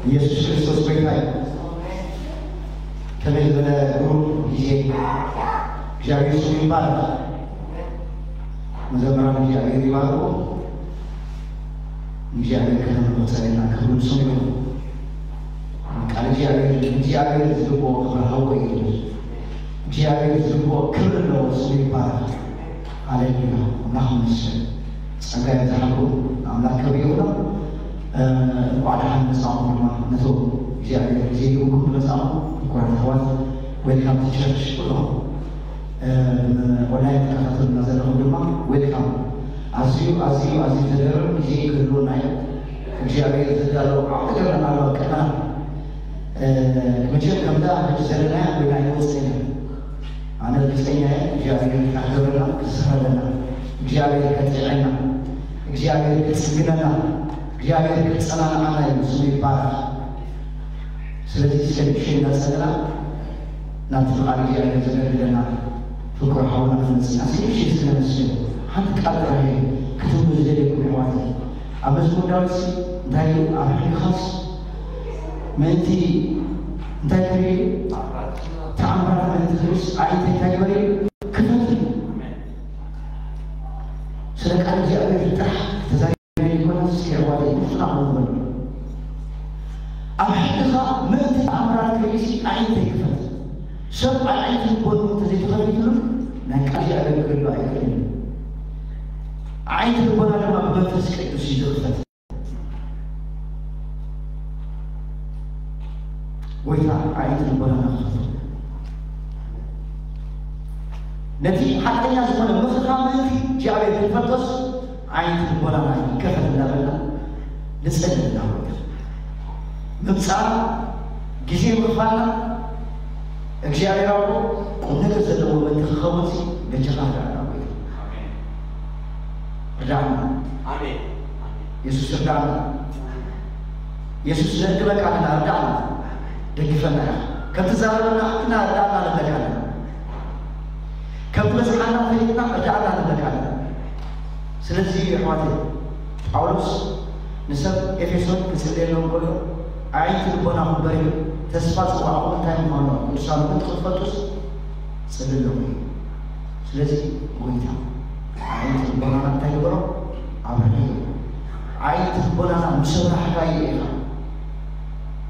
ኢየሱስ ክርስቶስ ጎይታ እዩ። ከመይ ዝበለ ግሩም ግዜ። እግዚኣብሔር ስሙ ይባረክ። መዘምራን እግዚኣብሔር ይባርኩ። እግዚኣብሔር ከተመርኮ ጸለና ክብሩ ንስሙ ይኹን። ቃል እግዚኣብሔር እግዚኣብሔር ዝግብኦ ክብሪ ሃቦ እዩ። እግዚኣብሔር ዝግብኦ ክብሪ ኣለዎ። ስሙ ይባረክ። ሃሌሉያ። ኣምላኽ ይመስገን። ጸጋ ይብዝሓልኩም። ኣምላኽ ክብሪ ይኹኖ። እንኳዕ ደሓን መጻኹም ድማ ነቶም እግዚኣብሔር ግዜ ሂብኩም ዝመጻኹም ክቡራት ኣሕዋት፣ welcome to church ኩልኹም። ኦንላይን ትከታተሉና ዘለኹም ድማ welcome። ኣዝዩ ኣዝዩ ኣዝዩ ዘገርም ግዜ ክህልወና እዩ። እግዚኣብሔር ዘዳለዎ ዓቢ ነገር ኣሎ ኣብ ቅድመና። መቸም ከምዛ ሕጂ ዘለናያ ኮይና ኣይንወጽእን ኢና። ኣነ ርግጸኛ እየ እግዚኣብሔር ክሕብረና ክስረደና፣ እግዚኣብሔር ከጥዕና፣ እግዚኣብሔር ክጽግነና፣ እግዚኣብሔር ክጸናንዓና እዩ። ስሙ ይባረክ። ስለዚ እስከ ንእሽተይ እናጸለና ናብቲ ቃል እግዚኣብሔር ዘገልግለና ፍቅሩ ሓውና ክመጽእ እስከ ንእሽተይ እስከ ነመስግን። ሓንቲ ቃል ጥራይ ክትብሉ ዝደልየኩም ኣሕዋተይ። ኣብ መዝሙር ዳዊት እንታይ እዩ? ኣብ ሕግኻስ ምእንቲ እንታይ ክርኢ? ተኣምራት ምእንቲ ክርእስ ኣዒንተይ እንታይ ግበሪ? ክፈት እዩ። ስለ ቃል እግዚኣብሔር ጥራሕ ተዛሪብና ይኮና እስኪ ኣሕዋተይ ንፍና ንበሉ። ኣብ ሕግኻ ምእንቲ ተኣምራት ክርእሲ ኣዒንተይ ክፈት። ሰብ ኣዒንቲ ልቦኑ እንተዘይተኸፊትሉ ናይ ቃል እግዚኣብሔር ክርኢ ኣይክእልን። ኣዒንቲ ልቦና ድማ ብመንፈስ ቅዱስ እዩ ዝኽፈት። ጎይታ ኣዒንቲ ልቦናና ክኸፍት። ነቲ ሓቀኛ ዝኾነ ምኽርኻ ምእንቲ እግዚኣብሔር ክንፈልጦስ ኣዒንቲ ልቦናና ይከፈት እንዳበልና ንጸልይ ኢና። ምምጻእ ግዜ ምኽፋልና እግዚኣብሔር ኣቦ ቁም ነገር ዘለዎ ምእንቲ ክኸውን ሲ በጃኻ ርዳእና ጎይታ። ርዳእና። ኣሜን። የሱስ ርዳእና። የሱስ ነእድበካ ኣለና፣ ርዳእና። ደግፈና ኢኻ። ከም ትዛረበና ሓቅና ርዳእና ንብለካ ኣለና። ከም ትበዝሓና ፈሊጥና ርዳእና ንብለካ ኣለና። ስለዚ ኣሕዋተይ ጳውሎስ ንሰብ ኤፌሶን ክጽልየሎም ከሎ ኣዒንቲ ልቦናኹም በሪሁ ተስፋ ጽዋዕኹም እንታይ ምዃኑ ቅዱሳን እውን ክትፈልጡስ ጽልለኹም እዩ። ስለዚ ጎይታ ኣዒንቲ ልቦናና እንታይ ግበሮ? ኣብርህ። ኣዒንቲ ልቦናና ምስ ኣብራህካዮ ኢኻ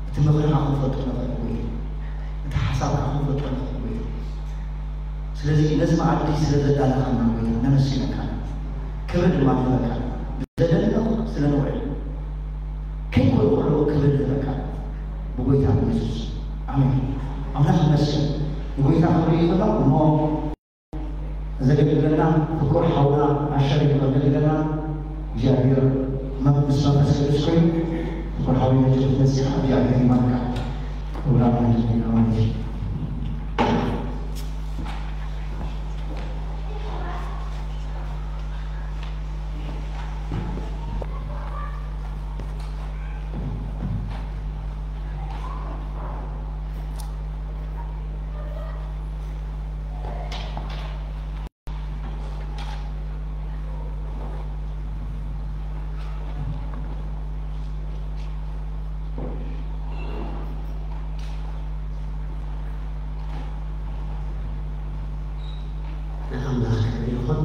እቲ ምኽርኻ ክንፈልጦ ንኽእል ጎይታ፣ እቲ ሓሳብካ ክንፈልጦ ንኽእል ጎይታ። ስለዚ ነዚ መኣዲ ስለ ዘዳለኻና ጎይታ ነመስግነካ፣ ክብሪ ድማ ንህበካ። ዘደለኹ ስለ ንውዕል ከይኮነ ከለዉ ክብሪ ንህበካ ብጎይታ ብየሱስ ኣሜን። ኣምላኽ ይመስገን። ንጎይታ ክብሪ ይኽእሎ እሞ ዘገልግለና ፍቁር ሓውና ኣሸር ዘገልግለና እግዚኣብሔር መ- ምስ መንፈስ ቅዱስ ኮይኑ ፍቁር ሓውና ጀት መጽኻ እግዚኣብሔር ይባርካ። ክቡር ኣምላኽ ይመስገን። ንኣምላኽ ክብሪ ይኹን።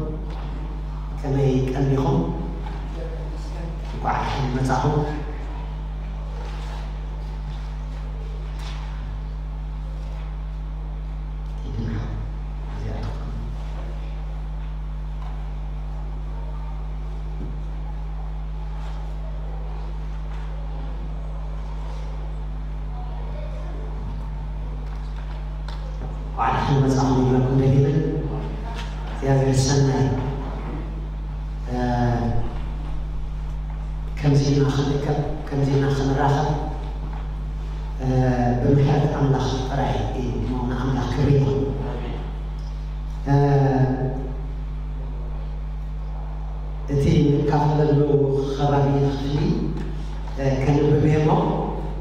ከመይ ቀኒኹም? እንኳዕ ደሓን መጻኹም። ዋዕላ ክንመጻኹም ይብለኩም ደጊመ እግዚኣብሔር ሰናይ። እ፣ ከምዚ ኢና ክንርከብ፣ ከምዚ ኢና ክንራኸብ፣ እ፣ ብምሕረት ኣምላኽ ጥራይ እዩ። ንኣምላኽ ክብሪ ይኹን። እ፣ እቲ ንካፈለሉ ከባቢ ክፍሊ፣ እ፣ ከንብብ እየ እሞ፣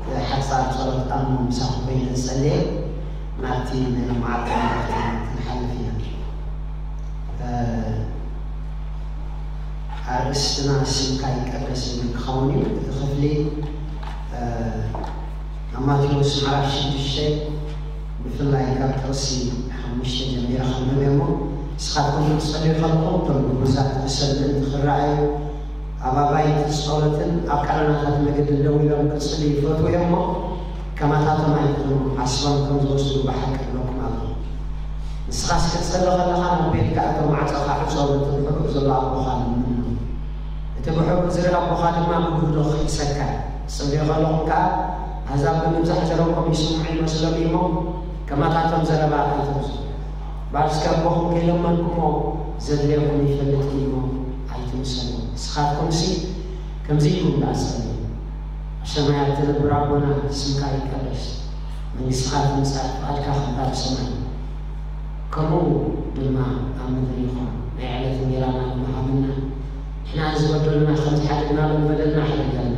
እ፣ ሓጻር ጸሎት ኣብ ምሳኹም ኮይነ ዝጸልየ ናብቲ ናይ መዓልቲ መልእኽቲ ክንሓልፍ ኢና። እ፣ ኣርእስትና ስምካ ይቀደስ ዝብል ክኸውን እዩ። እቲ ክፍሊ፣ እ፣ ኣብ ማቴዎስ ምዕራፍ ሽዱሽተ ብፍላይ ካብ ጥቕሲ ሓሙሽተ ጀሚረ ከንብብ እሞ፣ ንስኻትኩም ክትጸልዩ ከለኹም እቶም ግቡዛት ብሰብ ምእንቲ ክረኣዩ፣ ኣብ ኣባይቲ ጸሎትን ኣብ ቀረናታት መገድን ደው ኢሎም ክጽልዩ ይፈትዉ እዮም እሞ፣ ከማታቶም ኣይትኹኑ፣ ዓስቦም ከም ዝወስዱ ብሓቂ እብለኩም ኣለኹ። ንስኻስ ክትጸሊ ከለኻ ናብ ቤትካ እቶ፣ ማዕጾኻ ዕጾ፣ ነቲ ብሕቡእ ዘሎ ኣቦኻ ለምኖ። እቲ ብሕቡእ ዝርኢ ኣቦኻ ድማ ብግህዶ ክኽሕሰካ እዩ። ትጽልዩ ከለኹም ከኣ ኣህዛብ ብምብዛሕ ዘረብኦም ይስምዑ ይመስሎም እዩ እሞ፣ ከማታቶም ዘረባ ኣይተብዝሑ። እምበኣር እስከ ኣቦኹም ከይለመንኩሞ ዘድልየኩም ይፈልጥ እዩ እሞ ኣይትምሰሉ። ንስኻትኩምሲ ከምዚ ኢልኩም ደኣ ጸልዩ፣ ኣብ ሰማያት እትነብር ኣቦና፣ ስምካ ይቀደስ፣ መንግስትኻ ትምጻእ፣ ፍቓድካ ከምታ ብሰማይ ከምኡ ድማ ኣብ ምድሪ ይኹን። ናይ ዕለት እንጌራና ሎሚ ሃበና። ንሕና ንዝበደሉና ከም ዝሓደግናሎም በደልና ሓደገልና።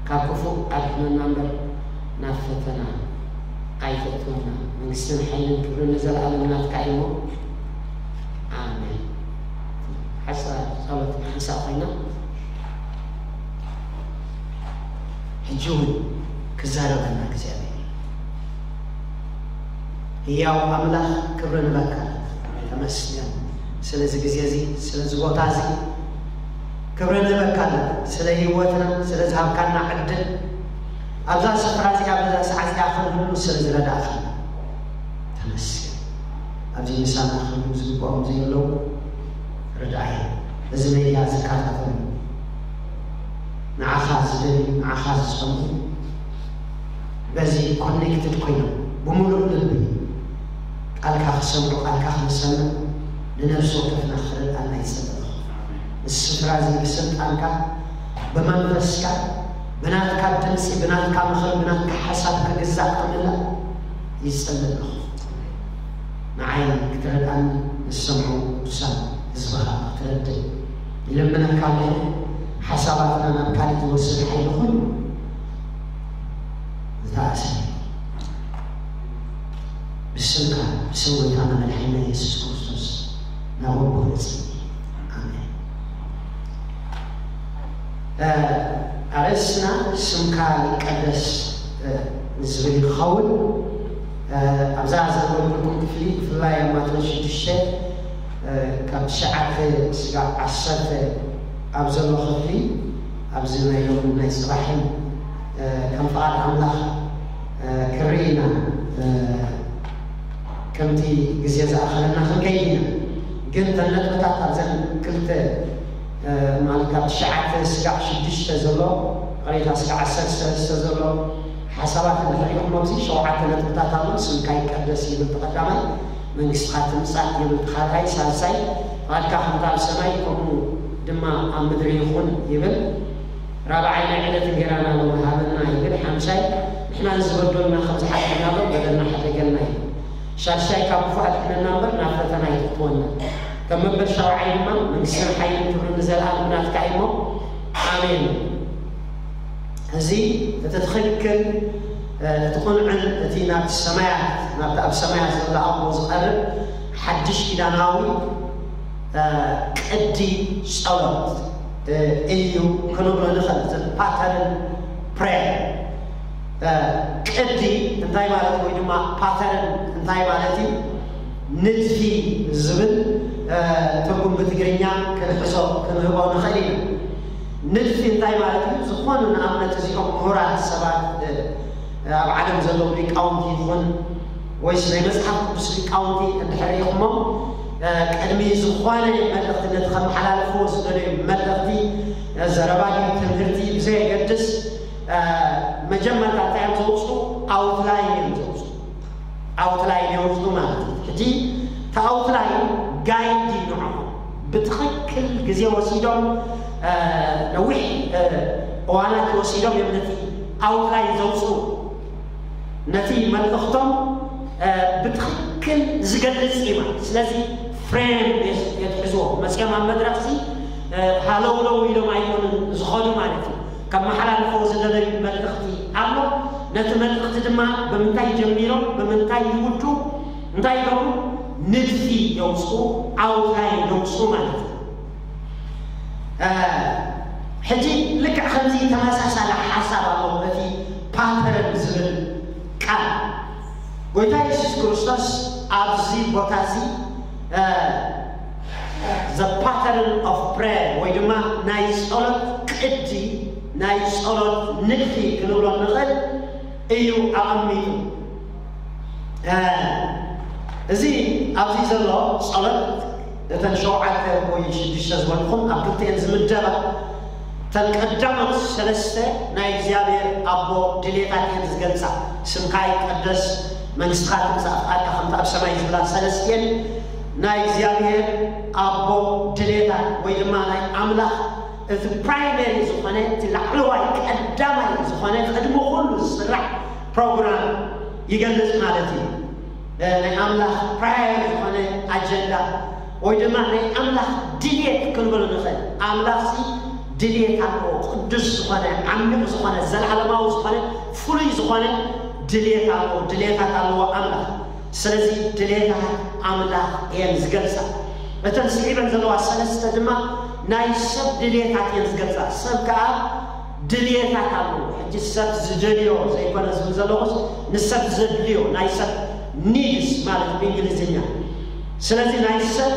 ካብ ክፉእ ኣድሕነና እምበር ናብ ፈተና ኣይተእትወና። መንግስትን ሓይልን ክብርን ንዘለኣለም ናትካ እዩ እሞ፣ ኣሜን። ሓጻር ጸሎት ሓንሳእ ኮይና፣ ሕጂ እውን ክዛረበና እግዚኣብሔር እዩ። ህያው ኣምላኽ፣ ክብሪ ንበካ። ተመስገን ስለዚ ግዜ እዚ፣ ስለዚ ቦታ እዚ ክብሪ ንበካ። ስለ ህይወትና፣ ስለ ዝሃብካና ዕድል፣ ኣብዛ ስፍራ እዚኣ፣ ኣብዛ ሰዓት እዚኣ ክንህሉ ስለ ዝረዳእካና ተመስገን። ኣብዚ ምሳና ክህሉ ዝግብኦም ዘየለዉ ርድኣይ፣ እዚ ሜድያ ዝከታተሉ፣ ንዓኻ ዝደልዩ፣ ንዓኻ ዝጸምኡ፣ በዚ ኮኔክትድ ኮይኖም ብምሉእ ልቢ ቃልካ ክሰምዑ፣ ቃልካ ክንሰምዕ ንነፍሲ ወከፍና ክረድኣና ይጸልእ ኣለኹ። እዚ ስፍራ እዚ ብስልጣንካ፣ ብመንፈስካ፣ ብናትካ ድምጺ፣ ብናትካ ምኽሪ፣ ብናትካ ሓሳብ ክግዛእ ክምላእ ይጸልእ ኣለኹ። ንዓይ ክትረድኣኒ፣ ንዝሰምዑ ቅዱሳን ህዝብኻ ክትረድእ ይልምነካ ኣለኹ። ሓሳባትና ናብ ካልእ ዝወስድ ሓይሊ ኩሉ ዝተኣሰረ ብስምካ፣ ብስም ጎይታና መድሓኒና የሱስ ክርስቶስ ናብ ኣቦ ንጽሊ። ኣሜን። እ፣ ኣርእስትና ስምካ ይቀደስ፣ እ፣ ዝብል ይኸውን። እ፣ ኣብዛ ዘንበብኩልኩም ክፍሊ፣ ብፍላይ ኣብ ማቴዎስ ሽዱሽተ፣ እ፣ ካብ ትሽዓተ ስጋዕ ዓሰርተ ኣብ ዘሎ ክፍሊ፣ ኣብዚ ናይ ሎሚ ናይ ጽባሕን፣ እ፣ ከም ፍቓድ ኣምላኽ፣ እ፣ ክርኢ ኢና። እ፣ ከምቲ ግዜ ዝኣኸለና ክንከይድ ኢና። ግን እተን ነጥብታት ኣብዘን ክልተ፣ እ፣ ማለት ካብ ትሽዓተ ስጋዕ ሽዱሽተ ዘሎ፣ ይቕሬታ፣ ስጋዕ ዓሰርተ ሰለስተ ዘሎ ሓሳባት እንድሕር ኢኹም፣ ኣብዚ ሸውዓተ ነጥብታት ኣሎ። ስምካ ይቀደስ ይብል እቲ ቀዳማይ፣ መንግስትኻ ትምጻእ ይብል እቲ ካልኣይ፣ ሳልሳይ ፍቓድካ ከምታ ኣብ ሰማይ ከምኡ ድማ ኣብ ምድሪ ይኹን ይብል። ራብዓይ ናይ ዕለት እንጌራና ሎሚ ሃበና ይብል። ሓምሻይ ንሕና ንዝበደሉና ከም ዝሓደግናሎም በደልና ሓደገልና ይብል። ሻድሻይ ካብ ክፉእ ኣድሕነና እምበር ናብ ፈተና ኣይተእትወና። ከም መበል ሻውዓይ ድማ መንግስትን ሓይልን ክብርን ንዘለኣለም ናትካ እዩ እሞ ኣሜን። እዚ እቲ ትኽክል፣ እ፣ እቲ ቁንዕን እቲ ናብቲ ሰማያት፣ ናብቲ ኣብ ሰማያት ዘሎ ኣቦ ዝቐርብ ሓድሽ ኪዳናዊ፣ እ፣ ቅዲ ጸሎት፣ እ፣ እዩ ክንብሎ ንኽእል። እዚ ፓተርን ፕሬየር፣ እ፣ ቅዲ እንታይ ማለት ወይ ድማ ፓተርን እንታይ ማለት እዩ? ንድፊ ዝብል፣ እ፣ ትርጉም ብትግርኛ ክንሕዞ ክንህቦ ንኽእል ኢና። ንድፊ እንታይ ማለት እዩ? ዝኾኑ ንኣብነት እዚኦም ምሁራት ሰባት፣ እ፣ ኣብ ዓለም ዘለዉ ሊቃውንቲ ይኹን ወይስ ናይ መጽሓፍ ቅዱስ ሊቃውንቲ እንድሕር ኢኹሞም፣ እ፣ ቅድሚ ዝኾነ መልእኽቲ ነቲ ከመሓላልፍዎ ዝደለዩ መልእኽቲ፣ እ፣ ዘረባ ድዩ ትምህርቲ ብዘየገድስ፣ እ፣ መጀመርታ እንታይ እዮም ዘውፅኡ? ኣውትላይን እዮም ዘውፅኡ። ኣውትላይን የውፅኡ ማለት እዩ። ሕጂ እቲ ኣውትላይን ጋይድ እዩ ንዕኦም። ብትኽክል ግዜ ወሲዶም፣ እ፣ ነዊሕ፣ እ፣ እዋናት ወሲዶም እዮም ነቲ ኣውትላይን ዘውፅኡ። ነቲ መልእኽቶም፣ እ፣ ብትኽክል ዝገልጽ እዩ ማለት። ስለዚ ፍሬም የት-፣ የትሕዝዎ። መጺኦም ኣብ መድረኽ እዚ፣ እ፣ ሃለውለው ኢሎም ኣይኮኑን ዝኸዱ ማለት እዩ። ከመሓላልፍዎ ዝደለዩ መልእኽቲ ኣሎ። ነቲ መልእኽቲ ድማ ብምንታይ ጀሚሮም፣ ብምንታይ ይውዱ፣ እንታይ ይገብሩ? ንድፊ የውፅኡ፣ ኣውትላይን የውፅኡ ማለት እዩ። እ፣ ሕጂ ልክዕ ከምዚ ተመሳሳሊ ሓሳብ ኣሎ፣ እቲ ፓተርን ዝብል ጎይታ የሱስ ክርስቶስ ኣብዚ ቦታ እዚ the pattern of prayer ወይ ድማ ናይ ጸሎት ቅዲ፣ ናይ ጸሎት ንድፊ ክንብሎ ንኽእል እዩ ኣቐሚጡ። እዚ ኣብዚ ዘሎ ጸሎት እተን ሸውዓተ ወይ ሽዱሽተ ዝበልኩም ኣብ ክልቲኤን ዝምደባ እተን ቀዳሞት ሰለስተ ናይ እግዚኣብሔር ኣቦ ድሌታት እየን ዝገልጻ። ስምካ ይቀደስ፣ መንግስትኻ ትምጻእ፣ ፍቃድካ ከምቲ ኣብ ሰማይ ዝብላ ሰለስቲኤን ናይ እግዚኣብሔር ኣቦ ድሌታት ወይ ድማ ናይ ኣምላኽ እቲ ፕራይመሪ ዝኾነ እቲ ላዕለዋይ ቀዳማይ ዝኾነ ቅድሚ ኩሉ ዝስራሕ ፕሮግራም ይገልጽ ማለት እዩ። ናይ ኣምላኽ ፕራየር ዝኾነ ኣጀንዳ ወይ ድማ ናይ ኣምላኽ ድልየት ክንብሎ ንኽእል። ኣምላኽ ሲ ድልየት ኣለዎ፣ ቅዱስ ዝኾነ፣ ዓሚቕ ዝኾነ፣ ዘለዓለማዊ ዝኾነ፣ ፍሉይ ዝኾነ ድልየት ኣለዎ፣ ድልየታት ኣለዎ ኣምላኽ። ስለዚ ድልየታት ኣምላኽ እየን ዝገልጻ። እተን ስዒበን ዘለዋ ሰለስተ ድማ ናይ ሰብ ድልየታት እየን ዝገልጻ። ሰብ ከኣ ድልየታት ኣለዎ። ሕጂ ሰብ ዝደልዮ ዘይኮነ ዝብል ዘለኹስ ንሰብ ዘድልዮ ናይ ሰብ ኒድስ ማለት ብእንግሊዝኛ። ስለዚ ናይ ሰብ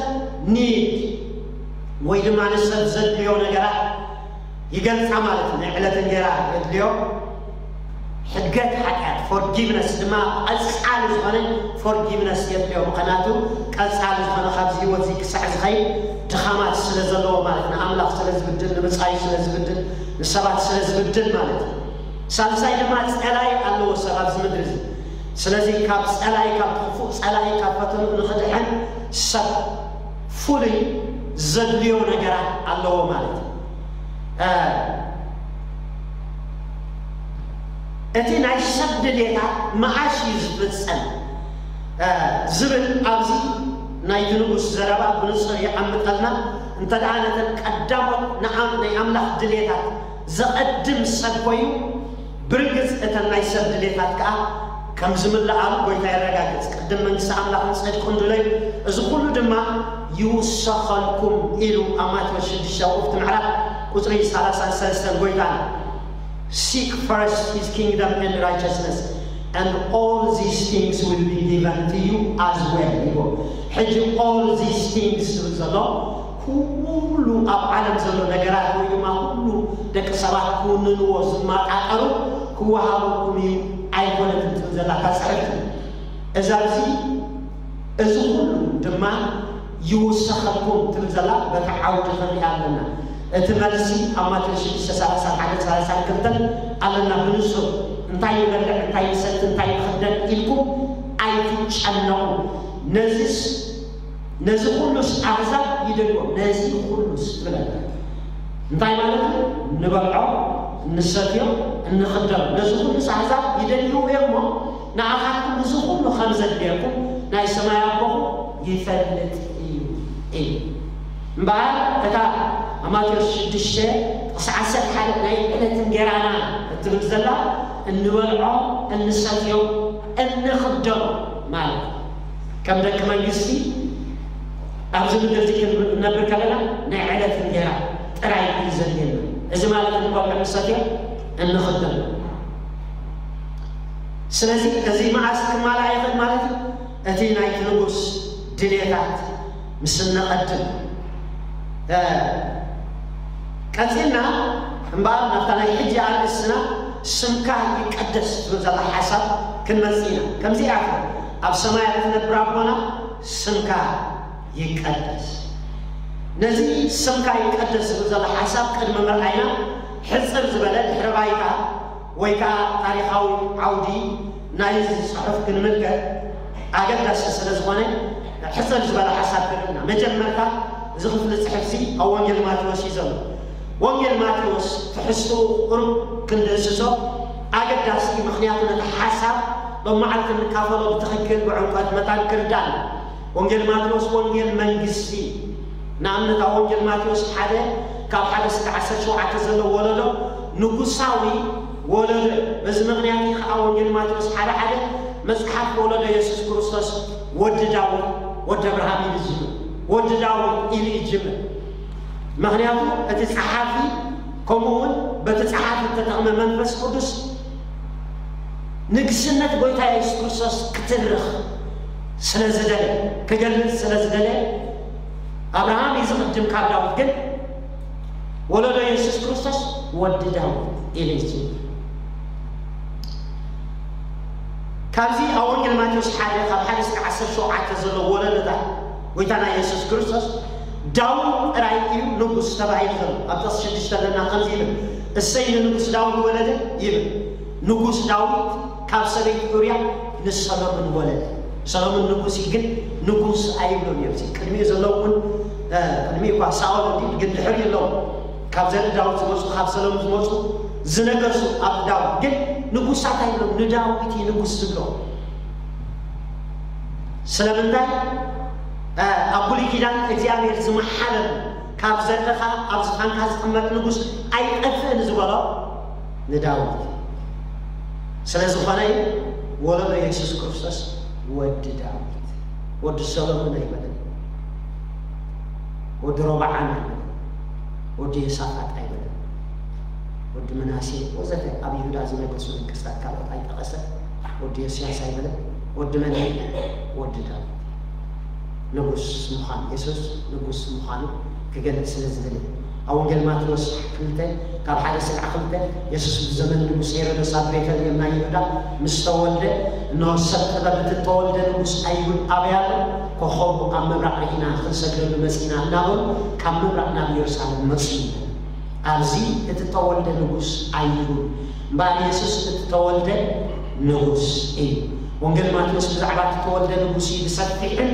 ኒድ ወይ ድማ ንሰብ ዘድልዮ ነገራት ይገልጻ ማለት እዩ። ናይ ዕለት እንጌራ የድልዮ፣ ሕድገት ሓጢኣት ፎርጊቭነስ ድማ ቀጻሊ ዝኾነ ፎርጊቭነስ የድልዮ። ምኽንያቱ ቀጻሊ ዝኾነ ካብዚ ህይወት እዚ ክሳዕ ዝኸይድ ድኻማት ስለ ዘለዎ ማለት ንኣምላኽ ስለ ዝብድል፣ ንብጻዩ ስለ ዝብድል፣ ንሰባት ስለ ዝብድል ማለት እዩ። ሳልሳይ ድማ ጸላኢ ኣለዎ ሰብ ኣብዚ ምድሪ እዚ። ስለዚ ካብ ጸላኢ፣ ካብ ክፉእ ጸላኢ፣ ካብ ፈተንኡ ንኽድሕን ሰብ ፍሉይ ዘድልዮ ነገራት ኣለዎ ማለት እዩ። እቲ ናይ ሰብ ድሌታት መዓሽ እዩ ዝፍጸም ዝብል ኣብዚ ናይቲ ንጉስ ዘረባ ብንጹር ይቐምጠልና። እንተ ደኣ ነተን ቀዳሞት ንኣም-፣ ናይ ኣምላኽ ድሌታት ዘቐድም ሰብ ኮይኑ፣ ብርግጽ እተን ናይ ሰብ ድሌታት ከኣ ከም ዝምልኣሉ ጎይታ የረጋግጽ። ቅድም መንግስቲ ኣምላኽን ጽድቁን ድለዩ፣ እዚ ኩሉ ድማ ይውሰኸልኩም ኢሉ ኣብ ማቴዎስ ሽዱሽተ ውእቱ ምዕራፍ ቁጽሪ ሰላሳን ሰለስተን ጎይታና። Seek first his kingdom and righteousness, and all these things will be given to you as well ይብል። ሕጂ all these things ዝብል ዘሎ ኩሉ ኣብ ዓለም ዘሎ ነገራት ወይ ድማ ኩሉ ደቂ ሰባት ክውንንዎ ዝመጣጠሩ ክወሃበኩም እዩ ኣይኮነትን ትብል ዘላ እታ ጽሕፍቲ። እዛ እዚ እዚ ኩሉ ድማ ይውሰኸልኩም ትብል ዘላ በቲ ዓውዲ ክንሪኣ ኣለና። እቲ መልሲ ኣብ ማቴዎስ ሽዱሽተ ሰላሳን ሓደ ሰላሳን ክልተን ኣለና ብንጹር። እንታይ ንበልዕ፣ እንታይ ንሰቲ፣ እንታይ ንኽደን ኢልኩም ኣይትጨነቑ። ነዚስ ነዚ ኩሉስ ኣህዛብ ይደልዎ። ነዚ ኩሉስ ትብለና እንታይ ማለት እዩ? እንበልዖ፣ እንሰትዮ፣ እንኽደኖ። ነዚ ኩሉስ ኣህዛብ ይደልይዎ እዮም እሞ ንኣኻትኩም እዚ ኩሉ ከም ዘድልየኩም ናይ ሰማይ ኣቦኹም ይፈልጥ እዩ ኢሉ። እምበኣር እታ ኣብ ማቴዎስ ሽዱሽተ ጥቕሲ ዓሰርተ ሓደ ናይ ዕለት እንጌራና እትብል ዘላ እንበልዖ፣ እንሰትዮ፣ እንኽደኖ ማለት እዩ። ከም ደቂ መንግስቲ ኣብዚ ምድሪ እዚ ክንነብር ከለና ናይ ዕለት እንጌራ ጥራይ እዩ ዘድልየና። እዚ ማለት እንበልዖ፣ እንሰትዮ፣ እንኽደኖ። ስለዚ እዚ መዓስ ክማላእ ይኽእል ማለት እዩ? እቲ ናይቲ ንጉስ ድልየታት ምስ እነቐድም። እ፣ ቀጺልና እምበኣር ናብታ ናይ ሕጂ ኣርእስትና ስምካ ይቀደስ ትብል ዘላ ሓሳብ ክንመጽእ ኢና። ከምዚ እያ ትብል፣ ኣብ ሰማያት እትነብር ኣቦና ስምካ ይቀደስ። ነዚ ስምካ ይቀደስ ዝብል ዘሎ ሓሳብ ቅድሚ ምርኣይና፣ ሕጽር ዝበለ ድሕረ ባይታ ወይ ከኣ ታሪኻዊ ዓውዲ ናይዚ ጽሑፍ ክንምልከት ኣገዳሲ ስለ ዝኾነ፣ ሕጽር ዝበለ ሓሳብ ክንብና። መጀመርታ እዚ ክፍሊ ጽሑፍዚ ኣብ ወንጌል ማቴዎስ እዩ ዘሎ። ወንጌል ማቴዎስ ትሕዝትኡ ቁሩብ ክንድህስሶ ኣገዳሲ እዩ፣ ምኽንያቱ ነቲ ሓሳብ ሎም መዓልቲ እንካፈሎ ብትኽክል ብዕምቆት መታን ክርዳእ። ወንጌል ማቴዎስ ወንጌል መንግስቲ። ንኣብነት ኣብ ወንጌል ማቴዎስ ሓደ ካብ ሓደ እስካብ ዓሰርተ ሸውዓተ ዘሎ ወለዶ ንጉሳዊ ወለዶ እዩ። በዚ ምኽንያት እዩ ከዓ ወንጌል ማቴዎስ ሓደ ሓደ መጽሓፍ ወለዶ የሱስ ክርስቶስ ወዲ ዳዊት፣ ወዲ ኣብርሃም ኢሉ ይጅምር። ወዲ ዳዊት ኢሉ ይጅምር። ምኽንያቱ እቲ ጸሓፊ ከምኡ እውን በቲ ጸሓፊ እተጠቕመ መንፈስ ቅዱስ ንግስነት ጎይታ የሱስ ክርስቶስ ክትርኽ ስለ ዝደለ፣ ክገልጽ ስለ ዝደለ፣ ኣብርሃም እዩ ዝቕድም ካብ ዳዊት፣ ግን ወለዶ የሱስ ክርስቶስ ወዲ ዳዊት ኢሉ ይጽውዕ። ካብዚ ኣብ ወንጌል ማቴዎስ ሓደ ካብ ሓደ እስከ ዓሰርተ ሸውዓተ ዘሎ ወለዶታት ጎይታና የሱስ ክርስቶስ ዳዊት ጥራይ እዩ ንጉስ ተባሂሉ ዘሎ። ኣብ ጥቕሲ ሽዱሽተ ኣለና ከምዚ ይብል፣ "እሰይ ንንጉስ ዳዊት ወለደ" ይብል። ንጉስ ዳዊት ካብ ሰበይቲ ኡርያ ንሰሎሞን ወለደ። ሰሎሞን ንጉስ እዩ፣ ግን ንጉስ ኣይብሎን እዮም። እዚ ቅድሚኡ ዘለዉ እውን፣ እ፣ ቅድሚኡ እኳ ሳኦል እንዲ፣ ግን ድሕሪ ኣለዉ። ካብ ዘርኢ ዳዊት ዝመፁ፣ ካብ ሰሎሞን ዝመፁ ዝነገሱ ኣብ ዳዊት፣ ግን ንጉሳት ኣይብሎም። ንዳዊት እዩ ንጉስ ዝብሎ። ስለምንታይ? እ፣ ኣብ ብሉይ ኪዳን እግዚኣብሔር ዝመሓለሉ፣ "ካብ ዘርእኻ ኣብ ዝፋንካ ዝቕመጥ ንጉስ ኣይጠፍእን" ዝበሎ ንዳዊት ስለ ዝኾነ እዩ። ወለዶ የሱስ ክርስቶስ ወዲ ዳዊት፣ ወዲ ሰሎሞን ኣይበለን፣ ወዲ ሮብዓም ኣይበለን፣ ወዲ የሳፋጥ ኣይበለን፣ ወዲ ምናሴ ወዘተ ኣብ ይሁዳ ዝነገሱ ነገስታት ካልኦት ኣይጠቐሰን። ወዲ ዮስያስ ኣይበለን። ወዲ መን እዩ? ወዲ ዳዊት። ንጉስ ምዃኑ፣ የሱስ ንጉስ ምዃኑ ክገልጽ ስለ ዝደለ። ኣብ ወንጌል ማቴዎስ ክልተ ካብ ሓደ ስጋዕ ክልተ፣ የሱስ ብዘመን ንጉስ ሄሮደስ ኣብ ቤተልሔም ናይ ይሁዳ ምስ ተወልደ፣ "እንሆ ሰብ ጥበብ፣ እቲ እተወልደ ንጉስ ኣይሁድ ኣበይ ኣሎ? ኮኸቡ ኣብ ምብራቕ ርኢና ክንሰግደሉ መጺእና" እናበሉ ካብ ምብራቕ ናብ ኢየሩሳሌም መጹ። ኣብዚ እቲ ተወልደ ንጉስ ኣይሁድ፣ እምበኣር የሱስ እቲ ተወልደ ንጉስ እዩ። ወንጌል ማቴዎስ ብዛዕባ እቲ ተወልደ ንጉስ እዩ ብሰፊሕን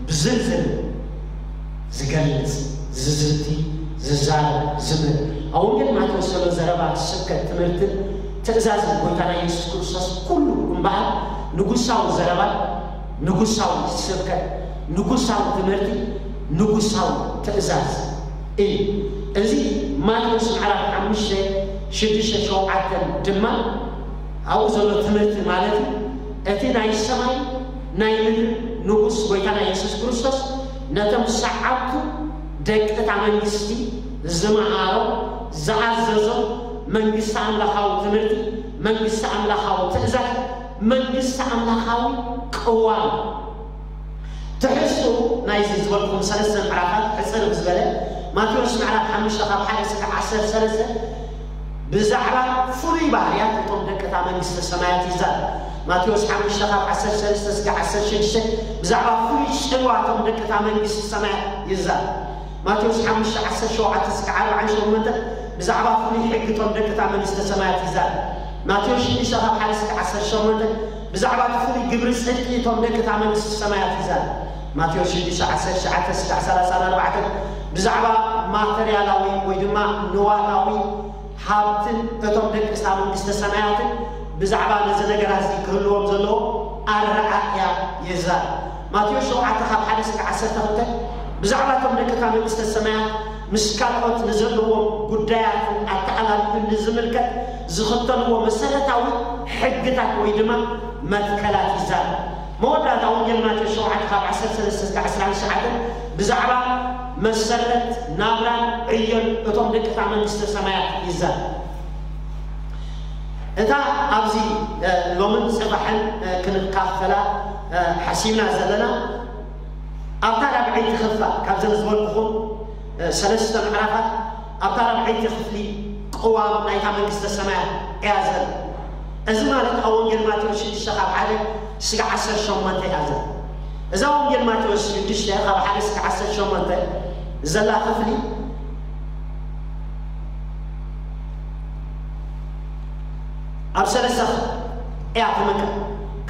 ብዝርዝር ዝገልጽ፣ ዝዝቲ፣ ዝዛረብ፣ ዝምህር። ኣብ ወንጌል ማቴዎስ ዘሎ ዘረባ፣ ስብከት፣ ትምህርትን ትእዛዝን ጎይታና የሱስ ክርስቶስ ኩሉ እምበኣር ንጉሳዊ ዘረባ፣ ንጉሳዊ ስብከት፣ ንጉሳዊ ትምህርቲ፣ ንጉሳዊ ትእዛዝ እዩ። እዚ ማቴዎስ ምዕራፍ ሓሙሽተ፣ ሽዱሽተ፣ ሸውዓተ ድማ ኣብኡ ዘሎ ትምህርቲ ማለት እዩ። እቲ ናይ ሰማይ ናይ ምድሪ ንጉስ ጎይታና የሱስ ክርስቶስ ነቶም ሰዓብቱ ደቂ እታ መንግስቲ ዝመሃሮ፣ ዝኣዘዞ መንግስቲ ኣምላኻዊ ትምህርቲ፣ መንግስቲ ኣምላኻዊ ትእዛዝ፣ መንግስቲ ኣምላኻዊ ቅዋም። ትሕዝቱ ናይዚ ዝበልኩም ሰለስተ ምዕራፋት ሕጽር ብዝበለ፣ ማቴዎስ ምዕራፍ ሓሙሽተ ካብ ሓደ ስጋዕ ዓሰርተ ሰለስተ ብዛዕባ ፍሉይ ባህርያት እቶም ደቂ እታ መንግስቲ ሰማያት ይዛረብ። ማቴዎስ ሓሙሽተ ካብ ዓሰርተ ሰለስተ ስጋዕ ዓሰርተ ሽዱሽተ ብዛዕባ ፍሉይ ጽልዋ እቶም ደቂ እታ መንግስቲ ሰማያት ይዛረብ። ማቴዎስ ሓሙሽተ ዓሰርተ ሸውዓተ ስጋዕ ኣርባዓን ሸሞንተን ብዛዕባ ፍሉይ ሕጊ እቶም ደቂ እታ መንግስቲ ሰማያት ይዛረብ። ማቴዎስ ሽዱሽተ ካብ ሓደ ስጋዕ ዓሰርተ ሸሞንተ ብዛዕባ እቲ ፍሉይ ግብሪ ጽድቂ እቶም ደቂ እታ መንግስቲ ሰማያት ይዛረብ። ማቴዎስ ሽዱሽተ ዓሰርተ ትሽዓተ ስጋዕ ሰላሳን ኣርባዕተን ብዛዕባ ማተርያላዊ ወይ ድማ ንዋታዊ ሃብትን እቶም ደቂ እታ መንግስቲ ሰማያትን ብዛዕባ ነዚ ነገራት እዚ ክህልዎም ዘለዎ ኣረኣእያ ይዛረብ። ማቴዎስ ሸውዓተ ካብ ሓደ ስጋዕ ዓሰርተ ክልተ ብዛዕባ እቶም ደቂ እታ መንግስቲ ሰማያት ምስ ካልኦት ንዘለዎም ጉዳያትን ኣተኣላልዩን ንዝምልከት ዝኽተልዎ መሰረታዊ ሕግታት ወይ ድማ መትከላት ይዛረብ። መወዳእታ ወንጌል ማቴዎስ ሸውዓተ ካብ ዓሰርተ ሰለስተ እስከ ዓሰርተ ትሽዓተ ብዛዕባ መሰረት ናብራን ዕዮን እቶም ደቂ እታ መንግስተ ሰማያት ይዛረብ። እታ ኣብዚ፣ እ፣ ሎምን ጽባሕን፣ እ፣ ክንካፈላ፣ እ፣ ሓሲብና ዘለና ኣብታ ራብዐይቲ ክፋል ካብዘን ዝበልኩኹም፣ እ፣ ሰለስተ ምዕራፋት ኣብታ ራብዐይቲ ክፍሊ ቅዋም ናይታ መንግስተ ሰማያት እያ ዘላ። እዚ ማለት ኣብ ወንጌል ማቴዎስ ሽዱሽተ ካብ ሓደ ስጋዕ ዓሰርተ ሸሞንተ እያ ዘላ። እዛ ወንጌል ማቴዎስ ሽዱሽተ ካብ ሓደ ስጋዕ ዓሰርተ ሸሞንተ ዘላ ክፍሊ ኣብ ሰለስተ እያ ትምቀል።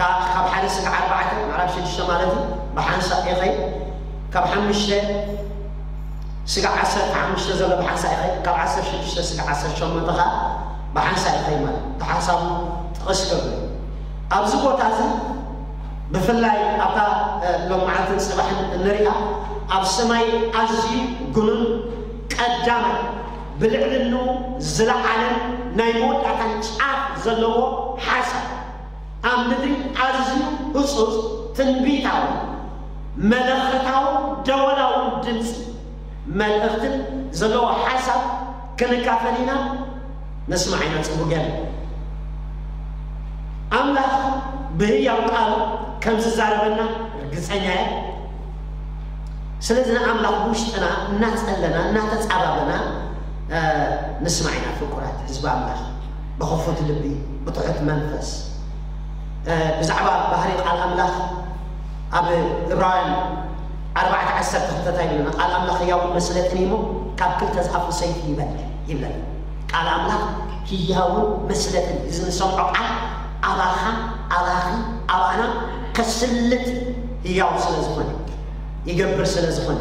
ካ-፣ ካብ ሓደ ስጋዕ ኣርባዕተ፣ ምዕራፍ ሽዱሽተ ማለት እዩ፣ ብሓንሳእ ይኸይድ። ካብ ሓሙሽተ ስጋዕ ዓሰርተ ሓሙሽተ ዘሎ ብሓንሳእ ይኸይድ። ካብ ዓሰርተ ሽዱሽተ ስጋዕ ዓሰርተ ሸሞንተ ኸዓ ብሓንሳእ ይኸይድ ማለት እዩ። ተሓሳቡ ጥቕስ ገብር። ኣብዚ ቦታ እዚ ብፍላይ ኣብታ፣ እ፣ ሎም መዓልትን ጽባሕን እንሪኣ፣ ኣብ ሰማይ ኣዝዩ ግኑን ቀዳማይ ብልዕልንኡ ዝለዓለን ናይ መወዳእታን ጫፍ ዘለዎ ሓሳብ፣ ኣብ ምድሪ ኣዝዩ ህጹጽ ትንቢታዊ መለኸታውን ደወላውን ድምጺ መልእኽትን ዘለዎ ሓሳብ ክንካፈል ኢና። ንስማዕ ኢና። ጽቡቕ ገለ ኣምላኽ ብህያው ቃሉ ከም ዝዛረበና ርግጸኛ እየ። ስለዚ ንኣምላኽ ብውሽጥና እናጸለና እናተጻባበና ንስማዕ ኢና። ፍቁራት ህዝቢ ኣምላኽ፣ ብኽፉት ልቢ፣ ብትሑት መንፈስ፣ ብዛዕባ ባህሪ ቃል ኣምላኽ ኣብ ዕብራውያን ኣርባዕተ ዓሰርተ ክልተ እንታይ ይብለና? ቃል ኣምላኽ ህያውን መስለጥን እዩ እሞ ካብ ክልተ ዝኣፉ ሰይፊ ይበልዕ ይብለና። ቃል ኣምላኽ ህያውን መስለጥን እዩ። እዚ ንሰምዖ ቃል ኣባኻ፣ ኣባኺ፣ ኣባና ከስልጥ ህያው ስለ ዝኾነ፣ ይገብር ስለ ዝኾነ።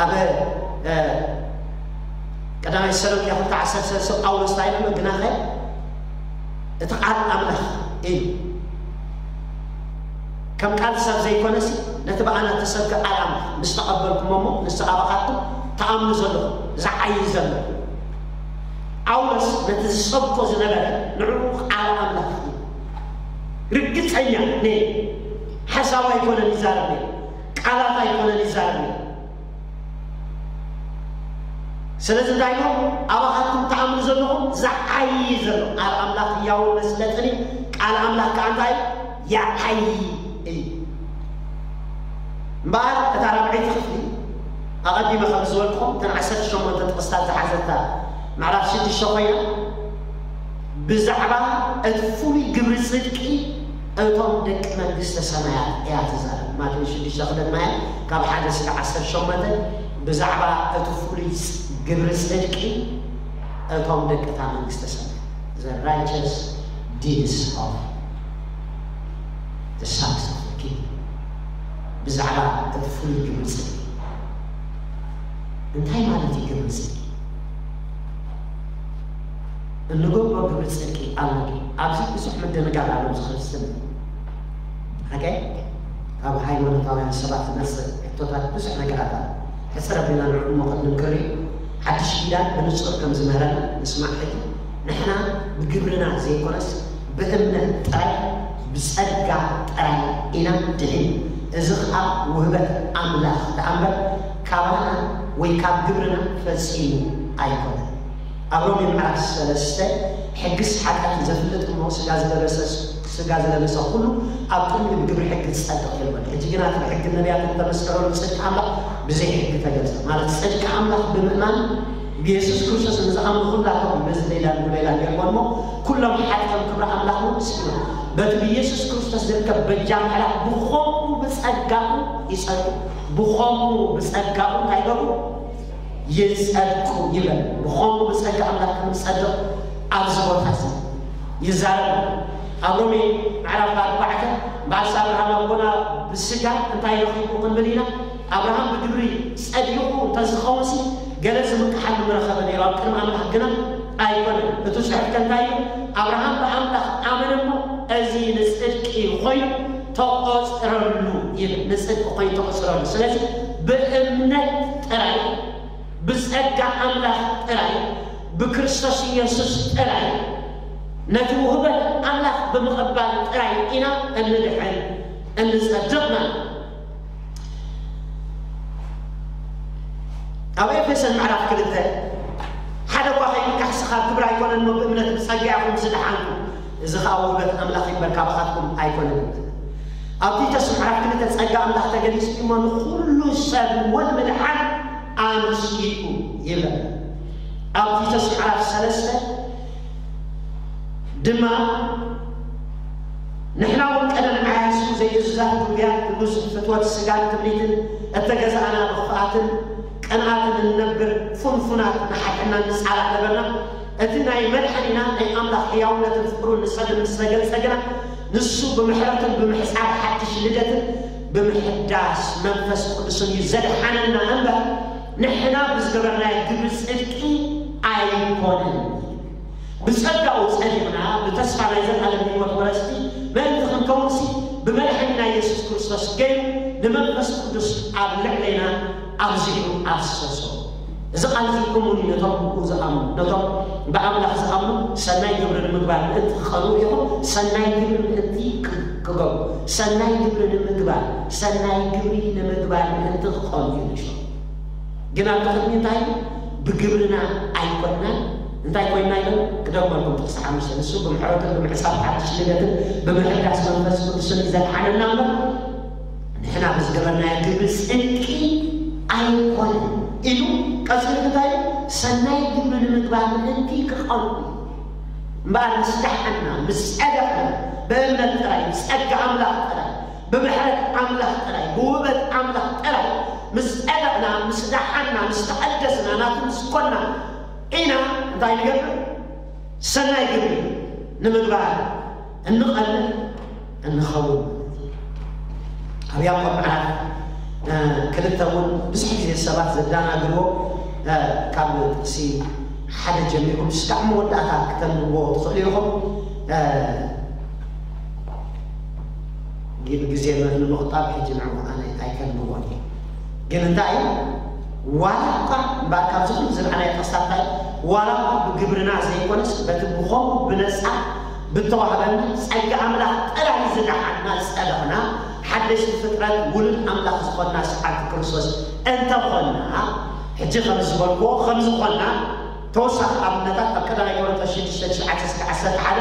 ኣብ ቀዳማይ ተሰሎንቄ ክልተ ዓሰርተ ሰለስተ ጳውሎስ እንታይ ኢሉ? ግናኸ እቲ ቃል ኣምላኽ እዩ። ከም ቃል ሰብ ዘይኮነሲ፣ ነቲ ብኣና እተሰብከ ቃል ኣምላኽ ምስ ተቐበልኩሞ እሞ፣ ንሱ ኣባኻትኩም ትኣምኑ ዘለኹም፣ ዝዓዪ ዘሎ። ጳውሎስ ነቲ ዝሰብኮ ዝነበረ ንዕኡ ቃል ኣምላኽ እዩ። ርግጸኛ ነይሩ። ሓሳብ ኣይኮነን ይዛረብ ነይሩ። ቃላት ኣይኮነን ይዛረብ ነይሩ። ስለዚ እንታይ ኢሎም? ኣባኻትኩም ትኣምኑ ዘለኹም ዝዓዪ ዘሎ ቃል ኣምላኽ ህያውን መስለጥን እዩ። ቃል ኣምላኽ ከኣ እንታይ? ይዓዪ እዩ። እምበኣር እታ ራብዐይቲ ክፍሊ ኣቐዲመ ከም ዝበልኩኹም እተን ዓሰርተ ሸሞንተ ጥቕስታት ዝሓዘታ ምዕራፍ ሽዱሽተ ኮይና ብዛዕባ እቲ ፍሉይ ግብሪ ጽድቂ እቶም ደቂ መንግስተ ሰማያት እያ ትዛረብ። ማቴዎስ ሽዱሽተ ክልተ ማለት ካብ ሓደ እስካብ ዓሰርተ ሸሞንተ ብዛዕባ እቲ ፍሉይ ግብሪ ጽድቂ እቶም ደቂ እታ መንግስተ ሰማያት፣ the righteous deeds of the sons of the kingdom። ብዛዕባ እቲ ፍሉይ ግብሪ ጽድቂ እንታይ ማለት እዩ? ግብሪ ጽድቂ እንገብሮ ግብሪ ጽድቂ ኣሎ ድዩ? ኣብዚ ብዙሕ ምድንጋር ኣሎ። ኣብዚ ክርስትና ሓቀ ካብ ሃይማኖታውያን ሰባት ዝመጽእ ሕቶታት ብዙሕ ነገራት ኣሎ። ሕጽር ኣቢልና ንዕኡ እሞ ቅድሚ ክንርኢ ሓድሽ ኪዳን ብንጹር ከም ዝምህረና ንስማዕ። ሕጂ ንሕና ብግብርና ዘይኮነስ ብእምነት ጥራይ ብጸጋ ጥራይ ኢና ድሒን። እዚ ኸኣ ውህበት ኣምላኽ ደኣ እምበር ካባና ወይ ካብ ግብርና ፈጺሙ ኣይኮነን። ኣብ ሮሜ ምዕራፍ ሰለስተ ሕግስ ሓጢኣት ዘፍልጥ እሞ ስጋ ዝለበሰ ስጋ ዝለበሰ ኩሉ ኣብ ቅድሚ ብግብሪ ሕጊ ዝጸድቕ የልቦን። ሕጂ ግና እቲ ብሕጊ ነቢያት እተመስከረሉ ጽድቂ ኣምላኽ ብዘይ ሕጊ ተገልጸ። ማለት ጽድቂ ኣምላኽ ብምእማን ብየሱስ ክርስቶስ ንዝኣምኑ ኩላቶም በዚ ሌላ ንብሌላ ጌርዎ እሞ ኩሎም ሓጢኦም ክብሪ ኣምላኽ እውን ስኢኖም። በቲ ብየሱስ ክርስቶስ ዝርከብ በጃ ምሕረት ብኸምኡ ብጸጋኡ ይጸድቁ። ብኸምኡ ብጸጋኡ እንታይ ገብሩ? ይጸድቁ ይብል። ብኸምኡ ብጸጋ ኣምላኽ ከም ዝጸድቕ ኣብዚ ቦታ እዚ ይዛረብ። ኣብ ሮሜ ምዕራፍ ኣርባዕተ በዓል ኣብርሃም ኣቦና ብስጋ እንታይ ረኺቡ ክንብል ኢና? ኣብርሃም ብግብሪ ጸዲቑ እንተዝኸውንሲ ገለ ዝምክሓሉ ምረኸበ ነይሩ፣ ኣብ ቅድሚ ኣምላኽ ግና ኣይኮነን። እቲ ጽሑፍ ከ እንታይ እዩ? ኣብርሃም ብኣምላኽ ኣመነ እሞ እዚ ንጽድቂ ኮይኑ ተቖጽረሉ ይብል። ንጽድቂ ኮይኑ ተቖጽረሉ። ስለዚ ብእምነት ጥራይ፣ ብጸጋ ኣምላኽ ጥራይ፣ ብክርስቶስ ኢየሱስ ጥራይ፣ ነቲ ውህበት ኣምላኽ ብምቕባል ጥራይ ኢና እንድሕን እንጸድቕ ማለት እዩ። ኣብ ኤፌሶን ምዕራፍ ክልተ ሓደ እኳ ከይምካሕሲ ካብ ግብሪ ኣይኮነን እሞ ብእምነት ብጸጋ ኢኹም ዝደሓንኩም፣ እዚ ኸኣ ውህበት ኣምላኽ እዩ እምበር ካባኻትኩም ኣይኮነን። ኣብ ቲቶስ ምዕራፍ ክልተ ጸጋ ኣምላኽ ተገሊጹ እዩ እሞ ንኹሉ ሰብ እውን ምድሓን ኣምጺኡ ይብል። ኣብ ቲቶስ ምዕራፍ ሰለስተ ድማ ንሕና እውን ቀደም ዓያሱ ዘይእዙዛት ግጉያት ብብዙሕ ፍትወት ስጋን ትምኒትን እተገዛእና ብኽፍኣትን ቅንኣትን እንነብር ፍንፉናት ንሓድሕድና ንጻላእ ነበርና። እቲ ናይ መድሓኒና ናይ ኣምላኽ ሕያውነትን ፍቕሩን ንሰብ ምስ ተገልጸ ግና ንሱ ብምሕረትን ብምሕጻብ ሓድሽ ልደትን ብምሕዳስ መንፈስ ቅዱስን እዩ ዘድሓነና እምበር ንሕና ብዝገበርናዮ ግብሪ ጽድቂ ኣይኮነን። ብጸጋኡ ጸዲቕና ብተስፋ ናይ ዘላለም ህይወት ወረስቲ ምእንቲ ክንከውንሲ ብመድሓኒና የሱስ ክርስቶስ ገይሩ ንመንፈስ ቅዱስ ኣብ ልዕሌና ኣብዚሑ ኣፍሰሶ። እዚ ቃል እዚ እሙን እዩ ነቶም ብኡ ዝኣምኑ፣ ነቶም ብኣምላኽ ዝኣምኑ ሰናይ ግብሪ ንምግባር ምእንቲ ክቐንኡ ኢኹም፣ ሰናይ ግብሪ ምእንቲ ክ- ክገብሩ፣ ሰናይ ግብሪ ንምግባር፣ ሰናይ ግብሪ ንምግባር ምእንቲ ክቐንኡ እዩ ንሾ። ግን ኣብ ቅድሚ እንታይ ብግብርና ኣይኮንናን፣ እንታይ ኮይና ኢለን ክደግመልኩም ጥቕሲ ሓሙሽተ፣ ንሱ ብምሕረቱን ብምሕጻብ ሓድሽ ልደትን ብምሕዳስ መንፈስ ቅዱስን እዩ ዘድሓነና እምበር፣ ንሕና ብዝገበርናዮ ግብሪ ጽድቂ ኣይኮነን ኢሉ። ቀጺሉ እንታይ ኢሉ? ሰናይ ግብሪ ንምግባር ምእንቲ ክቐርቡ እዩ። እምበኣር ምስ ደሓና፣ ምስ ጸደቕና፣ ብእምነት ጥራይ፣ ብጸጋ ኣምላኽ ጥራይ፣ ብምሕረት ኣምላኽ ጥራይ፣ ብውህበት ኣምላኽ ጥራይ ምስ ጸደቕና፣ ምስ ደሓና፣ ምስ ተቐደስና፣ ናቱ ምስ ኮና ኢና። እንታይ ንገብር? ሰናይ ግብሪ ንምግባር እንቐልል እንኸውን። ኣብ ያዕቆብ ምዕራፍ፣ እ፣ ክልተ እውን ብዙሕ ግዜ ሰባት ዘደናግርዎ፣ እ፣ ካብ ጥቕሲ ሓደ ጀሚርኩም እስካዕ መወዳእታ ክተንብብዎ ትኽእሉ ኢኹም። እ፣ ግን ግዜ ንምቑጣብ ሕጂ ንዕኡ ኣነ ኣይከንብቦን እየ። ግን እንታይ እዩ? ዋላ እኳ እምበኣር ካብዚ ኩሉ ዝረኣናዮ ጥቕስታት እንታይ እዩ? ዋላ እኳ ብግብርና ዘይኮነስ በቲ ብኸምኡ ብነጻ ብተዋህበና ጸጋ ኣምላኽ ጥራይ ዝደሓንና ዝጸደቕና ሓደሽቲ ፍጥረት ውሉድ ኣምላኽ ዝኾንና ሰዓብቲ ክርስቶስ እንተኾንና፣ ሕጂ ከም ዝበልክዎ ከም ዝኾንና ተወሳኺ ኣብነታት ኣብ ቀዳማይ ቆሮንቶስ ሽዱሽተ ትሽዓተ እስከ ዓሰርተ ሓደ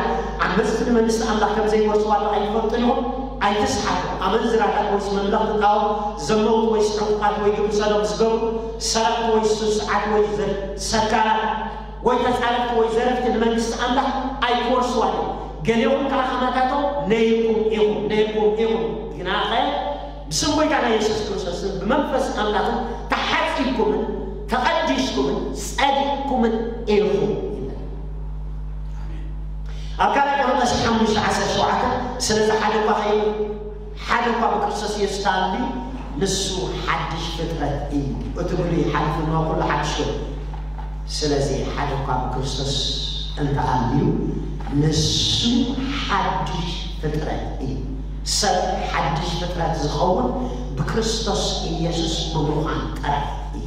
ዓመጽቲ ንመንግስቲ ኣምላኽ ከም ዘይወርሱ ዋላ ኣይትፈልጡን ኢኹም። ኣይትስሓቱ። ኣመንዝራታት ወይስ መምለኽቲ ጣዖት፣ ዘመውቲ ወይስ ዕንቁፋት ወይ ግብረ ሰዶም ዝገብሩ፣ ሰረቕቲ ወይስ ስሱዓት ወይ ዘ-፣ ሰካራት ወይ ተጻረፍቲ ወይ ዘረፍቲ ንመንግስቲ ኣምላኽ ኣይክወርስዋን እዮም። ገሊኹም ከኣ ከማታቶም ነይርኩም ኢኹም፣ ነይርኩም ኢኹም። ግናኸ ብስም ጐይታና የሱስ ክርስቶስን ብመንፈስ ኣምላኽን ተሓጺብኩምን ተቐዲስኩምን ጸዲቕኩምን ኢኹም ይብል። ኣብ ካልኣይ ቆሮንቶስ ሓሙሽተ ዓሰርተ ሸውዓተ፣ ስለዚ ሓደ እኳ ኸይኑ፣ ሓደ እኳ ብክርስቶስ ኢየሱስ ተኣልዩ፣ ንሱ ሓድሽ ፍጥረት እዩ። እቲ ብሉይ ሓሊፉ፣ እነሆ ኩሉ ሓድሽ ኮይኑ። ስለዚ ሓደ እኳ ብክርስቶስ እንተኣልዩ፣ ንሱ ሓድሽ ፍጥረት እዩ። ሰብ ሓድሽ ፍጥረት ዝኸውን ብክርስቶስ ኢየሱስ ብምዃን ጥራይ እዩ።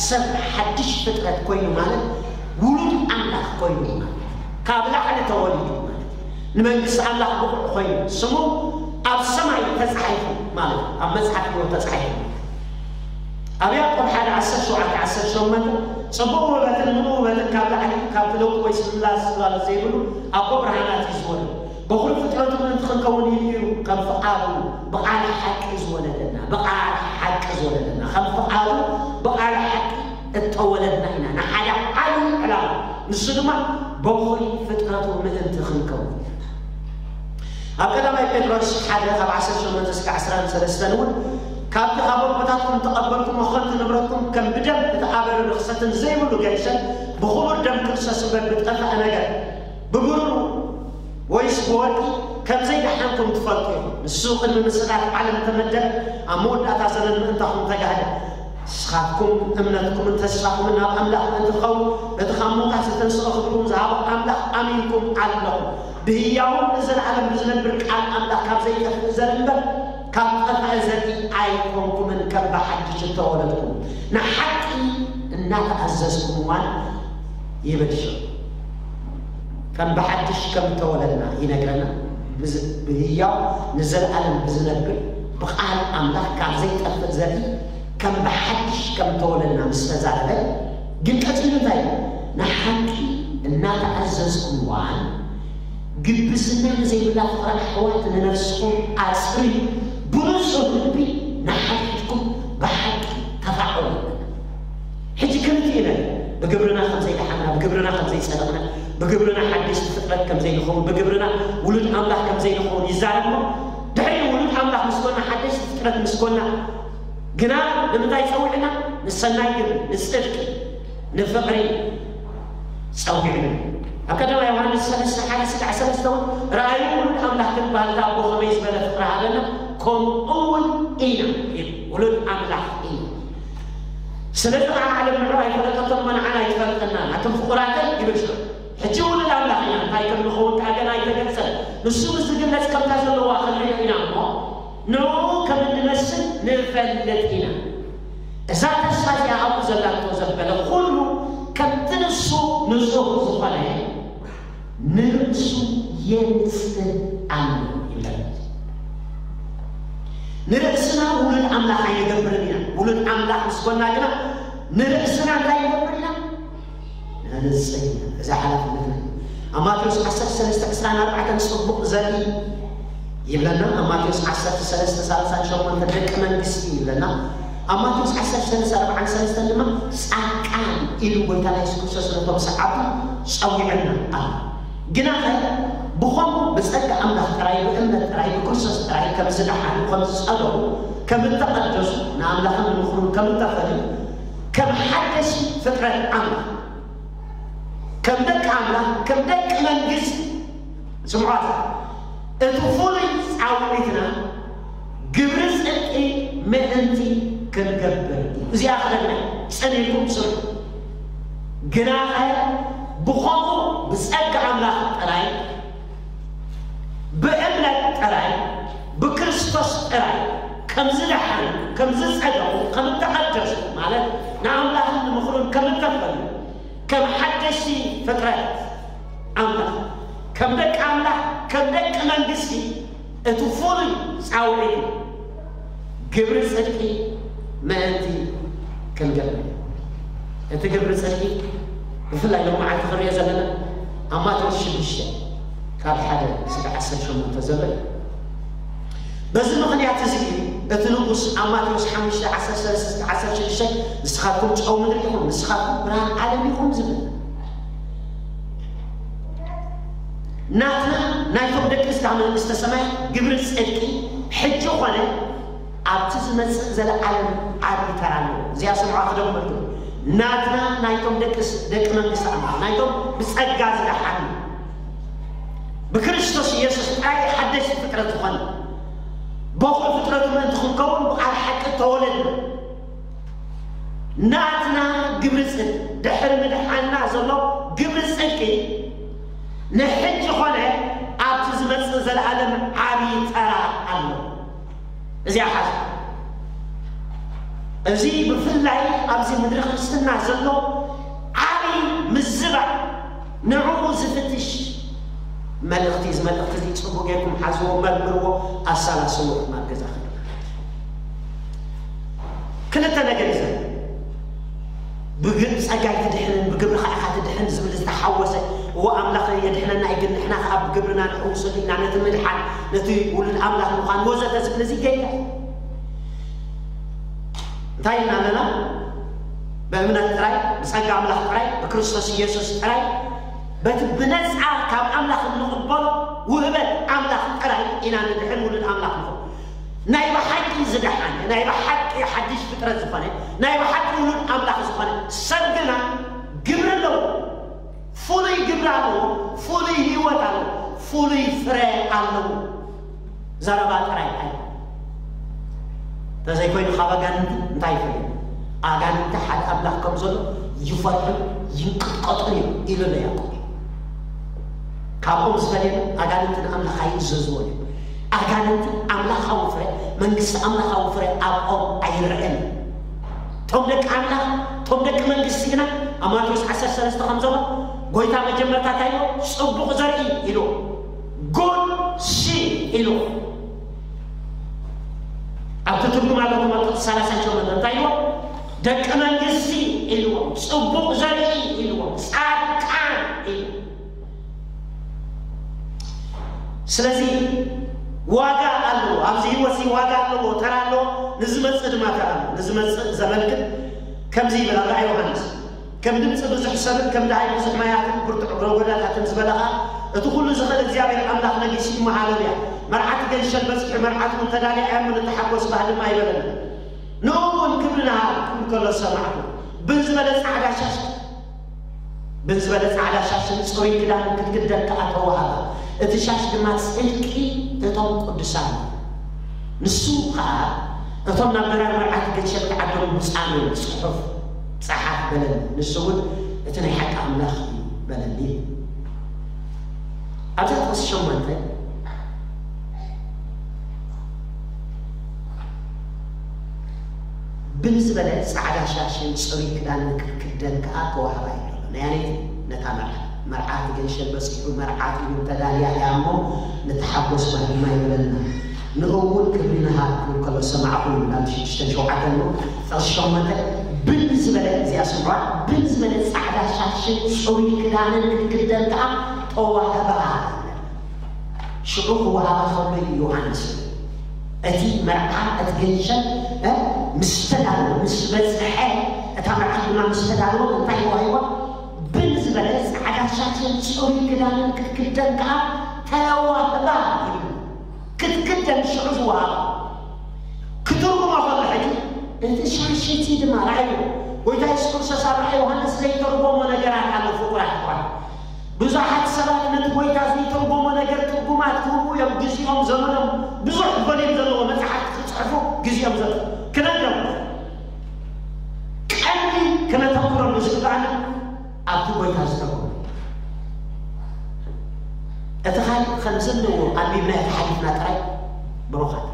ሰብ ሓድሽ ፍጥረት ኮይኑ ማለት ውሉድ ኣምላኽ ኮይኑ ማለት እዩ። ካብ ላዕሊ ተወሊዱ ማለት እዩ። ንመንግስቲ ኣምላኽ ብቑዕ ኮይኑ ስሙ ኣብ ሰማይ ተጻሒፉ ማለት እዩ። ኣብ መጽሓፍ ህይወት ተጻሒፉ። ኣብ ያዕቆብ ሓደ ዓሰርተ ሸውዓተ ዓሰርተ ሸሞንተ፣ ጽቡቕ ውህበትን ምሉእ ውህበትን ካብ ላዕሊ፣ ካብቲ ለውጢ ወይ ስልላስ ጽላሎት ዘይብሉ ኣቦ ብርሃናት እዩ ዝወርድ። በኹሪ ፍጥረቱ ምእንቲ ክንከውን ኢሉ እዩ ከም ፍቓዱ ብቓል ሓቂ ዝወለደና፣ ብቓል ሓቂ ዝወለደና፣ ከም ፍቓዱ ብቓል ሓቂ እተወለድና ኢና ንሓደ ዓቢ ዕላማ፣ ንሱ ድማ በኹሪ ፍጥረቱ ምእንቲ ክንከውን። ኣብ ቀዳማይ ጴጥሮስ ሓደ ካብ ዓሰርተ ሸሞንተ እስከ ዓሰርተ ሰለስተ እውን፣ ካብቲ ካብ ኣቦታትኩም እተቐበልኩሞ ከንቱ ንብረትኩም ከም ብደም እተኣበረ ርኽሰትን ዘይብሉ ገንሸል ብኽቡር ደም ክርስቶስ እምበር ብጠፍአ ነገር፣ ብብሩር ወይስ ብወርቂ፣ ከም ዘይደሓንኩም ትፈልጡ ኢኹም። ንሱ ቅድሚ ምስራት ዓለም እተመደበ፣ ኣብ መወዳእታ ዘመን ምእንታኹም ተጋህደ። ንስኻትኩም እምነትኩምን ተስፋኹምን ናብ ኣምላኽ ምእንቲ ክኸውን፣ በቲ ካብ ምዉታት ዝተንስኦ ክብርኩም ዝሃቦ ኣምላኽ ኣሚንኩም ኣለኹም። ብህያውን ንዘለኣለም ብዝነብር ቃል ኣምላኽ ካብ ዘይጠፍእ ዘርኢ እምበር፣ ካብ ጠፍአ ዘርኢ ኣይኮንኩምን፣ ከም ብሓድሽ እተወለድኩም፣ ንሓቂ እናተኣዘዝኩምዋን ይብል ሽዑ። ከም ብሓድሽ ከም እተወለድና ይነግረና። ብዝ-፣ ብህያው ንዘለኣለም ብዝነብር ብቓል ኣምላኽ ካብ ዘይጠፍእ ዘርኢ ከም ብሓድሽ ከም እተወለድና ምስ ተዛረበ፣ ግን ቀጺሉ እንታይ ኢሉ? ንሓቂ እናተኣዘዝኩምዋን ግብዝና ንዘይብላ ፍቕሪ ኣሕዋት ንነፍስኹም ኣጽርዩ፣ ብንጹህ ልቢ ንሓድሕድኩም ብሓቂ ተፋቐሩ። ሕጂ ክልቲኡ ኢና፣ ብግብርና ከም ዘይደሓንና፣ ብግብርና ከም ዘይጸደቕና፣ ብግብርና ሓደሽቲ ፍጥረት ከም ዘይንኸውን፣ ብግብርና ውሉድ ኣምላኽ ከም ዘይንኸውን ይዛረብ እሞ፣ ድሕሪኡ ውሉድ ኣምላኽ ምስ ኮና፣ ሓደሽቲ ፍጥረት ምስ ኮና፣ ግና ንምንታይ ጸዊዕና? ንሰናይ ግብሪ፣ ንጽድቂ፣ ንፍቕሪ ጸዊዕና። ኣብ ቀዳማይ ዮሃንስ ሰለስተ ሓደ እስካዕ ሰለስተ እውን፣ ረኣዩ፣ ውሉድ ኣምላኽ ክንበሃል እታ ኣቦ ኸመይ ዝበለ ፍቕሪ ሃበና፣ ከምኡ እውን ኢና ኢሉ። ውሉድ ኣምላኽ ኢና። ስለዚ ኸዓ ዓለም ንዕኡ ኣይፈለጠቶን እሞ ንዓና ኣይትፈልጠናን። ኣቱም ፍቑራተይ ይብል ሽዑ። ሕጂ ውሉድ ኣምላኽ ኢና፣ እንታይ ከም ንኸውን ከኣ ገና ኣይተገልጸን። ንሱ ምስ ዝግለጽ ከምታ ዘለዋ ክንሪኦ ኢና እሞ፣ ንዕኡ ከም እንመስል ንፈልጥ ኢና። እዛ ተስፋ እዚኣ ኣብኡ ዘላቶ ዘበለ ኩሉ ከምቲ ንሱ ንጹህ ዝኾነ ንርእሱ የንጽህ ኣሎ ይብል። ንርእስና ውሉድ ኣምላኽ ኣይንገብርን ኢና። ውሉድ ኣምላኽ ምስ ኮና ግና ንርእስና እንታይ ንገብር ኢና? ነንጽይ። እዚ ሓላፍነትና እዩ። ኣብ ማቴዎስ ዓሰርተ ሰለስተ ዕስራን ኣርባዕተን ጽቡቕ ዘርኢ ይብለና። ኣብ ማቴዎስ ዓሰርተ ሰለስተ ሰላሳን ሸሞንተን ደቂ መንግስቲ ይብለና። ኣብ ማቴዎስ ዓሰርተ ሰለስተ ኣርባዓን ሰለስተን ድማ ጻድቃን ኢሉ ጎይታና የሱስ ክርስቶስ ነቶም ሰዓብቱ ጸዊዑና ኣሎ። ግናኸ ብኸምኡ ብጸጋ ኣምላኽ ጥራይ፣ ብእምነት ጥራይ፣ ብክርስቶስ ጥራይ ከም ዝደሓኑ፣ ከም ዝጸደቑ፣ ከም እተቐደሱ፣ ንኣምላኽን ንምኽሩን ከም እተፈልዩ፣ ከም ሓደሽ ፍጥረት ኣምላኽ፣ ከም ደቂ ኣምላኽ፣ ከም ደቂ መንግስቲ፣ ስምዖት፣ እቲ ፍሉይ ጻውዒትና ግብሪ ጽድቂ ምእንቲ ክንገብር እዩ። እዚኣ ክደግማ፣ ጸኒዕኩም ስምዑ። ግናኸ ብኸምኡ ብጸጋ ኣምላኽ ጥራይ፣ ብእምነት ጥራይ፣ ብክርስቶስ ጥራይ ከም ዝደሓኑ፣ ከም ዝጸደቑ፣ ከም እተቐደሱ፣ ማለት ንኣምላኽን ንምኽሩን ከም እተፈልዩ፣ ከም ሓደሽቲ ፍጥረት ኣምላኽ፣ ከም ደቂ ኣምላኽ፣ ከም ደቂ መንግስቲ፣ እቲ ፍሉይ ጻውዒት ግብሪ ጽድቂ ምእንቲ ክንገብር። እቲ ግብሪ ጽድቂ ብፍላይ ሎመዓልቲ ክንሪኦ ዘለና ኣብ ማቴዎስ ሽዱሽተ ካብ ሓደ ክሳብ ዓሰርተ ሸሞንተ ዘሎ እዩ። በዚ ምኽንያት እዚ እዩ እቲ ንጉስ ኣብ ማቴዎስ ሓሙሽተ ዓሰርተ ሰለስተ እስከ ዓሰርተ ሽዱሽተ፣ "ንስኻትኩም ጨው ምድሪ ኢኹም፣ ንስኻትኩም ብርሃን ዓለም ኢኹም" ዝብል። ናትና፣ ናይቶም ደቂ እዛ መንግስተ ሰማይ ግብሪ ጽድቂ ሕጂ ኾነ ኣብቲ ዝመጽእ ዘለዓለም ዓቢ ተራ ኣለዎ። እዚኣ ስምዑ ክደግመልኩም። ናትና፣ ናይቶም ደቂ ስ-፣ ደቂ መንግስቲ ኣምላኽ፣ ናይቶም ብጸጋ ዝደሓኑ፣ ብክርስቶስ ኢየሱስ ጥራይ ሓደሽቲ ፍጥረት ዝኾነ፣ በኹር ፍጥረቱ ምእንቲ ክንከውን ብቓል ሓቂ ተወለድና። ናትና ግብሪ ጽድቂ፣ ድሕሪ ምድሓንና ዘሎ ግብሪ ጽድቂ፣ ንሕጂ ኾነ ኣብቲ ዝመጽእ ዘለዓለም ዓቢ ተራ ኣሎ። እዚኣ ሓዝ። እዚ ብፍላይ ኣብዚ ምድሪ ክርስትና ዘሎ ዓቢ ምዝባዕ፣ ንዕኡ ዝፍትሽ መልእኽቲ፣ እዚ መልእኽቲ እዚ ጽቡቕ ጌርኩም ሓዝዎ፣ መርምርዎ፣ ኣሰላስልዎ። ኣብ ገዛ ክልተ ነገር እዩ ዘሎ። ብግ-፣ ብጸጋ ኣይትድሕንን፣ ብግብርኻ ኢኻ ትድሕን ዝብል ዝተሓወሰ፣ እዎ ኣምላኽ የድሕነና እዩ፣ ግን ንሕና ከኣ ብግብርና ንሕውሰሉ ኢና፣ ነቲ ምድሓን፣ ነቲ ውሉድ ኣምላኽ ምዃን ወዘተ ዝብል እዚ ጌጋ። እንታይ ኢልና ኣለና? ብእምነት ጥራይ፣ ብጸጋ ኣምላኽ ጥራይ፣ ብክርስቶስ ኢየሱስ ጥራይ፣ በቲ ብነጻ ካብ ኣምላኽ እንቕበሎ ውህበት ኣምላኽ ጥራይ ኢና ንድሕን ውሉድ ኣምላኽ ንኹን። ናይ ብሓቂ ዝደሓነ፣ ናይ ብሓቂ ሓድሽ ፍጥረት ዝኾነ፣ ናይ ብሓቂ ውሉድ ኣምላኽ ዝኾነ ሰብ ግና ግብሪ ኣለዎ። ፍሉይ ግብሪ ኣለዎ፣ ፍሉይ ህይወት ኣለዎ፣ ፍሉይ ፍረ ኣለዎ። ዘረባ ጥራይ ኣይኮነን። እንተዘይኮይኑ ካብ ኣጋንንቲ እንታይ ይፈልዩ? ኣጋንንቲ ሓደ ኣምላኽ ከም ዘሎ ይፈርሑን ይንቅጥቀጡን እዮም ኢሉ ኣሎ ያዕቆብ። ካብኦም ዝፈልየና ኣጋንንቲ ንኣምላኽ ኣይእዘዝዎን እዮም። ኣጋንንቲ ኣምላኻዊ ፍረ፣ መንግስቲ ኣምላኻዊ ፍረ ኣብኦም ኣይረአን። እቶም ደቂ ኣምላኽ፣ እቶም ደቂ መንግስቲ ግና ኣብ ማቴዎስ ዓሰርተ ሰለስተ ከም ዘሎ ጎይታ መጀመርታ እንታይ ኢልዎ? ጽቡቕ ዘርኢ ኢልዎ። ጉድ ሲድ ኢልዎ። ኣብቲ ትርጉም ኣለኩም ኣብ ጥቕሲ ሰላሳን ሸሞንተን እንታይ ኢልዎ? ደቂ መንግስቲ ኢልዎ። ጽቡቕ ዘርኢ ኢልዎ። ጻድቃን ኢልዎ። ስለዚ ዋጋ ኣለዎ። ኣብዚ ህይወት እዚ ዋጋ ኣለዎ፣ ተራ ኣለዎ። ንዝመጽእ ድማ ተራ ኣለዎ። ንዝመጽእ ዘመን ግን ከምዚ ይብል ኣብ ራእይ ዮሃንስ፣ "ከም ድምጺ ብዙሕ ሰብን ከም ደሃይ ብዙሕ ማያትን ብርቱዕ ጎዳታትን ዝበለ ኸኣ፣ እቲ ኩሉ ዝኽእል እግዚኣብሔር ኣምላኽ ነጊሱ እዩ፣ ሃሌሉያ። መርዓት ገንሸል በጺሑ፣ መርዓት እውን ተዳልያ እያ እሞ ንተሓጎስ፣ ባህልም ኣይበለና። ንእኡ እውን ክብሪ ንሃብ" ክብል ከሎ ሰማዕኩ። ብን ዝበለ ጻዕዳ ሻሽ ብን ዝበለ ጻዕዳ ሻሽን ጽሩይ ክዳንን ክትክደን ከኣ ተዋህባ። እቲ ሻሽ ድማ ጽድቂ እቶም ቅዱሳን እዩ። ንሱ ከኣ፣ "እቶም ናብ በራር መርዓት ገንሸል ክዓደሙ ብፁዓን እዮም፣ ጽሑፍ ጸሓፍ" በለኒ። ንሱ እውን፣ "እቲ ናይ ሓቂ ኣምላኽ እዩ" በለኒ። ኣብዛ ጥቕሲ ሸሞንተ፣ ብን ዝበለ ጻዕዳ ሻሽን ጽሩይ ክዳንን ክትክደን ከኣ ተዋህባ እዩ ዘሎ። ናይ ኣነይቲ ነታ መርዓ፣ መርዓት ገንሸል በጺሑ፣ መርዓት እውን ተዳልያ እያ እሞ ንተሓጎስ፣ ባህልም ኣይበለና። ንእኡ እውን ክብሪ ንሃብ ክብል ከሎ ሰማዕኩ ይብል ኣብ ሽዱሽተን ሸውዓተን እሞ፣ ጥቕሲ ሸሞንተ፣ "ብ" ብን ዝበለ፣ እዚኣ ስምዑ፣ ብን ዝበለ ጻዕዳ ሻሽን ጽሩይ ክዳንን ክትክደን ከኣ ተዋህባ። ሽዑ ክወሃባ ከሎ እዩ ዮሃንስ፣ እቲ መርዓ፣ እቲ ገንሸል፣ እ፣ ምስ ተዳለወ፣ ምስ በጽሐ፣ እታ መርዓ ድማ ምስ ተዳለወ እንታይ ተዋሂባ? ብን ዝበለ ጻዕዳ ሻሽን ጽሩይ ክዳንን ክትክደን ከኣ ተዋህባ ይብል። ክትክደን ሽዑ ዝወሃባ። ክትርጉሞ ከሎ ሕጂ፣ እቲ ሻሽ እቲ ድማ ርኣዩ። ጎይታ የሱስ ክርስቶስ ኣብ ራእይ ዮሃንስ ዘይተርጎሞ ነገራት ኣሎ፣ ፍቁራት ኣሕዋት። ብዙሓት ሰባት ነቲ ጎይታ ዘይተርጎሞ ነገር ትርጉማት ክህቡ እዮም። ግዜኦም፣ ዘመኖም፣ ብዙሕ ቮሊም ዘለዎ መጽሓፍቲ ክጽሕፉ ግዜኦም ዘጥ-፣ ክነግረም። ቀንዲ ክነተኩረሉ ዝግባኣና ኣብቲ ጎይታ ዝተርጎመ። እቲ ካልእ ከም ዘለዎ ኣንቢብና ተሓሊፍና ጥራይ፣ ብሩኻት።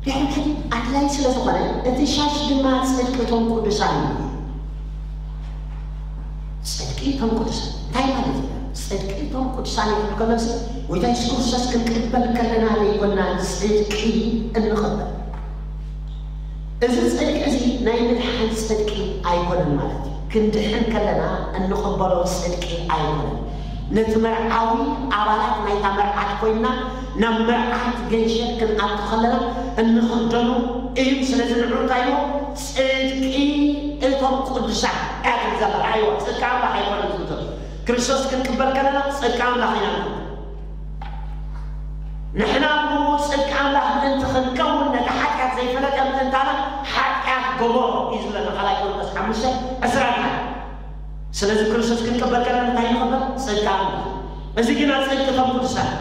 ድሕሪ ሕጂ ኣድላዪ ስለ ዝኾነ፣ እቲ ሻሽ ድማ ጽድቂ እቶም ቅዱሳን እዩ። ጽድቂ እቶም ቅዱሳን እንታይ ማለት እዩ? ጽድቂ እቶም ቅዱሳን ይብል ከሎሲ፣ ጎይታ የሱስ ክርስቶስ ክንቅበል ከለና ዘይኮና ጽድቂ እንቕበል። እዚ ጽድቂ እዚ ናይ ምድሓን ጽድቂ ኣይኮነን ማለት እዩ። ክንድሕን ከለና እንቕበሎ ጽድቂ ኣይኮነን። ነቲ መርዓዊ ኣባላት ናይታ መርዓት ኮይና ናብ መርዓት ገንሸል ክንኣቱ ከለና እንኽደኖ እዩ። ስለዚ ንዑ እንታይ እዩ? ጽድቂ እቶም ቅዱሳን እያ ትብል ዘላ። ራእይዋ ጽድቂ ኣምላኽ ኣይኮነን ትብል ዘሎ። ክርስቶስ ክንቅበል ከለና ጽድቂ ኣምላኽ ኢና ንቕበል። ንሕና ብኡ ጽድቂ ኣምላኽ ምእንቲ ክንከውን ነቲ ሓጢኣት ዘይፈለጠ ምእንታና ሓጢኣት ገበሮ እዩ ዝብለና ካልኣይ ቆሮንቶስ ሓሙሽተ ዕስራን ሓደን። ስለዚ ክርስቶስ ክንቅበል ከለና እንታይ ንቕበል? ጽድቂ ኣምላኽ። እዚ ግና ጽድቂ እቶም ቅዱሳን።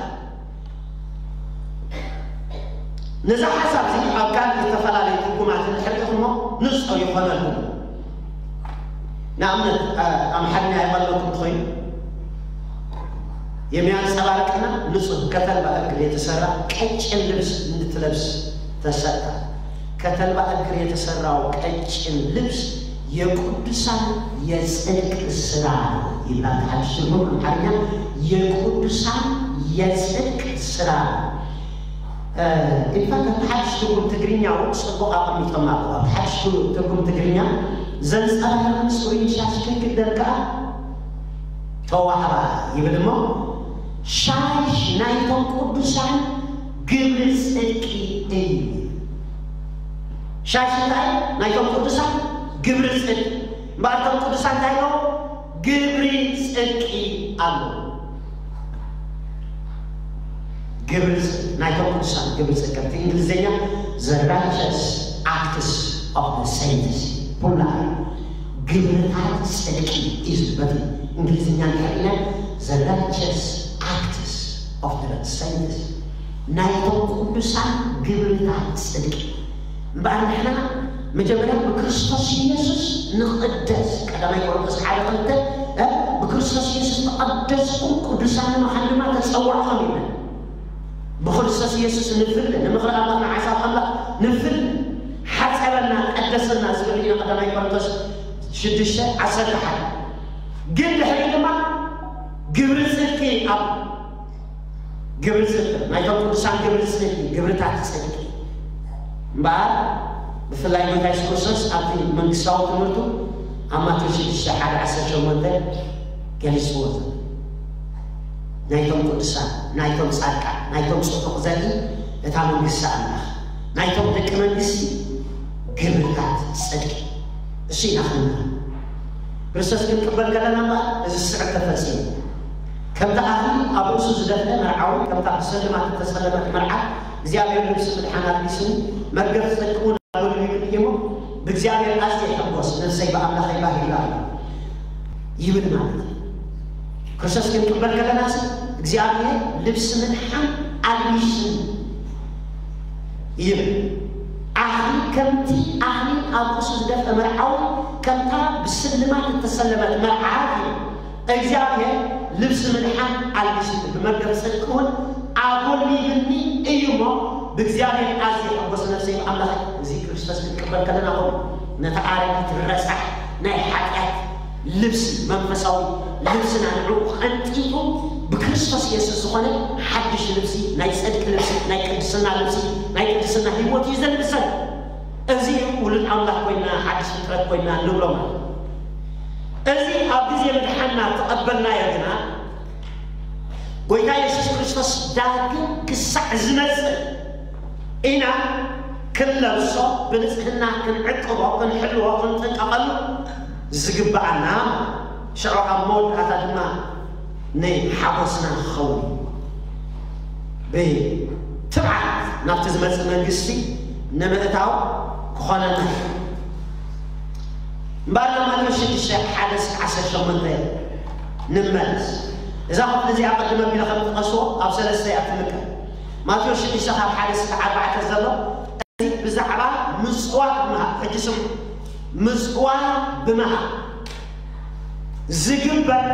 ነዚ ሓሳብ እዚ ኣብ ካልእ ዝተፈላለዩ ትርጉማት እንድሕር ኢኹሞ ንጹር ይኾነልኩም። ንኣብነት፣ ኣ-፣ ኣምሓርኛ የቐለልኩም እንተኾይኑ፣ የሚያንጸባርቅና ንጹህ ከተልባ እግር የተሰራ ቀጭን ልብስ እንድትለብስ ተሰጥታ። ከተልባ እግር የተሰራው ቀጭን ልብስ የቅዱሳን የጽድቅ ስራ ነው ይላል። ሓድሽ ትርጉም ኣምሓርኛ የቅዱሳን የጽድቅ ስራ ነው። እ፣ ኢንፋክት፣ ኣብቲ ሓድሽ ትርጉም ትግርኛ እውን ጽቡቕ ኣቐሚጦም ኣለዉ። ኣብቲ ሓድሽ ትርጉም ትግርኛ ዘንጸባርቕን ጽሩይን ሻሽ ክንክደን ከኣ ተዋህባ ይብል እሞ፣ ሻሽ ናይቶም ቅዱሳን ግብሪ ጽድቂ እዩ። ሻሽ እንታይ? ናይቶም ቅዱሳን ግብሪ ጽድቂ። እምበኣር እቶም ቅዱሳን እንታይ ኣለዎም? ግብሪ ጽድቂ ኣለዎም። ግብሪ ጽ-፣ ናይቶም ቅዱሳን ግብሪ ጽድቂ። እቲ እንግሊዝኛ the righteous acts of the saints። ኩላ ግብርታት ጽድቂ እዩ ዝብል። በቲ እንግሊዝኛ እንድሕር ኢልና the righteous acts of the saints። ናይቶም ቅዱሳን ግብርታት ጽድቂ። እምበኣር ንሕና መጀመርያ ብክርስቶስ ኢየሱስ ንቕደስ። ቀዳማይ ቆሮንቶስ ሓደ ክልተ፣ እ፣ ብክርስቶስ ኢየሱስ ተቐደስኩም ቅዱሳን ንምዃን ድማ ተጸዋዕኹም ይብል። ብክርስቶስ ኢየሱስ ንፍለ፣ ንምኽሪ ኣምላኽ፣ ንሓሳብ ኣምላኽ ንፍለ። ሓጸበና፣ ቀደሰና ዝብል ኢና ቀዳማይ ቆሮንቶስ ሽዱሽተ ዓሰርተ ሓደ። ግን ድሕሪ ድማ ግብሪ ጽድቂ ኣብ ግብሪ ጽድቂ፣ ናይቶም ቅዱሳን ግብሪ ጽድቂ፣ ግብርታት ጽድቂ። እምበኣር፣ ብፍላይ ጎይታ የሱስ ክርስቶስ ኣብቲ መንግስታዊ ትምህርቱ ኣብ ማቴዎስ ሽዱሽተ ሓደ ዓሰርተ ሸሞንተ ገሊጽዎ ዘሎ። ናይቶም ቅዱሳን፣ ናይቶም ጻድቃን፣ ናይቶም ጽቡቕ ዘርኢ እታ መንግስቲ ኣምላኽ፣ ናይቶም ደቂ መንግስቲ ግብርታት ጽድቂ። እሱ ኢና ክንምሃር። ክርስቶስ ክንቅበል ከለና እምበኣር እዚ ስዕብ ተፈጺሙ። ከምቲ ኣኽሊል ኣብ ርእሱ ዝደፍአ መርዓዊ፣ ከምታ ብስልማት እተሰለመት መርዓት፣ እግዚኣብሔር ልብሲ ምድሓን ኣልቢሱኒ፣ መርገፍ ጽድቂ እውን ኣጎልቢቡኒ እሞ፣ ብእግዚኣብሔር ኣዝየ ይሕጎስ፣ ነፍሰይ ብኣምላኸይ ባህጊ ኣላ ይብል ማለት እዩ። ክርስቶስ ክንቅበል ከለናስ እግዚኣብሔር ልብሲ ምድሓን ኣልቢሱኒ ይብል። ኣኽሊል፣ ከምቲ ኣኽሊል ኣብ ርእሱ ዝደፍአ መርዓዊ፣ ከምታ ብስልማት እተሰለመት መርዓት እዩ። እግዚኣብሔር ልብሲ ምድሓን ኣልቢሱኒ፣ ብመርገፍ ጽድቂ እውን ኣጎልቢብኒ እዩ እሞ፣ ብእግዚኣብሔር ኣዝየ ይሕጎስ፣ ነፍሰይ ብኣምላኸይ። እዚ ክርስቶስ ክንቅበል ከለና ኾን ነታ ኣረጊት ረሳሕ ናይ ሓጢኣት ልብሲ፣ መንፈሳዊ ልብስና ንዕኡ ቀንጢጡ ብክርስቶስ የሱስ ዝኾነ ሓድሽ ልብሲ፣ ናይ ጽድቂ ልብሲ፣ ናይ ቅድስና ልብሲ፣ ናይ ቅድስና ህይወት እዩ ዘልብሰን። እዚ ውሉድ ኣምላኽ ኮይና፣ ሓድሽ ፍጥረት ኮይና ንብሎ ማለት እዩ። እዚ ኣብ ግዜ ምድሓንና ተቐበልናዮ ግና፣ ጎይታ የሱስ ክርስቶስ ዳግም ክሳዕ ዝመጽእ ኢና ክንለብሶ፣ ብንጽህና ክንዕቅቦ፣ ክንሕልዎ፣ ክንጥንቀቐሉ ዝግብኣና። ሽዑ ኣብ መወዳእታ ድማ ናይ ሓጎስና ክኸውን እዩ። ብትብዓት ናብቲ ዝመጽእ መንግስቲ ንምእታው ክኾነና እዩ። እምበኣር ናብ ማቴዎስ ሽዱሽተ፣ ሓደ እስከ ዓሰርተ ሸሞንተ ንመለስ። እዛ ክፍሊ እዚኣ ቅድም ኣቢለ ከም ዝጠቐስዎ ኣብ ሰለስተ እያ ትምቀል። ማቴዎስ ሽዱሽተ ካብ ሓደ እስከ ኣርባዕተ ዘሎ፣ እዚ ብዛዕባ ምጽዋት ምሃብ፣ ሕጂ ስሙ፣ ምጽዋት ብምሃብ ዝግበር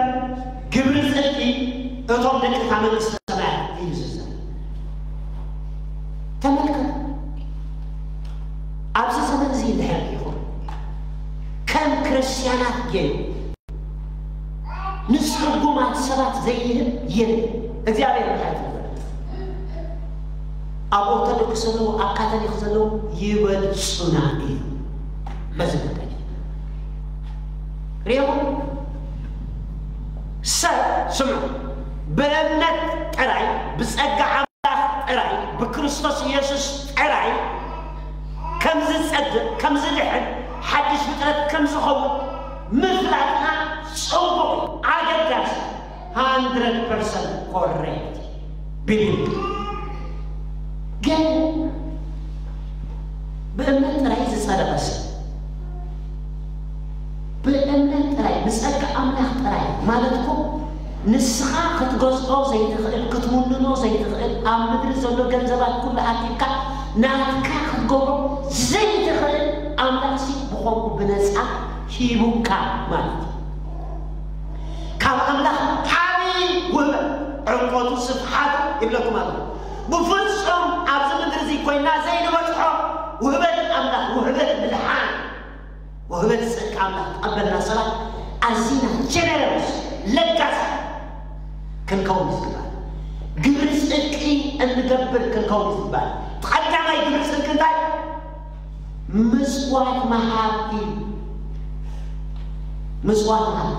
ግብሪ ጽድቂ እቶም ደቂ እታ መንግስተ ሰማያት እዩ ዝዛረብ። ተመልከቱ፣ ኣብዚ ዘመን እዚ እንድሕር ርኢኹም፣ ከም ክርስትያናት ገይሩ ንጽጉማት ሰባት ዘይህብ የለን። እግዚኣብሔር ምሕረት ይግበር። ኣብ ኦርቶዶክስ ዘለዉ፣ ኣብ ካቶሊክ ዘለዉ ይበልጹና እዩ። በዚ ጉዳይ ርኢኹም፣ ሰብ ስምዑ፣ ብእምነት ጥራይ፣ ብጸጋ ኣምላኽ ጥራይ፣ ብክርስቶስ ኢየሱስ ጥራይ ከም ዝጸድቕ፣ ከም ዝድሕን፣ ሓድሽ ፍጥረት ከም ዝኸውን ምፍላጥና ጽቡቕ እዩ፣ ኣገዳሲ፣ ሃንድረድ ፐርሰንት ኮሬክት ቢብሊካል። ግን ብእምነት ጥራይ ዝጸደቐ ሰብ፣ ብእምነት ጥራይ፣ ብጸጋ ኣምላኽ ጥራይ ማለት እኮ፣ ንስኻ ክትገዝኦ ዘይትኽእል፣ ክትውንኖ ዘይትኽእል፣ ኣብ ምድሪ ዘሎ ገንዘባት ኩሉ ኣኪብካ ናትካ ክትገብሮ ዘይትኽእል፣ ኣምላኽሲ ብኸምኡ ብነጻ ሂቡካ ማለት እዩ። ካብ ኣምላኽ ዓቢ ውህበት፣ ዕምቆቱ ስፍሓቱ ይብለኩም ኣለኹ። ብፍጹም ኣብዚ ምድሪ እዚ ኮይና ዘይንበጽሖ ውህበት ኣምላኽ፣ ውህበት ምድሓን፣ ውህበት ጽድቂ ኣምላኽ ተቐበልና ሰባት ኣዚና ጀነረስ፣ ለጋስ ክንከውን ዝግባእ። ግብሪ ጽድቂ እንገብር ክንከውን ዝግባእ። ቀዳማይ ግብሪ ጽድቂ እንታይ? ምጽዋት ምሃብ እዩ። ምጽዋት ምሃብ።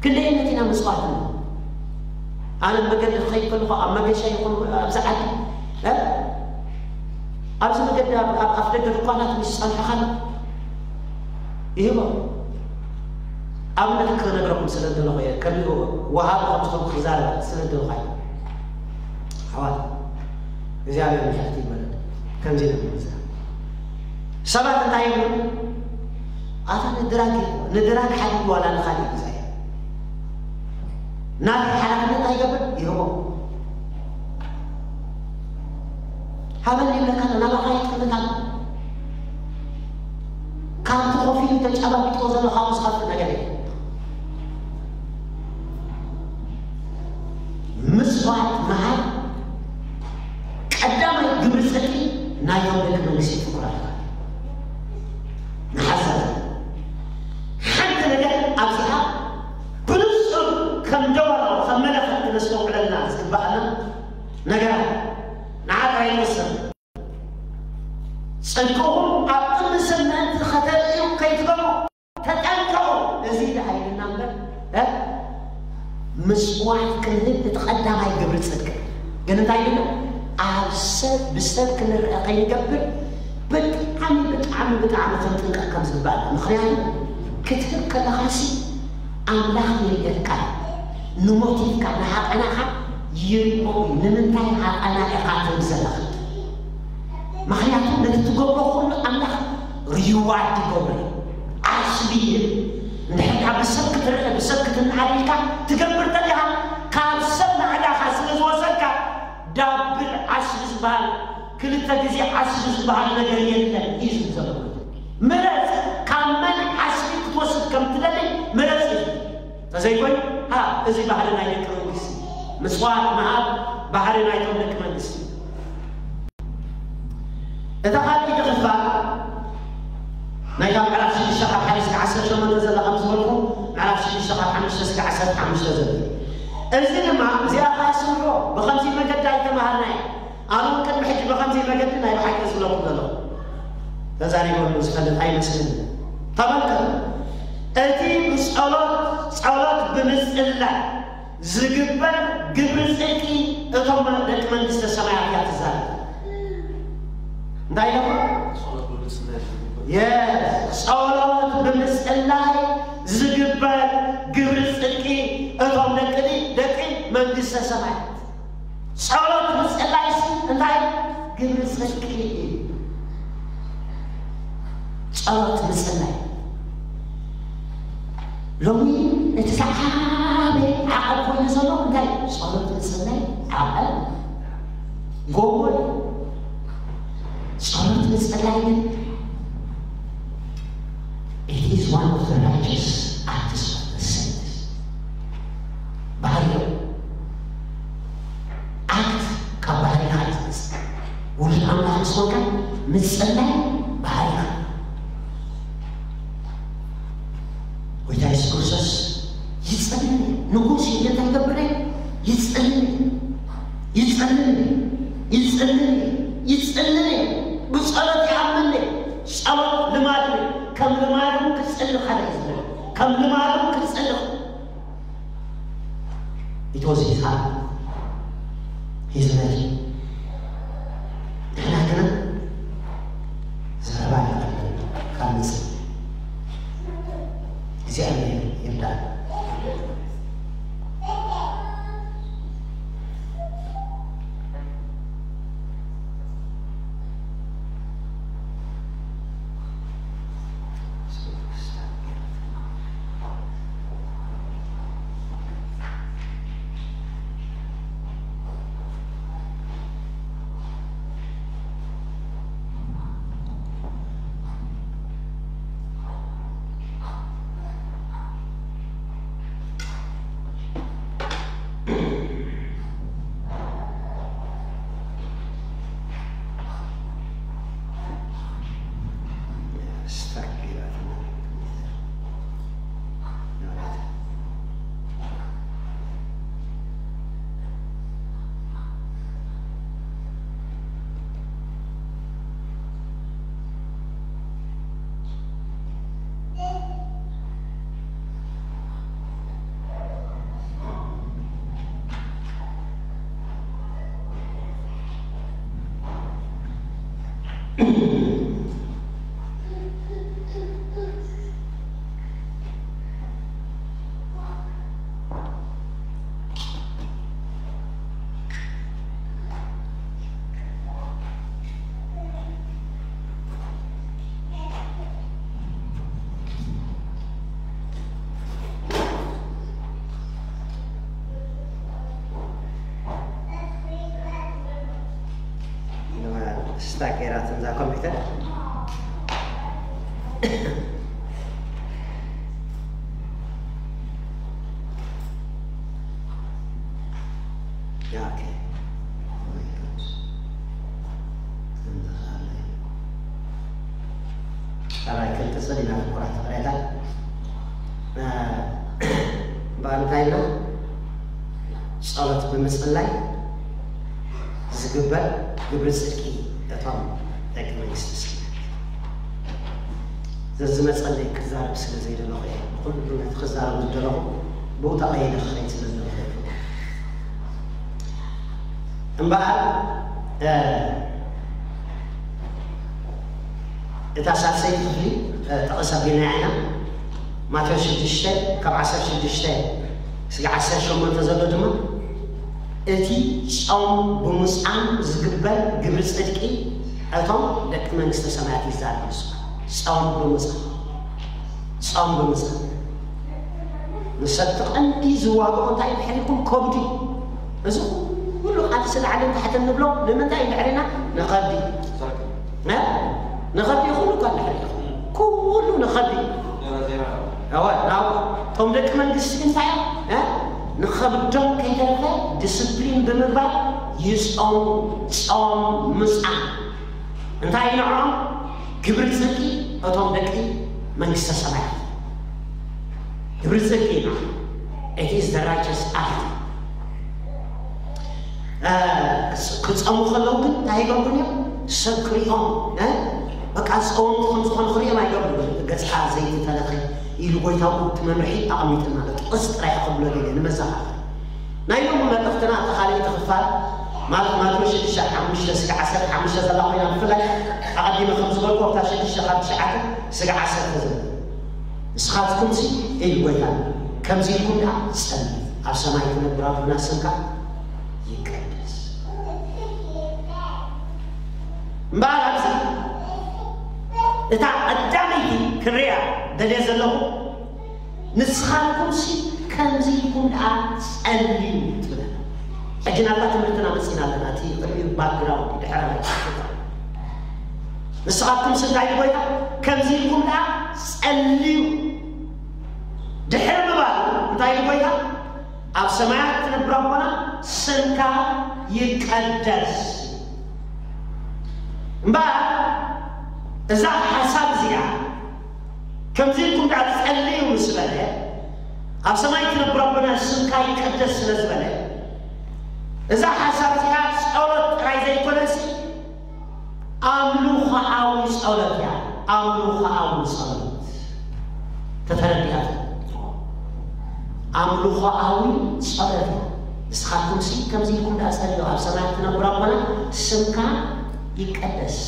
ክንደይነት ኢና ምጽዋት ንህብ? ኣነ መገዲ ክኸይድ ከለኹ፣ ኣብ መገሻ ይኹን ኣብዚ ዓዲ፣ እ? ኣብዚ መገዲ ኣብ፣ ኣብ ኣፍ ደገ ድኳናት ምስ ጸንሐኻ ይህቦ። ኣብነት ክነግረኩም ስለ ዝደለኹ እየ፣ ከመይ ወሃቢ ከም ዝኾንኩ ክዛረብ ስለ ዝደለኹ ኣይኮነን። ኣሕዋት፣ እግዚኣብሔር ምሕረት ይግበረልና። ከምዚ ኢለ ክምልሳ። ሰባት እንታይ ይብሉ? ኣታ ንድራግ እዩ፣ ንድራግ ሓዲጉ ዋላ ንኻሊእ ግዛይ። ናተይ ሓላፍነት እንታይ ይገብር? ይህቦ። ሃበኒ ይብለካ ኣሎ፣ ናባኻ ይጥምት ኣሎ። ካብቲ ኮፍ ኢሉ ተጫባቢጥዎ ዘሎ ካብኡ ዝኸፍእ ነገር የለን። ምጽዋት ምሃብ ቀዳማይ ግብሪ ጽድቂ ናይቶም ደቂ መንግስቲ ፍቁራት። ንሓሳብ ሓንቲ ነገር ኣብዚኣ ብንጹር ከም ደወላው ከም መለኸት ክነስተውዕለልና ዝግባኣና ነገራት ንዓ ጥራይ ንወስን። ጽድቅኹም ኣብ ቅድሚ ሰብ ምእንቲ ኸተርእዩ ከይትገርሙ ተጠንቀቑ። እዚ ደኣ ኢልና እምበር፣ እ? ምጽዋት ክንህብ እቲ ቀዳማይ ግብሪ ጽድቂ። ግን እንታይ ኢልና? ኣብ ሰብ፣ ብሰብ ክንረአ ከይንገብር ብጣዕሚ፣ ብጣዕሚ፣ ብጣዕሚ ክንጥንቀቕ ከም ዝግባእ። ምኽንያቱ ክትህብ ከለኻሲ ኣምላኽ ይርእየካ እዩ። ንሞቲቭካ፣ ንሃቐናኻ ይርእዮ እዩ። ንምንታይ ሃቐና ኢኻ ትህብ ዘለኻ? ምኽንያቱ ነቲ ትገብሮ ኩሉ ኣምላኽ ሪዋርድ ይገብሮ እዩ። ዓስቢ ይህብ። እንድሕር ካብ ብሰብ ክትረአ፣ ብሰብ ክትነኣድ ኢልካ ትገብር ተለኻ፣ ካብ ሰብ ናእዳኻ ስለ ዝወሰድካ፣ ዳብል ዓስቢ ዝበሃል፣ ክልተ ግዜ ዓስቢ ዝበሃል ነገር የለን እዩ ዝብል ዘሎ። ምረጽ፣ ካብ መን ዓስቢ ክትወስድ ከም ትደሊ ምረጽ እዩ። ተዘይኮይኑ፣ ሃ፣ እዚ ባህሪ ናይ ደቂ መንግስቲ፣ ምጽዋት ምሃብ ባህሪ ናይቶም ደቂ መንግስቲ። እታ ካልኣይቲ ክፋል ናይታ ምዕራፍ ሽዱሽተ ካብ ሓደ እስከ ዓሰርተ ሸሞንተ ዘላ ከም ዝበልኩ፣ ምዕራፍ ሽዱሽተ ካብ ሓሙሽተ እስከ ዓሰርተ ሓሙሽተ ዘሎ። እዚ ድማ፣ እዚኣ ኸዓ ስምዑ፣ ብኸምዚ መገዲ ኣይተማሃርናዮ። ኣነ እውን ቅድሚ ሕጂ ብኸምዚ መገዲ ናይ ብሓቂ ዝብለኩም ዘለኹ። ተዛሪበሉ ዝፈልጥ ኣይመስልን። ተመልከቱ፣ እቲ ብጸሎት፣ ጸሎት ብምጽላይ ዝግበር ግብሪ ጽድቂ እቶም ደቂ መንግስተ ሰማያት እያ ትዛረብ። እንታይ ኢለኹም? ጸሎት ብምጽላይ ዝግበር የስ፣ ጸሎት ብምጽላይ ዝግበር ግብሪ ጽድቂ እቶም ደቂ፣ ደቂ መንግስተ ሰማያት። ጸሎት ምጽላይሲ እንታይ? ግብሪ ጽድቂ እዩ። ጸሎት ምጽላይ። ሎሚ እቲ ዝዓበየ ዓቐብ ኮይኑ ዘሎ እንታይ? ጸሎት ምጽላይ ዓቐብ ጎቦ እዩ። ጸሎት ምጽላይ ግን it is one of the righteous acts of the saints። ባህሪ እዩ። ኣክት ካብ ባህሪኻ እዩ ዝመጽእ። ውሉድ ኣምላኽ ምስ ኮንካ ምጽላይ ባህሪኻ። ጎይታ የሱስ ክርስቶስ ይጸልይ እዩ። ንጉስ እዩ፣ እንታይ ይገብር እዩ? ይጸልይ እዩ። ይጸልይ እዩ። ይጸልይ እዩ። ይጸልይ እዩ። ብጸሎት ይኣምን እዩ። ጸሎት ልማድ እዩ። ከም ልማዱ ክጽሊ ሓደ እዩ ዝብል። ከም ልማዱ ክጽሊ። It was his heart, his nature። ንሕና ግና ዘረባ ይቐልል ካብ ምጽ እግዚኣብሔር ይርዳእ። ስታክ ጌራትን እዛ ኮምፒውተር። ኦኬ። ካልኣይ ክልተ ሰሊና ፍቁራት ፍቕሬታ። እ፣ ብኣንታይና ጸሎት ብምጽላይ ዝግበር ግብሪ ጽድቂ እቶም ደቂ መንግስቲ ሰማያት። ዘዝመጸለይ ክዛረብ ስለ ዘይደለኹ እየ። ኩሉ ነቲ ክዛረብ ዝደለኹ ብኡ ተቐይደ ክኸይድ ስለ ዝደለኹ እየ። እምበኣር፣ እ፣ እታ ሳልሰይቲ ክፍሊ፣ እ፣ ጠቕስ ኣቢልና ኢና። ማቴዎስ ሽዱሽተ ካብ ዓሰርተ ሽዱሽተ እስከ ዓሰርተ ሸሞንተ ዘሎ ድማ እቲ ጾም ብምጻም ዝግበር ግብሪ ጽድቂ እቶም ደቂ መንግስተ ሰማያት ይዛረብ ንሱ። ጾም ብምጻም፣ ጾም ብምጻም። ንሰብ እቲ ቀንዲ ዝዋግኦ እንታይ ድሕሪኩም? ከብዱ። እዚ ኩሉ ቃልሲ ላዕልን ታሕትን ንብሎ ንምንታይ ድሕሪና? ንኸብዲ። እ? ንኸብዲ ኩሉ እኳ ድሕሪ። ኩሉ ንኸብዲ። እወ፣ ናብ እቶም ደቂ መንግስቲ እንታይ እዮም? እ? ንኸብዶም ከይተረፈ ዲስፕሊን ብምግባር ይጾሙ። ጾም ምጻም። እንታይ እዩ ንዕኦም? ግብሪ ጽድቂ እቶም ደቂ መንግስተ ሰማያት። ግብሪ ጽድቂ እዩ። It is the righteous act። እ፣ ክጸሙ ከለዉ ግን እንታይ ይገብሩ እዮም? ሰብ ክሪኦም፣ እ፣ በቃ ዝጸወምቲ ከም ዝኾኑ ክርእዮም ኣይገብሩን። ገጽካ ዘይትተለኸ ኢሉ ጎይታኡ እቲ መምርሒ ኣቐሚጥልና ኣሎ። ጥቕስ ጥራይ ክብሎ ደልየ ንመዘኻኸር። ናይ ሎሚ መልእኽትና እታ ካልኣይቲ ክፋል ማለት ማቴዎስ ሽዱሽተ ሓሙሽተ ስጋዕ ዓሰርተ ሓሙሽተ ዘላ ኮይና፣ ብፍላይ ኣቐዲመ ከም ዝበልኩ ኣብታ ሽዱሽተ ካብ ትሽዓተ ስጋዕ ዓሰርተ ዘላ። ንስኻትኩምሲ ኢሉ ጎይታ፣ ከምዚ ኢልኩም ደኣ ጸልዩ፣ ኣብ ሰማይ ትነብር ኣቦና ስምካ ይቀደስ። እምበኣር ኣብዚ እታ ቀዳመይቲ ክርእያ ደልየ ዘለኹ፣ ንስኻትኩምሲ ከምዚ ኢልኩም ደኣ ጸልዩ ትብል። ሕጂ ናብታ ትምህርትና መጺና ኣለና። እቲ ቅድሚኡ ባክግራውንድ ድሕረ ባይታ። ንስኻትኩምሲ እንታይ ኢሉ ጎይታ? ከምዚ ኢልኩም ደኣ ጸልዩ። ድሕሪ ምባሉ እንታይ ኢሉ ጎይታ? ኣብ ሰማያት ትነብር ኣቦና ስምካ ይቀደስ። እምበኣር እዛ ሓሳብ እዚኣ ከምዚ ኢልኩም ደኣ ጸልዩ ምስ በለ፣ ኣብ ሰማይ ትነብር ኣቦና ስምካ ይቀደስ ስለ ዝበለ፣ እዛ ሓሳብ እዚኣ ጸሎት ጥራይ ዘይኮነሲ ኣምልኾኣዊ ጸሎት እያ። ኣምልኾኣዊ ጸሎት ተተረዲኣት። ኣምልኾኣዊ ጸሎት እያ። ንስኻትኩምሲ ከምዚ ኢልኩም ደኣ ጸልዩ፣ ኣብ ሰማያት ትነብር ኣቦና ስምካ ይቀደስ።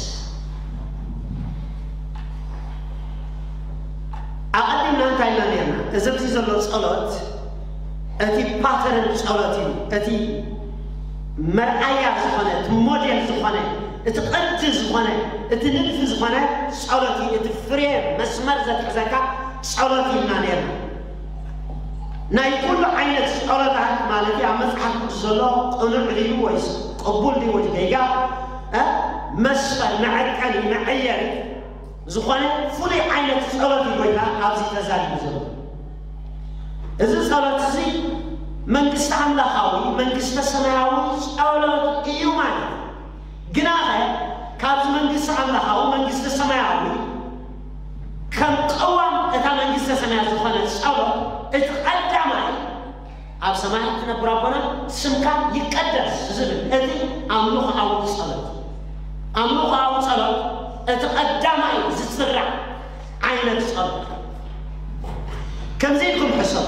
ኣቐዲምና እንታይ ኢልና ነርና? እዚ ኣብዚ ዘሎ ጸሎት እቲ ፓተርን ጸሎት እዩ። እቲ መርኣያ ዝኾነ፣ እቲ ሞዴል ዝኾነ፣ እቲ ቅዲ ዝኾነ፣ እቲ ንድፊ ዝኾነ ጸሎት እዩ። እቲ ፍሬ መስመር ዘትሕዘካ ጸሎት ኢልና ነርና። ናይ ኩሉ ዓይነት ጸሎታት ማለት እዩ፣ ኣብ መጽሓፍ ቅዱስ ዘሎ ቅኑዕ ድዩ ወይስ ቅቡል ድዩ ወይ ጌጋ፣ እ፣ መስፈር መዐቀኒ መዐየሪ ዝኾነ ፍሉይ ዓይነት ጸሎት እዩ ጎይታ ኣብዚ ተዛሪቡ ዘሎ። እዚ ጸሎት እዚ መንግስቲ ኣምላኻዊ፣ መንግስተ ሰማያዊ ጸሎት እዩ ማለት እዩ። ግናኸ ካብዚ መንግስቲ ኣምላኻዊ፣ መንግስቲ ሰማያዊ ከም ቅዋም እታ መንግስተ ሰማያት ዝኾነ ጸሎት እቲ ቀዳማይ ኣብ ሰማያት ትነብር ኣቦና ስምካ ይቀደስ ዝብል እቲ ኣምልኾኣዊ ጸሎት፣ ኣምልኾኣዊ ጸሎት እቲ ቀዳማይ ዝስራዕ ዓይነት ጸሎት። ከምዚ ኢልኩም ሕሰቡ።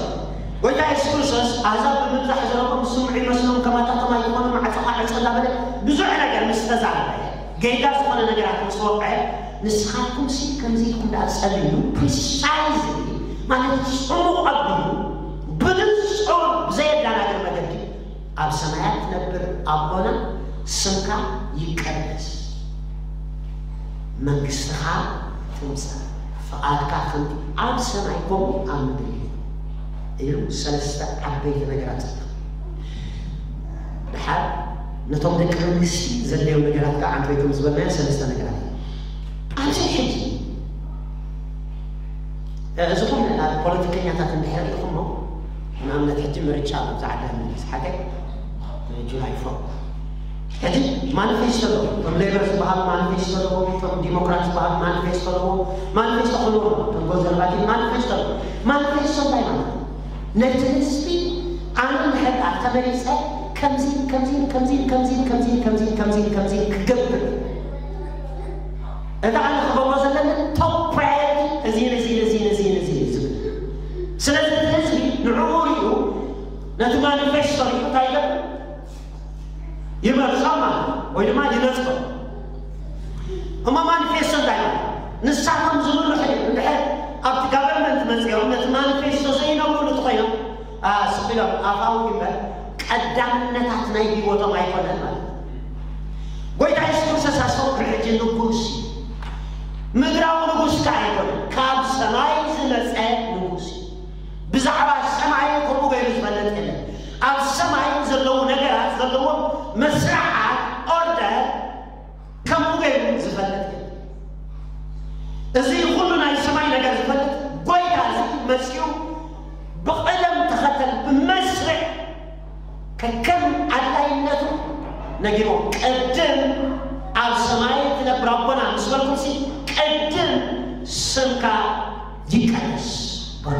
ጎይታ የሱስ ክርስቶስ ኣህዛብ ብምብዛሕ ዘረቦም ዝስምዑ ይመስሎም፣ ከማታቶም ኣይኮኑ፣ ማዕጾኻ ዕጸ እንዳበለ ብዙሕ ነገር ምስ ተዛረበ፣ ጌጋ ዝኾነ ነገራት ምስ ወቕዐ፣ ንስኻትኩምሲ ከምዚ ኢልኩም ደኣ ጸልዩ፣ ፕሪሳይዝሊ ማለት ጽሙቕ ኣቢሉ ብንጹር ብዘየደናግር መገዲ ኣብ ሰማያት ትነብር ኣቦና ስምካ ይቀደስ፣ መንግስትኻ ትምጻእ፣ ፍቓድካ ከምቲ ኣብ ሰማይ ከምኡ ኣብ ምድሪ እዩ ኢሉ ሰለስተ ዓበይቲ ነገራት ጸለኹ። ድሓር ነቶም ደቂ መንግስቲ ዘድልዮም ነገራት ከዓ ዓንተይቶም ዝበልናዮ ሰለስተ ነገራት እዩ። ኣብዚ ሕጂ እዚ ኹን ፖለቲከኛታት እንድሕር ሪኢኹሞ፣ ንኣብነት ሕጂ ምርጫ ኣብዚ ዓዲ ኣመልኪስ ሓቀይ ጁላይ ፎር ሕጂ ማኒፌስቶ ኣለዎ። እቶም ሌበር ዝበሃሉ ማኒፌስቶ ኣለዎ፣ እቶም ዲሞክራት ዝበሃሉ ማኒፌስቶ ኣለዎ። ማኒፌስቶ ክህልዎ ኣለዎ። እቶም ኮንሰርቫቲቭ ማኒፌስቶ ኣለዎ። ማኒፌስቶ እንታይ ማለት እዩ? ነቲ ህዝቢ ኣነ እንድሕር ደኣ ተመሪፀ ከምዚ ከምዚ ከምዚ ከምዚ ከምዚ ከምዚ ከምዚ ከምዚ ክገብር፣ እታ ኣነ ክገብሮ ዘለኒ ቶፕ ፕራዮሪቲ እዚ እዚ እዚ እዚ እዚ እዚ ዝብል። ስለዚ እቲ ህዝቢ ንዕኡ ሪኡ ነቲ ማኒፌስቶ ሪኡ እንታይ ይገብር? ይመርጾ ማለት ወይ ድማ ይነጽጎ። እሞ ማኒፌስቶ እንታይ ማለት? ንሳቶም ዝብሉ ሕጂ እንድሕር ኣብቲ ጋቨርንመንት መጺኦም ነቲ ማኒፌስቶ ዘይነብሩ እንተኾይኖም፣ አ፣ ስቕ ኢሎም ኣፋዊ እምበር ቀዳምነታት ናይ ህይወቶም ኣይኮነን ማለት እዩ። ጎይታ የሱስ ክርስቶስ ኣስተውዕል፣ ሕጂ ንጉስ እዩ። ምድራዊ ንጉስ ከኣ ኣይኮነን፣ ካብ ሰማይ ዝመጸ ንጉስ እዩ። ብዛዕባ ሰማይ ከምኡ ገይሩ ዝፈልጥ የለን። ኣብ ሰማይ ዘለዉ ነገራት ዘለዎም መስርዓት፣ ኦርደር፣ ከምኡ ገይሩ ዝፈልጥ የለን። እዚ ኩሉ ናይ ሰማይ ነገር ዝፈልጥ ጎይታ እዚ መጺኡ ብቕደም ተኸተል ብመስርዕ ከከም ኣድላይነቱ ነጊርዎም። ቅድም ኣብ ሰማይ ትነብር ኣቦና ምስ በልኩምሲ፣ ቅድም ስምካ ይቀደስ በሉ።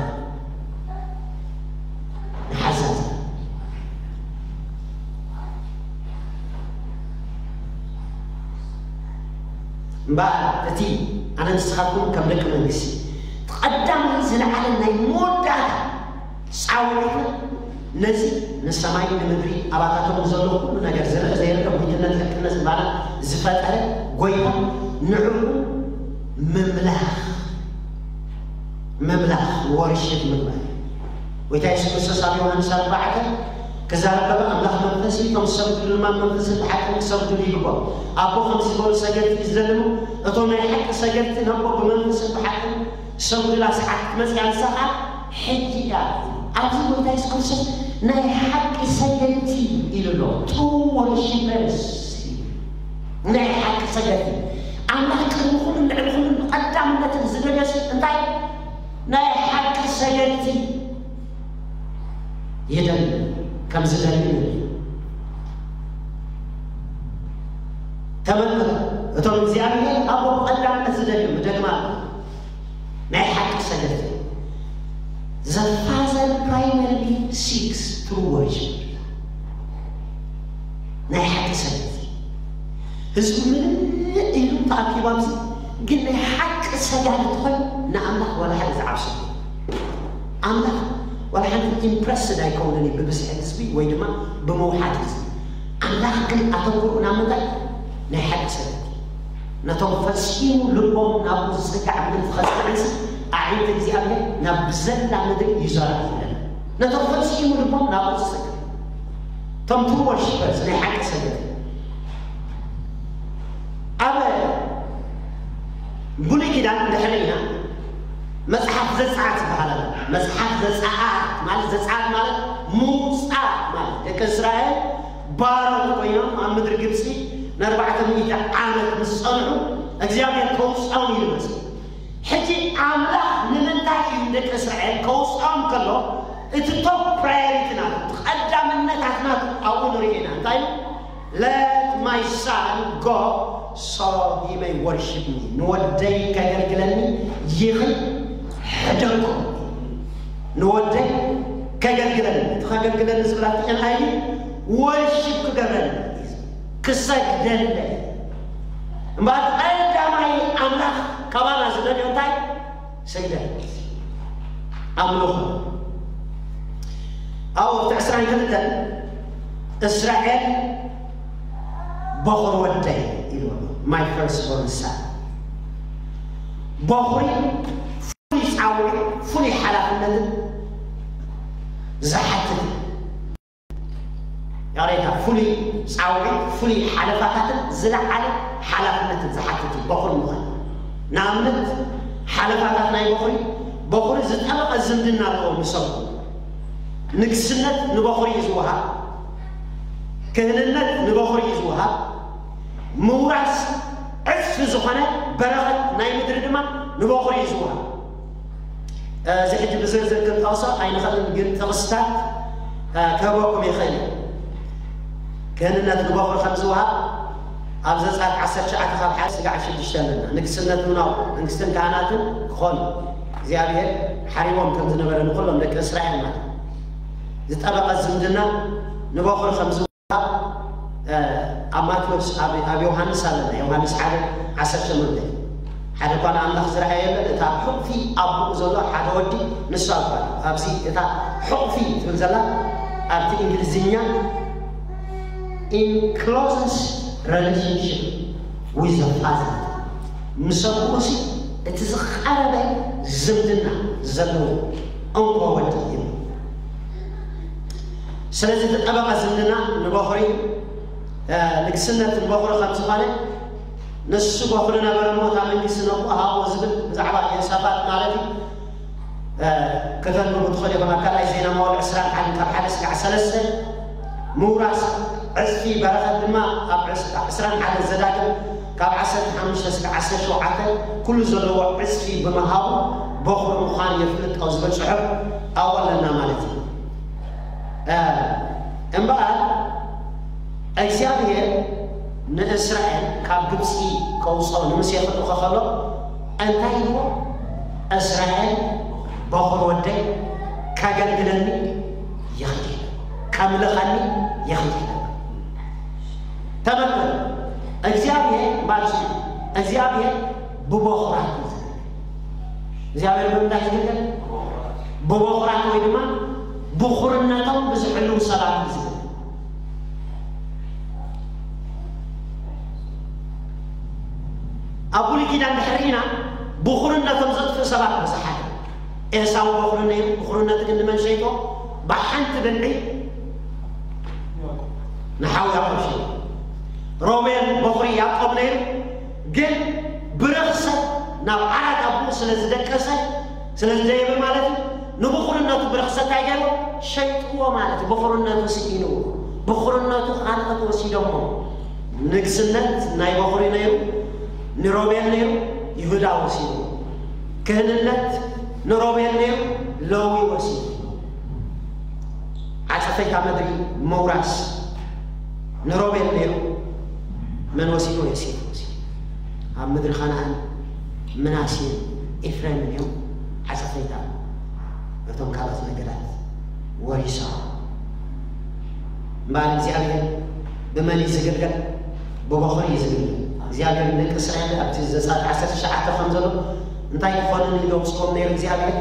ንሓዘን እምበኣር እቲ ኣነ ንስኻትኩም ከም ደቂ መንግስቲ ቀዳማይ ዝለዓለ ናይ መወዳእታ ጻውዒትና ነዚ ንሰማይ ንምድሪ ኣባታቶም ዘሎ ኩሉ ነገር ዝርአ ዘይርአ ጉይትነት ሕቅነት ባና ዝፈጠረ ጎይታ ንዕኡ ምምላኽ ምምላኽ ወርሽት ምግባር። ጎይታ የሱስ ክርስቶስ ኣብ ዮሃንስ ኣርባዕተ ክዛረብ ከሎ ኣምላኽ መንፈስ እዩ፣ እቶም ዝሰግድሉ ድማ መንፈስን ብሓቅን ክሰግድሉ ይግባእ። ኣቦ ከምዚ ዝበሉ ሰገድቲ እዩ ዝደሊ እሞ እቶም ናይ ሓቂ ሰገድቲ ነቦ ብመንፈስን ብሓቅን ዝሰግዱላ ሰዓት ክትመጽእ እያ፣ ንሳ ኸኣ ሕጂ እያ። ኣብዚ ጎይታ የሱስ ክርስቶስ ናይ ሓቂ ሰገድቲ ኢሉ ኣሎ። True worshippers እዩ። ናይ ሓቂ ሰገድቲ ኣምላኽ ቅድሚ ኩሉን ልዕሊ ኩሉን ብቐዳምነትን ዝደለስ እንታይ ናይ ሓቂ ሰገድቲ ይደሊ ከም ዝደሊ ንርኢ። ተመልከቱ፣ እቶም እግዚኣብሔር ኣቦ ብቐዳምነት ዝደልዮም፣ እደግማ ኣለኹ፣ ናይ ሓቂ ሰገድቲ። The Father primarily seeks true worship። ናይ ሓቂ ሰገድቲ ህዝቡ ምንም ኢሉ ተኣኪቡ ኣብዚ ግን ናይ ሓቂ ሰጋዲ ትኾን ንኣምላኽ ዋላ ሓደ ዝዓብሱ ኣምላኽ ዋላ ሓንቲ ኢምፕረስድ ኣይከውንን እዩ ብብዝሒ ህዝቢ ወይ ድማ ብምውሓድ ህዝቢ። ኣምላኽ ግን ኣተኩሩ ናብ ምንታይ? ናይ ሓቂ ሰገድቲ። ነቶም ፈጺሙ ልቦም ናብኡ ዝጽጋዕ ምእንቲ ከጽንዕንሲ ኣዒንቲ እግዚኣብሔር ናብ ብዘላ ምድሪ ይዞራ ይብለና። ነቶም ፈጺሙ ልቦም ናብኡ ዝጽጋዕ እቶም true worshippers ናይ ሓቂ ሰገድቲ ኣብ ብሉይ ኪዳን እንድሕር ኢና መጽሓፍ ዘጸኣት ዝበሃል ኣሎ። መጽሓፍ ዘጸኣት ማለት ዘጸኣት ማለት ምውጻእ ማለት ደቂ እስራኤል ባሮት ኮይኖም ኣብ ምድሪ ግብጺ ንኣርባዕተ ሚእቲ ዓመት ምስ ጸንሑ እግዚኣብሔር ከውጽኦም ኢሉ መጽእ። ሕጂ ኣምላኽ ንምንታይ እዩ ንደቂ እስራኤል ከውጽኦም ከሎ እቲ top priority ናቱ እቲ ቀዳምነታት ናቱ ኣብኡ ንሪኦ ኢና እንታይ እዩ Let my son go so he may worship me ንወደይ ከገልግለኒ ይኽሕደኩም ንወደይ ከገልግለኒ እቲ ከገልግለኒ ዝብላ እንታይ እዩ worship ክገብረኒ ክሰግደለይ እምበኣር ቀዳማይ ኣምላኽ ካባና ዝደልዮ እንታይ ስግደት ኣምልኾ ኣብኡ ኣብቲ ዕስራን ክልተን እስራኤል በኹሪ ወደይ ኢሉ ኣሎ my first born son በኹሪ ፍሉይ ጻውዒት ፍሉይ ሓላፍነትን ዝሓትት ይቕሬታ ፍሉይ ጻውዒት ፍሉይ ሓለፋታትን ዝለዓለ ሓላፍነትን ዝሓትት እዩ በኹሪ ምዃን ንኣብነት ሓለፋታት ናይ በኹሪ በኹሪ ዝጠበቐ ዝምድና ኣለዎ ምስ ኣቦኡ ንግስነት ንበኹሪ እዩ ዝወሃብ ክህንነት ንበኹሪ እዩ ዝወሃብ ምውራስ ዕፅፊ ዝኾነ በረኸት ናይ ምድሪ ድማ ንበኹሪ እዩ ዝወሃብ እዚ ሕጂ ብዝርዝር ክንጠቕሶ ኣይንኽእልን ግን ጥቕስታት ክህበኩም ይኽእል እዩ ክህንነት ንበኹሪ ከም ዝወሃብ ኣብ ዘፃት ዓሰርተ ትሽዓተ ካብ ሓደ ስጋዕ ሽዱሽተ ኣለና ንግስነት ምናው መንግስትን ካህናትን ክኾኑ እግዚኣብሔር ሓሪዎም ከም ዝነበረ ንኩሎም ደቂ እስራኤል ማለት ዝጠበቐ ዝምድና ንበኹሪ ከም ዝወሃብ ኣብ ማቴዎስ ኣብ ዮሃንስ ኣለና ዮሃንስ ሓደ ዓሰርተ ሸሞንተ ሓደ እኳ ንኣምላኽ ዝረኣየ የለን እቲ ኣብ ሕቑፊ ኣቦኡ ዘሎ ሓደ ወዲ ንሱ ኣባ ኣብዚ እታ ሕቑፊ ትብል ዘላ ኣብቲ እንግሊዝኛ in closest relationship with the father ምስ ኣቦኡሲ እቲ ዝቐረበ ዝምድና ዘለዎ እንኮ ወዲ እዩ ስለዚ ዝጠበቐ ዝምድና ንበኹሪ ንግስነት ንበኹሪ ከም ዝኾነ ንሱ በኹሪ ነበረ እሞ እታ መንግስቲ ነቦ ሃቦ ዝብል ብዛዕባ የሆሳፋጥ ማለት እዩ ከተንብቡ ትኽእሉ ኢኹም ኣብ ካልኣይ ዜና መዋል ዕስራን ሓደን ካብ ሓደ ስጋዕ ሰለስተ ምውራስ ዕፅፊ በረኸት ድማ ኣብ ዕስራን ሓደን ዘዳግም ካብ ዓሰርተ ሓሙሽተ ስጋዕ ዓሰርተ ሸውዓተ ኩሉ ዘለዎ ዕፅፊ ብምሃቡ በኹሪ ምዃን የፍልጦ ዝብል ፅሑፍ ኣብኡ ኣለና ማለት እዩ እምበኣር እግዚኣብሔር ንእስራኤል ካብ ግብፂ ከውፅኦ ንሙሴ ክልእኾ ከሎ እንታይ ኢልዎ እስራኤል በኹር ወደይ ከገልግለኒ ይኽእል ከምልኸኒ ይኽእል ተመልከቱ እግዚኣብሔር ማለት እግዚኣብሔር ብበኹራት እዩ ዝግልገል። እግዚኣብሔር ብምንታይ ዝግልገል? ብበኹራት ወይ ድማ ብኹርነቶም ብዝሕልው ሰባት እዩ ዝግልገል። ኣብ ብሉይ ኪዳን ድሕሪ ኢና ብኹርነቶም ዘጥፍእ ሰባት ብዙሓት እዮም። ኤሳው በኹሪ ነይሩ፣ ብኹርነቱ ግን ንመን ሸይጦ? ብሓንቲ ብልዒ ንሓው ያዕቆብ ሸይጦ። ሮቤል በኹሪ ያዕቆብ ነይሩ፣ ግን ብርኽሰት ናብ ዓራት ኣቦኡ ስለ ዝደቀሰ፣ ስለ ዝደየበ ማለት እዩ፣ ንብኹርነቱ ብርኽሰት እንታይ ገይርዎ? ሸይጥዎ ማለት እዩ። ብኹርነቱ ስኢንዎ። ብኹርነቱ ካልኦት ወሲዶሞ። ንግስነት ናይ በኹሪ ነይሩ፣ ንሮቤል ነይሩ፣ ይሁዳ ወሲድዎ። ክህንነት ንሮቤል ነይሩ፣ ለዊ ወሲድዎ። ዓጸፈይታ ምድሪ ምውራስ ንሮቤል ነይሩ፣ መን ወሲድዎ? ዮሴፍ ወሲድዎ። ኣብ ምድሪ ከነኣን ምናሴን ኤፍሬምን እዮም ዓጸፈይታ እቶም ካልኦት ነገዳት ወሪሶም። እምበኣር እግዚኣብሔር ብመን እዩ ዝግልገል? ብበኹሪ እዩ ዝግልገል። እግዚኣብሔር ንደቂ እስራኤል ኣብቲ ዘጸኣት ዓሰርተ ትሽዓተ ከም ዘሎ እንታይ ክኾነኒ ኢሉ ኣውጽዎም ነይሩ እግዚኣብሔር?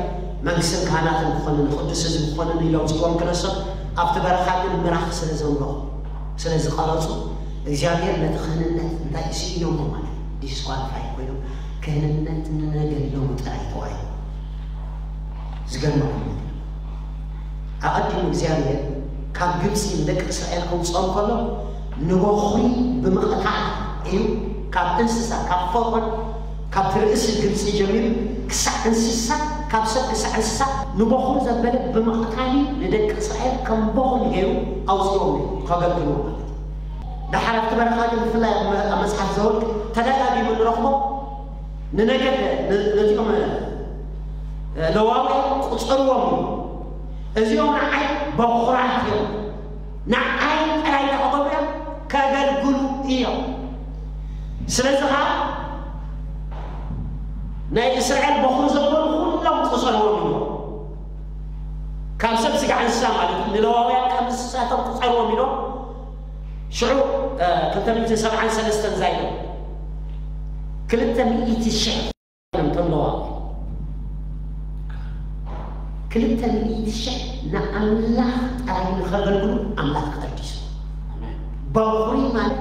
መንግስትን ካህናትን ክኾነኒ፣ ቅዱስ ህዝቢ ክኾነኒ ኢሉ ኣውጽዎም ክነሶም፣ ኣብቲ በረኻ ግን ምራኽ ስለ ዘምረኹ፣ ስለ ዝቐረጹ፣ እግዚኣብሔር ነቲ ክህንነት እንታይ ስኢኖሞ ማለት እዩ? ዲስኳሊፋይ ኮይኖም፣ ክህንነት ንነገድሎም ጥራይ ተዋሂቡ። ዝገርመኩም ነገር፣ ኣቐዲሙ እግዚኣብሔር ካብ ግብፂ ንደቂ እስራኤል ከውፅኦም ከሎ ንበኹሪ ብምቕታል እዩ። ካብ እንስሳ፣ ካብ ፈርዖን፣ ካብቲ ርእሲ ግብፂ ጀሚሩ ክሳዕ እንስሳ፣ ካብ ሰብ ክሳዕ እንስሳ ንበኹሪ ዘበለ ብምቕታል እዩ ንደቂ እስራኤል ከም በኹሪ ገይሩ ኣውፅኦም እዩ ከገልግልዎ ማለት እዩ። ደሓር ኣብቲ በረኻ ግን ብፍላይ ኣብ መ-፣ ኣብ መጽሓፍ ዘወልቅ ተደጋጊሙ ንረኽቦ ንነገድ ን-፣ ነዚኦም፣ እ፣ ለዋውያን ቁጸርዎም እዩ። እዚኦም ንዓይ በኹራት እዮም፣ ንዓይ ጥራይ እንታይ ክገብሩ እዮም? ከገልግሉ እዮም። ስለዚ ኸዓ ናይ እስራኤል በኹሪ ዘበሉ ኩሎም ቁጸርዎም ኢሎም። ካብ ሰብ ስጋዕ እንስሳ ማለት እዩ። ንለዋውያን ከም እንስሳቶም ቁጸርዎም ኢሎም። ሽዑ፣ እ፣ ክልተ ሚእትን ሰብዓን ሰለስተን ዛይዶ ክልተ ሚእቲ ሽሕ እዮም እቶም ለዋውያን። ክልተ ሚእቲ ሽሕ ንኣምላኽ ጥራይ ንኸገልግሉ ኣምላኽ ቀዲሱ። ኣሜን። በኹሪ ማለት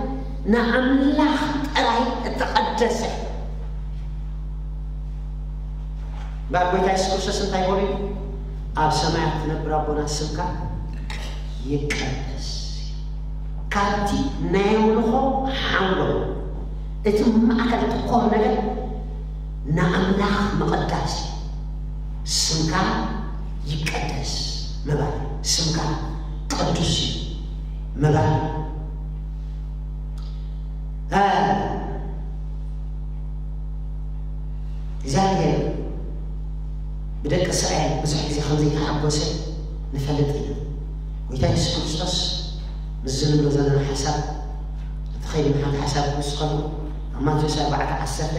ንኣምላኽ ጥራይ እተቐደሰ። እምበር ጎይታ የሱስ ክርስቶስ እንታይ በሉ? ኣብ ሰማያት ትነብር ኣቦና ስምካ ይቀደስ። ካብቲ ናይ ኣምልኾ ሓንጎል እቲ ማእከል ትኮር ነገር ንኣምላኽ ምቕዳስ እዩ። ስምካ ይቀደስ ምባል፣ ስምካ ቅዱስ እዩ ምባል። እ፣ እግዚኣብሔር ብደቂ እስራኤል ብዙሕ ግዜ ከም ዘይተሓጎሰ ንፈልጥ ኢና። ጎይታ የሱስ ክርስቶስ ምስዚ ንብሎ ዘለና ሓሳብ እቲ ኸይዲ ምሓት ሓሳብ ክውስኸሉ ኣብ ማቴዎስ ኣርባዕተ ዓሰርተ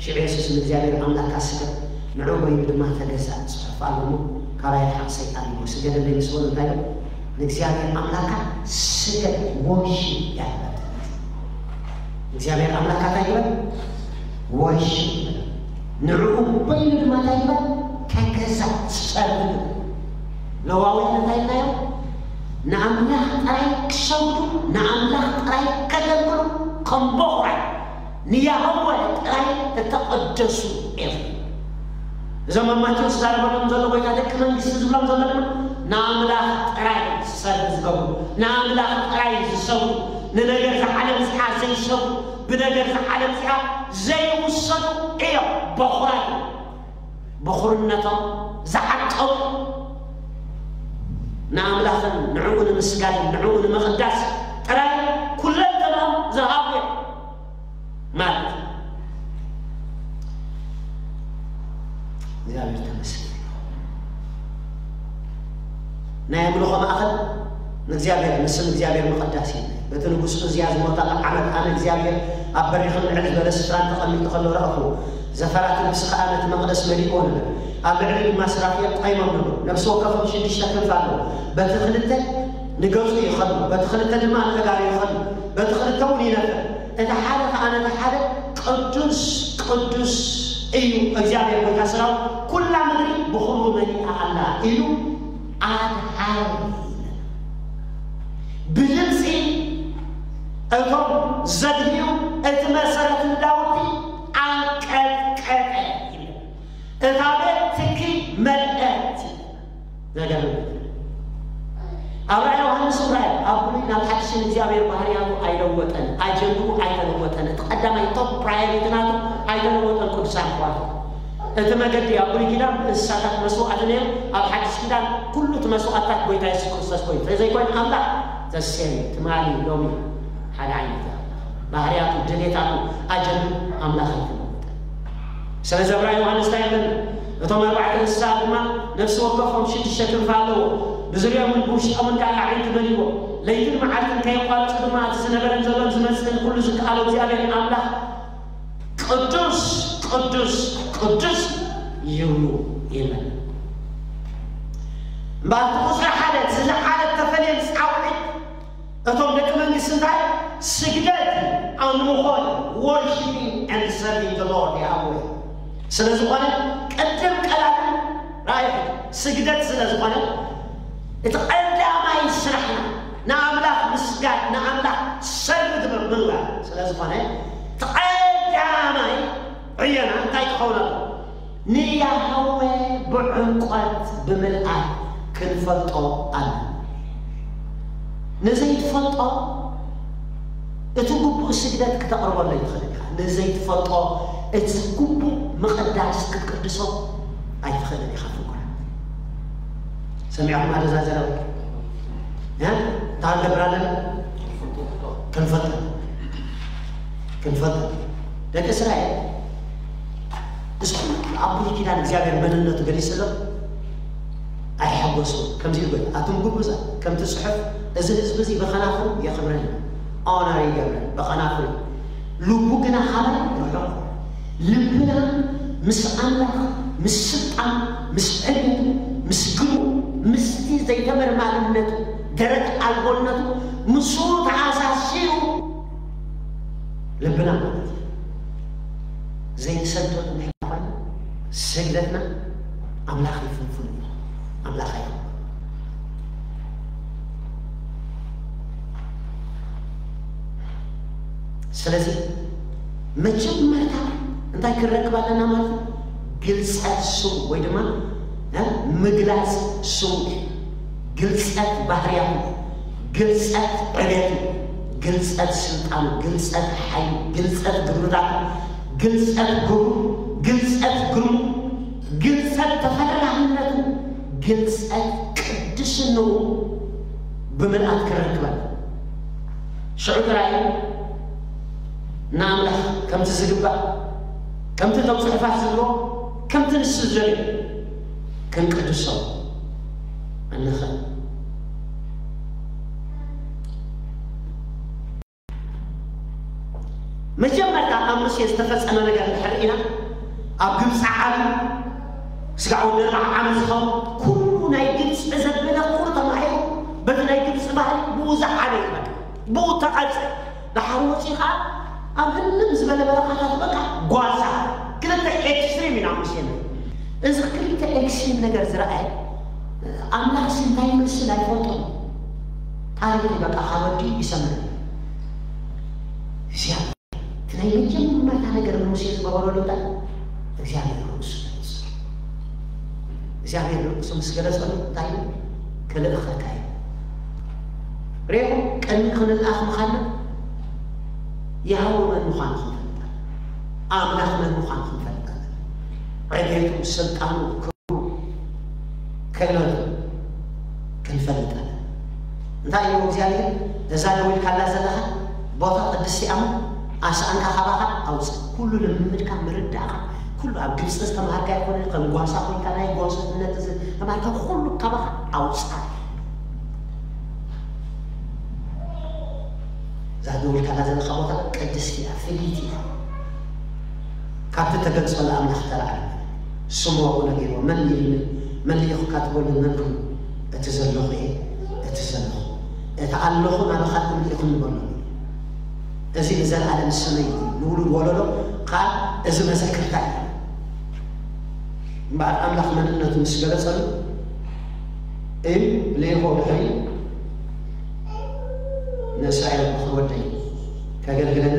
ሽዑ የሱስ ንእግዚኣብሔር ኣምላኽካ ስገድ ንዕኡ በይኑ ድማ ተገዛእ ጽሑፍ ኣሎ እሞ ካባይ ርሓቕ ሰይጣን ኢልዎ ስገደለይ ምስ በሎ እንታይ ኢሉ ንእግዚኣብሔር ኣምላኽካ ስገድ worship ያለበት እግዚኣብሔር ኣምላኽካ እንታይ ግበር worship ንዕኡ በይኑ ድማ እንታይ ግበር ተገዛእ serve ለዋውያን እንታይ ኢልናዮም ንኣምላኽ ጥራይ ክሰግዱ ንኣምላኽ ጥራይ ከገልግሉ ከም በኹራት ንያሆወ ጥራይ እተቐደሱ እዮም። እዞም ኣብ ማቴዎስ ዝዛረበሎም ዘሎ ጎይታ ደቂ መንግስቲ ዝብሎም ዘሎ ድማ ንኣምላኽ ጥራይ ዝሰርሑ ዝገብሩ ንኣምላኽ ጥራይ ዝሰብሩ ንነገር ዝዓለም እዚኣ ዘይሰብሩ ብነገር ዝዓለም እዚኣ ዘይውሰዱ እዮም። በኹራት እዮም። በኹርነቶም ዝዓቀቡ ንኣምላኽን ንዕኡ ንምስጋድን ንዕኡ ንምቕዳስ ጥራይ ኩለንተናኦም ዝሃቡ እዮም። ማለት እግዚኣብሔር ተመስገን ናይ ኣምልኾ ማእኸል ንእግዚኣብሔር ንስም እግዚኣብሔር ምቕዳስ እዩ በቲ ንጉስ እዝያ ዝሞተቐ ዓመት ኣነ እግዚኣብሔር ኣብ በሪኽን ልዕል ዝበለ ስፍራን ተቐሚጡ ከሎ ረእኹ ዘፈራት ልብሲ ኸዓ ነቲ መቕደስ መሊእዎ ነበረ ኣብ ልዕሊ ድማ ስራፊል ቆይሞም ነበሩ ነብሲ ወከፎም ሽዱሽተ ክንፊ ኣለዎ በቲ ክልተ ንገጹ ይኸዱ በቲ ክልተ ድማ ንእጋሩ ይኸዱ በቲ ክልተ እውን ይነፍር እቲ ሓደ ኸዓ ነቲ ሓደ ቅዱስ ቅዱስ እዩ እግዚኣብሔር ጎይታ ሰራዊት፣ ኩላ ምድሪ ብኽብሩ መሊኣ ኣላ ኢሉ ኣድሃረ። ብድምፂ እቶም ዘድህዩ እቲ መሰረት ንዳውቲ ኣንቀጥቀጠ ይብል። እታ ቤት ትኪ መልአት። ዘገርም። ኣብ ራእይ ዮሃንስ ራእይ ኣብ ብሉይ ናብ ሓድሽን እግዚኣብሔር ባህርያቱ ኣይለወጠን፣ ኣጀንድኡ ኣይተለወጠን። እቲ ቀዳማይ ቶፕ ፕራዮሪቲ ናቱ ኣይተለወጠን። ቅዱሳን ኣሕዋት፣ እቲ መገዲ ኣብ ብሉይ ኪዳን እንስሳታት መስዋዕቲ ነይሩ፣ ኣብ ሓድሽ ኪዳን ኩሉ እቲ መስዋዕትታት ጎይታ የሱስ ክርስቶስ ኮይኑ። ተዘይኮይኑ ኣምላኽ ዘሴም ትማሊ ሎሚ ሓደ ዓይነት እዩ። ባህርያቱ፣ ድሌታቱ፣ ኣጀንድኡ ኣምላኽ ኣይተለወጠን። ስለዚ ኣብ ራእይ ዮሃንስ እንታይ ይብል? እቶም ኣርባዕተ እንስሳ ድማ ነፍሲ ወከፎም ሽዱሽተ ክንፊ ኣለዎ፣ ብዙርዮምን ብውሽጦምን ከዓ ኣዒንቲ መሊእዎ። ለይትን መዓልትን ከየቋርጹ ድማ እቲ ዝነበረን ዘሎን ዝመጽእን ኩሉ ዝከኣሎ እግዚኣብሔር ኣምላኽ ቅዱስ ቅዱስ ቅዱስ ይብሉ ይብል። እምበኣር እቲ ቁጽሪ ሓደ እቲ ዝለዓለ ተፈልየን ጻውዒት እቶም ደቂ መንግስቲ እንታይ? ስግደት፣ ኣምልኾ፣ worshiping and serving the Lord፣ ይሃብዎ። ስለ ዝኾነ ቅድም ቀዳድም ራእይ ስግደት ስለ ዝኾነ እቲ ቀዳማይ ስራሕና ንኣምላኽ ምስጋድ፣ ንኣምላኽ ሰርቭ ግብር ምግባር ስለ ዝኾነ እቲ ቀዳማይ ዕዮና እንታይ ክኸውን ኣለዎ? ንያህወ ብዕምቆት ብምልኣት ክንፈልጦ ኣለና። ንዘይትፈልጦ እቲ ግቡእ ስግደት ክተቕርበሉ ኣይትኽእልን ኢኻ። ንዘይትፈልጦ እቲ ግቡእ ምቕዳስ ክትቅድሶ ኣይትኽእልን ኢኻ። ፍቁራት፣ ሰሚዕኹም ኣደዛዘረው? እ? እንታይ ንገብር ኣለና? ክንፈልጥ፣ ክንፈልጥ። ደቂ እስራኤል፣ እስኩ ኣብ ብሉይ ኪዳን እግዚኣብሔር መንነቱ ገሊጽሎም ኣይሓጎሱ። ከምዚ ኢሉ ጎይታ፣ ኣቱም ግብዛት፣ ከምቲ ጽሑፍ፣ እዚ ህዝቢ እዚ ብኸናፍሩ የኽብረኒ፣ ኦነር ይገብረን ብኸናፍሩ፣ ልቡ ግና ካባይ ርሑቕ። ልብና ምስ ኣምላኽ፣ ምስ ስልጣን፣ ምስ ዕቤቱ፣ ምስ ግብሩ፣ ምስቲ ዘይተመርማርነቱ፣ ደረት ኣልቦነቱ፣ ምስኡ ተኣሳሲሩ ልብና ማለት እዩ። ዘይንሰግደሉ እንድሕር ኮይና፣ ስግደትና ኣምላኽ ይፍንፍን እዩ። ኣምላኽ ኣይኸውን። ስለዚ መጀመርታ እንታይ ክንረክብ ኣለና ማለት እዩ? ግልጸት ስሙ ወይ ድማ፣ እ፣ ምግላጽ ስሙ፣ ግልጸት ባህርያቱ፣ ግልጸት ዕቤቱ፣ ግልጸት ስልጣኑ፣ ግልጸት ሓይሉ፣ ግልጸት ግብርታቱ፣ ግልጸት ግብሩ፣ ግልጸት ግርሙ፣ ግልጸት ተፈላላይነቱ፣ ግልጸት ቅድስንኡ ብምልኣት ክረክበን። ሽዑ ጥራይ ንኣምላኽ ከምቲ ዝግባእ፣ ከምቲ እቶም ጽሑፋት ዝብሎ፣ ከምቲ ንሱ ዝደልዮ ክንቅድሶ እንኽእል። መጀመርታ ኣብ ሙሴ ዝተፈጸመ ነገር እንድሕር ርኢና፣ ኣብ ግብፂ ዓለም ስጋዕ ወዲ ኣርብዓ ዓመት ዝኸውን ኩሉ ናይ ግብፂ ዘበነ ኩሉ ተማሂሩ፣ በቲ ናይ ግብፂ ባህሊ ብኡ ዝዓበየ እዩ። በቃ ብኡ ተቐርፀ። ደሓር ወፂኡ ከዓ ኣብ ህልም ዝበለ በረኻታት በቃ ጓሳ። ክልተ ኤክስትሪም ኢና ሙሴ ንርኢ። እዚ ክልተ ኤክስትሪም ነገር ዝረኣየ ኣምላኽ ሲ እንታይ ይመስል ኣይፈልጦን። ታሪኽ በቃ ካብ ወዲ ይሰምር። እግዚኣብሔር እቲ ናይ መጀመርታ ነገር ንሙሴ ዝገበረሉ እንታይ? እግዚኣብሔር ርእሱ ገለጸ። እግዚኣብሔር ርእሱ ምስ ገለጸሉ እንታይ ኢሉ? ክልእኸካ እዩ። ሬኹ ቅድሚ ክንልኣኽ ምዃንና የሃወ መን ምዃኑ ክንፈልጥ ኣለና። ኣምላኽ መን ምዃኑ ክንፈልጥ ኣለና። ዕቤቱ፣ ስልጣኑ፣ ክብሩ፣ ክእለቱ ክንፈልጥ ኣለና። እንታይ ኢሉ እግዚኣብሔር? እዛ ደው ኢልካላ ዘለኻ ቦታ ቅድስቲ እያ እሞ ኣስኣንካ ካባኻ ኣውፅእ። ኩሉ ልምምድካ ምርዳእካ ኩሉ ኣብ ግብፂ ዝተምሃርካ ይኮነ ከም ጓሳ ኮይንካ ናይ ጓስነት ዝተምሃርካ ኩሉ ካባኻ ኣውፅእ። እዛ ደው ኢልካላ ዘለኻ ቦታ ቅድስቲ እያ፣ ፍልይቲ እያ። ካብቲ ተገልጸሉ ኣምላኽ ተላዕለ። ስሙ ኣብኡ ነጊርዎ፣ መን ኢሉ መን ልኢኹካ ትበሉ መን ኩኑ? እቲ ዘለኹ እየ፣ እቲ ዘለኹ። እቲ ኣለኹ ናባኻትኩም ልኢኹኒ በሎ። እዚ ንዘለኣለም ስመይ እዩ፣ ንውሉድ ወለዶ ከዓ እዚ መዘክርታ እዩ። እምበኣር ኣምላኽ መንነቱ ምስ ገለጸሉ፣ እም ልኢኾ ድሕሪ ንእስራኤል፣ ምኽሪ ወደይ ከገልግለኒ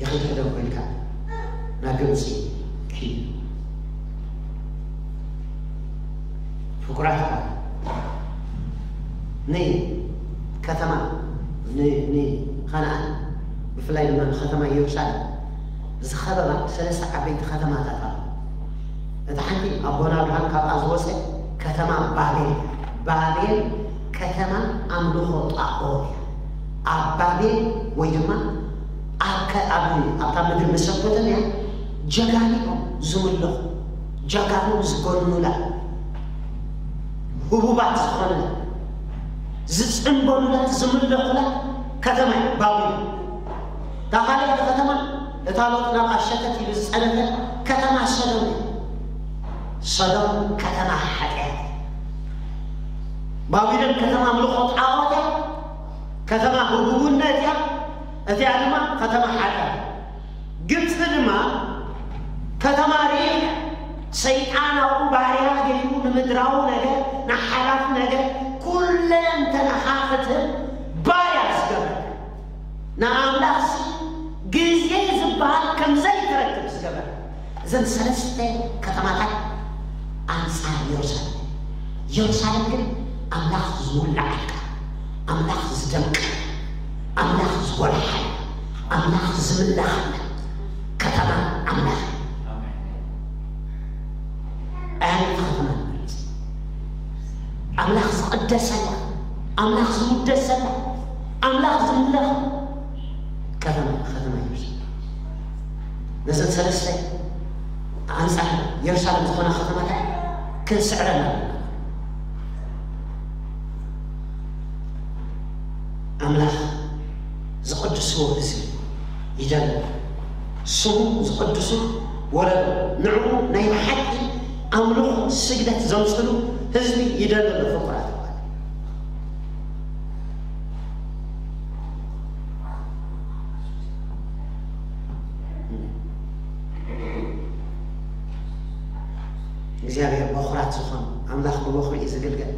ይኽድሕደን ኮይንካ ናብ ግብፂ ኪድ። ፍቁራት፣ ንከተማ፣ ን- ንኸነኣን፣ ብፍላይ ድማ ንከተማ ኢየሩሳሌም ዝኸበባ ሰለስተ ዓበይቲ ከተማታት ኣለዋ። እታ ሓንቲ ኣቦና ኣብርሃም ካብኣ ዝወፀ ከተማ ባቤል። ባቤል ከተማ ኣምልኾ ጣዖት እያ። ኣብ ባቤል ወይ ድማ ኣብ ከ- ኣብ ኣብታ ምድሪ መሰፖተምያ ጀጋኑ እዮም ዝምለኹ፣ ጀጋኑ ዝገኑላ፣ ህቡባት ዝኾኑላ፣ ዝፅንበሉላ፣ ዝምለኹላ ከተማ እያ ባቤል። እታ ካልኣይቲ ከተማ፣ እታ ሎጥ ናብኣ ሸተት ኢሉ ዝፀነተ ከተማ ሰዶም እያ። ሰዶም ከተማ ሓጢኣት እያ። ባቢሎን ከተማ ኣምልኾ ጣዖት እያ፣ ከተማ ህቡብነት እያ፣ እቲኣ ድማ ከተማ ሓጢኣት እያ። ግብፂ ድማ ከተማ ርኢቕ እያ። ሰይጣን ኣብኡ ባርያ ገይሩ ንምድራዊ ነገር፣ ንሓላፍ ነገር፣ ኩለንተናኻ ክትህብ ባርያ ዝገብር፣ ንኣምላኽሲ ግዜ ዝበሃል ከም ዘይትረክብ ዝገበረ። እዘን ሰለስተ ከተማታት ኣንጻር ኢየሩሳሌም። ኢየሩሳሌም ግን ኣምላኽ ዝውልዓልካ፣ ኣምላኽ ዝደምቀ፣ ኣምላኽ ዝጎልሓል፣ ኣምላኽ ዝምለኸላ ከተማ ኣምላኽ። ኣያነይቲ ከተማ ንመርጽ? ኣምላኽ ዝቕደሰላ፣ ኣምላኽ ዝውደሰላ፣ ኣምላኽ ዝምለኽ ከተማ፣ ከተማ ኢየሩሳሌም። ነዘን ሰለስተ ኣንጻር ኢየሩሳሌም ዝኾና ከተማታት ክንስዕረን ኣለና። ኣምላኽ ዝቕድስዎ ህዝቢ ይደሊ። ስሙ ዝቕድሱ ወለዶ፣ ንዕኡ ናይ ብሓቂ ኣምልኾ ስግደት ዘምጽሉ ህዝቢ ይደሊ ኣሎ። ፍቁራት ኣሕዋት፣ እግዚኣብሔር በኹራት ዝኾኑ፣ ኣምላኽ ብበኹሪ እዩ ዝግልገል።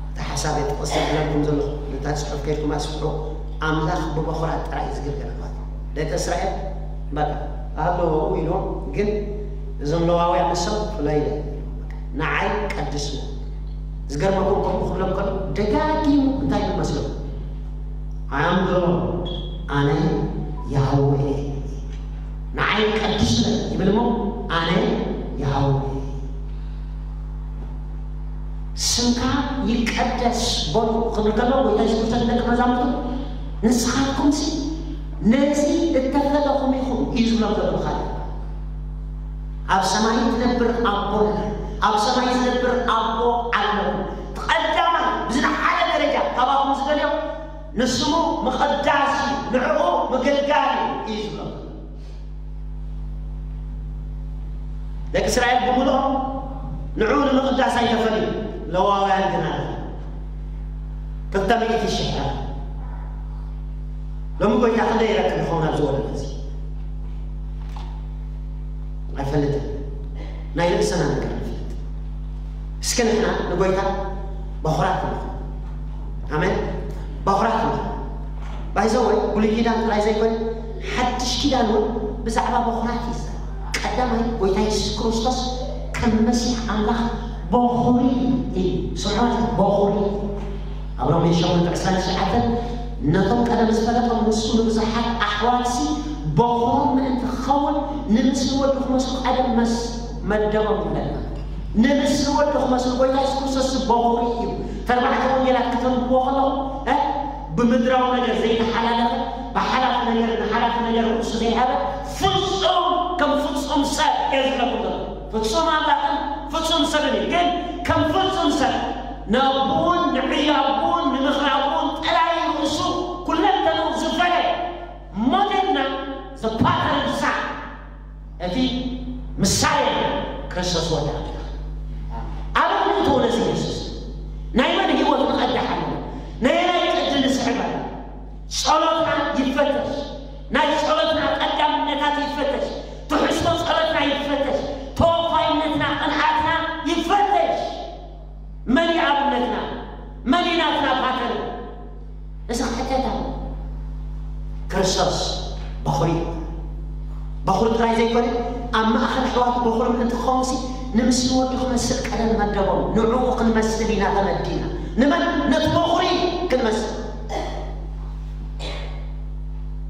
እቲ ሓሳብ የጥቕስ ዘብለኩም ዘለኹ፣ ነታ ጽሑፍ ከይድኩም ኣስፍሑ። ኣምላኽ ብበኹራት ጥራይ እዩ ዝግልገል። ኣሕዋት፣ ደቂ እስራኤል በቃ ኣለዎ ኢሎም፣ ግን እዞም ለዋውያን ንሶም ፍለይ ኢለ፣ ንዓይ ቀድስዎ። ዝገርመኩም፣ ከምኡ ክብሎም ከሎ ደጋጊሙ እንታይ ይመስለኩም? ኣምብሮ፣ ኣነ ያህዌ፣ ንዓይ ቀድስለ ይብል እሞ፣ ኣነ ያህዌ፣ ስምካ ይቀደስ በሉ ክብል ከሎ፣ ጎይታ የሱስ ክርስቶስ ንደቂ መዛሙርቱ፣ ንስኻትኩምሲ ነዚ እተፈለኹም ኢኹም እዩ ዝብሎም ዘሎ። ብኻልእ፣ ኣብ ሰማይ ትነብር ኣቦና፣ ኣብ ሰማይ ዝነብር ኣቦ ኣለኹም። ቀዳማይ ብዝለዓለ ደረጃ ካባኹም ዝደልዮ ንስሙ ምቕዳስ እዩ፣ ንዕኡ ምግልጋል እዩ እዩ ዝብሎም። ደቂ እስራኤል ብምልኦም ንዕኡ ንምቕዳስ ኣይተፈልዩ፣ ለዋውያን ግን ኣለ። ክልተ ሚእቲ ሽሕ። ሎሚ ጎይታ ክንደይ ይረክብ ይኸውን ኣብዚ ወለዶ እዚ? ኣይፈልጥን። ናይ ርእስና ነገር ንፈልጥ። እስኪ ንሕና ንጎይታ በኹራት ንኹን። ኣሜን። በኹራት ንኹን። ባይዘወ ብሉይ ኪዳን ጥራይ ዘይኮነ፣ ሓድሽ ኪዳን እውን ብዛዕባ በኹራት እዩ ዝዛረብ። ቀዳማይ ጎይታ የሱስ ክርስቶስ ከም መሲሕ ኣምላኽ በኹሪ እዩ። ስምዖን በኹሪ። ኣብ ሮሜ ሸሞንተ ዕስራን ትሽዓተን፣ ነቶም ቀደም ዝፈለጦም ንሱ ንብዙሓት ኣሕዋትሲ በኹሮም ምእንቲ ክኸውን፣ ንምስሊ ወዱ ክመስሉ ቀደም መስ-፣ መደቦም ይብለና። ንምስሊ ወዱ ክመስሉ፣ ጎይታ የሱስ ክርስቶስ በኹሪ እዩ። ተርባዕተ ወንጌላት ክተንብብዎ ከለኹም፣ እ፣ ብምድራዊ ነገር ዘይተሓላለኸ፣ ብሓላፍ ነገር ንሓላፍ ነገር ርእሱ ዘይሃበ፣ ፍጹም፣ ከም ፍጹም ሰብ እየ ዝብለኩም ዘለኹ። ፍጹም ኣምላኽን ፍጹም ሰብን እዩ። ግን ከም ፍጹም ሰብ ንኣቦኡን ንዕዮ ኣቦኡን ንምኽሪ ኣቦኡን ጥራይ ርእሱ ኩለንተንኡ ዝፈለየ፣ ሞዴልና፣ the pattern son፣ እቲ ምሳሌ ክርስቶስ ወዲ ኣምላኽ። ኣበይ ንእትዎ ነዚ የሱስ? ናይ መን ህይወት ንቐድሕ ኣለና? ናይ ናይ ቅዲ ንስዕብ ኣለና? ጸሎትና ይፈ ይፈተሽ። ናይ ጸሎትና ቀዳምነታት ይፈተሽ። ትሕዝቶ ጸሎትና ይፈተሽ። ተወፋይነትና፣ ቅንዓትና ይፈተሽ። መን እዩ ኣብነትና? መን እዩ ናትና ፓተርን? እዚ ክሕተት ኣሎ። ክርስቶስ በኹሪ እዩ። በኹሪ ጥራይ ዘይኮነ፣ ኣብ ማእኸል ኣሕዋቱ በኹሪ ምእንቲ ክኸውንሲ፣ ንምስሊ ወዱ ክመስል ቀደም መደቦም። ንዕኡ ክንመስል ኢና ተመዲና። ንመን? ነቲ በኹሪ ክንመስል።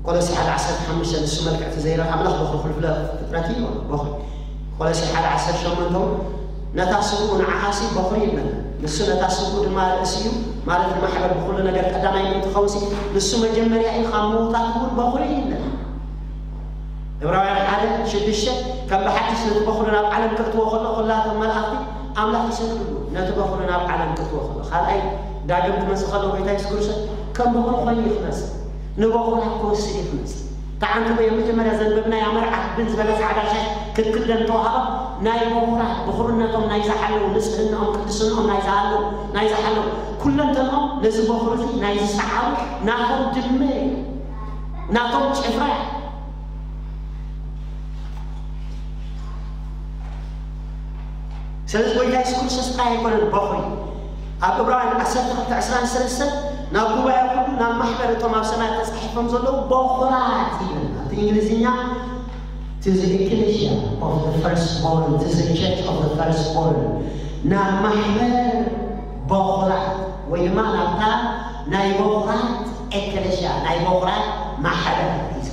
ቆሎሲ ሓደ ዓሰርተ ሓሙሽተ፣ ንሱ መልክዕ እቲ ዘይረኣ ኣምላኽ በኹሪ ኩሉ ፍጥረት እዩ። በኹሪ። ቆሎሲ ሓደ ዓሰርተ ሸሞንተ እውን፣ ነታ ስብኡ ንዓኣሲ በኹሪ ይብለና። ንሱ ነታ ስብኡ ድማ ርእሲ እዩ፣ ማለት ንማሕበር ብኹሉ ነገር ቀዳማይ ምእንቲ ኸውንሲ፣ ንሱ መጀመርያ እዩ፣ ካብ ምዉታት እውን በኹሪ እዩ ይብለና። ዕብራውያን ሓደ ሽዱሽተ፣ ከም ብሓድሽ ነቲ በኹሪ ናብ ዓለም ከእትዎ ከሎ፣ ኩላቶም መላእኽቲ ኣምላኽ ይሰግድሉ። ነቲ በኹሪ ናብ ዓለም ከእትዎ ከሎ፣ ካልኣይ ዳግም ክመጽእ ከሎ፣ ጎይታ የሱስ ክርስቶስ ከም በኹሪ ኮይኑ እዩ ክመጽእ። ንበኹራት ክወስድ እዩ ክመጽእ። ተዓንትቦ፣ የመጀመርያ ዘንበብናያ መርዓ ብን ዝበለ ጻዕዳ ሻሽ ክትክደን ተዋህባ፣ ናይ በኹራት ብኹርነቶም ናይ ዝሓለዉ፣ ንጽህናኦም፣ ቅድስናኦም ናይ ዝሃለዉ፣ ናይ ዝሓለዉ፣ ኩለንተንኦም ነዚ በኹሪ እዚ ናይ ዝሰዓሩ ናቶም ድመ እዩ። ናቶም ጭፍራ እዩ። ስለዚ ጎይታ የሱስ ክርስቶስ ጥራይ ኣይኮነን በኹሪ። ኣብ ዕብራውያን ዓሰርተ ክልተ ዕስራን ሰለስተን፣ ናብ ጉባኤ ኩሉ፣ ናብ ማሕበር እቶም ኣብ ሰማያት ተጻሒፎም ዘለዉ በኹራት ይብል። ኣብቲ እንግሊዝኛ፣ to the ecclesia of the firstborn, to the church of the firstborn፣ ናብ ማሕበር በኹራት፣ ወይ ድማ ናብታ ናይ በኹራት ኤክሌሽያ፣ ናይ በኹራት ማሕበር እዩ።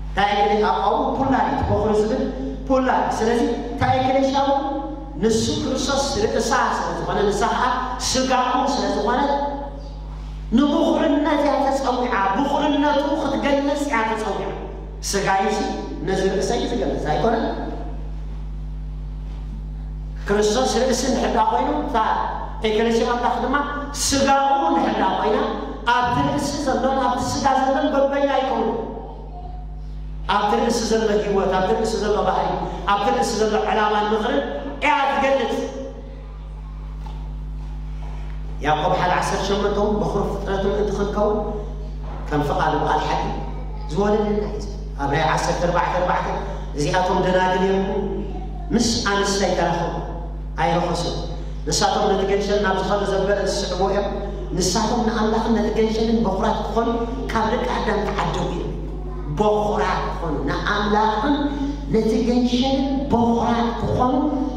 እንታይ ኤክሌሽያ? ኣብኡ ፑላር እዩ፣ በኹሪ ዝብል ፑላር። ስለዚ እንታይ ኤክሌሽያ? ንሱ ክርስቶስ ርእሳ ስለ ዝኾነ፣ ንሳ ኸዓ ስጋኡ ስለ ዝኾነ፣ ንብኹርነት እያ ተጸዊዓ። ብኹርነቱ ክትገልጽ እያ ተጸዊዓ። ስጋይሲ ነዚ ርእሰይ እዩ ዝገልጽ ኣይኮነን? ክርስቶስ ርእሲ እንድሕር ደኣ ኮይኑ፣ እታ ኤክሌሽያ ኣምላኽ ድማ ስጋኡ እንድሕር ደኣ ኮይና፣ ኣብቲ ርእሲ ዘሎን ኣብቲ ስጋ ዘሎን በበይና ይኸውን። ኣብቲ ርእሲ ዘሎ ህይወት፣ ኣብቲ ርእሲ ዘሎ ባህሪ፣ ኣብቲ ርእሲ ዘሎ ዕላማን ምኽርን እያ ትገልጽ። ያዕቆብ ሓደ ዓሰርተ ሸሞንተ እውን፣ በኹሪ ፍጥረቱ ምእንቲ ክንከውን ከም ፍቓዱ ብቓል ሓቂ ዝወለደና እዩ። ኣብ ራእይ ዓሰርተ ኣርባዕተ ኣርባዕተ፣ እዚኣቶም ደናግል እዮም፣ ምስ ኣንስቲ ኣይተራኸቡ፣ ኣይረኸሱን። ንሳቶም ነቲ ገንሸል ናብ ዝኾነ ዘበለ ዝስዕቡ እዮም። ንሳቶም ንኣምላኽን ነቲ ገንሸልን በኹራት ክኾኑ ካብ ደቂ ኣዳም ተዓደጉ እዮም። በኹራት ክኾኑ፣ ንኣምላኽን ነቲ ገንሸልን በኹራት ክኾኑ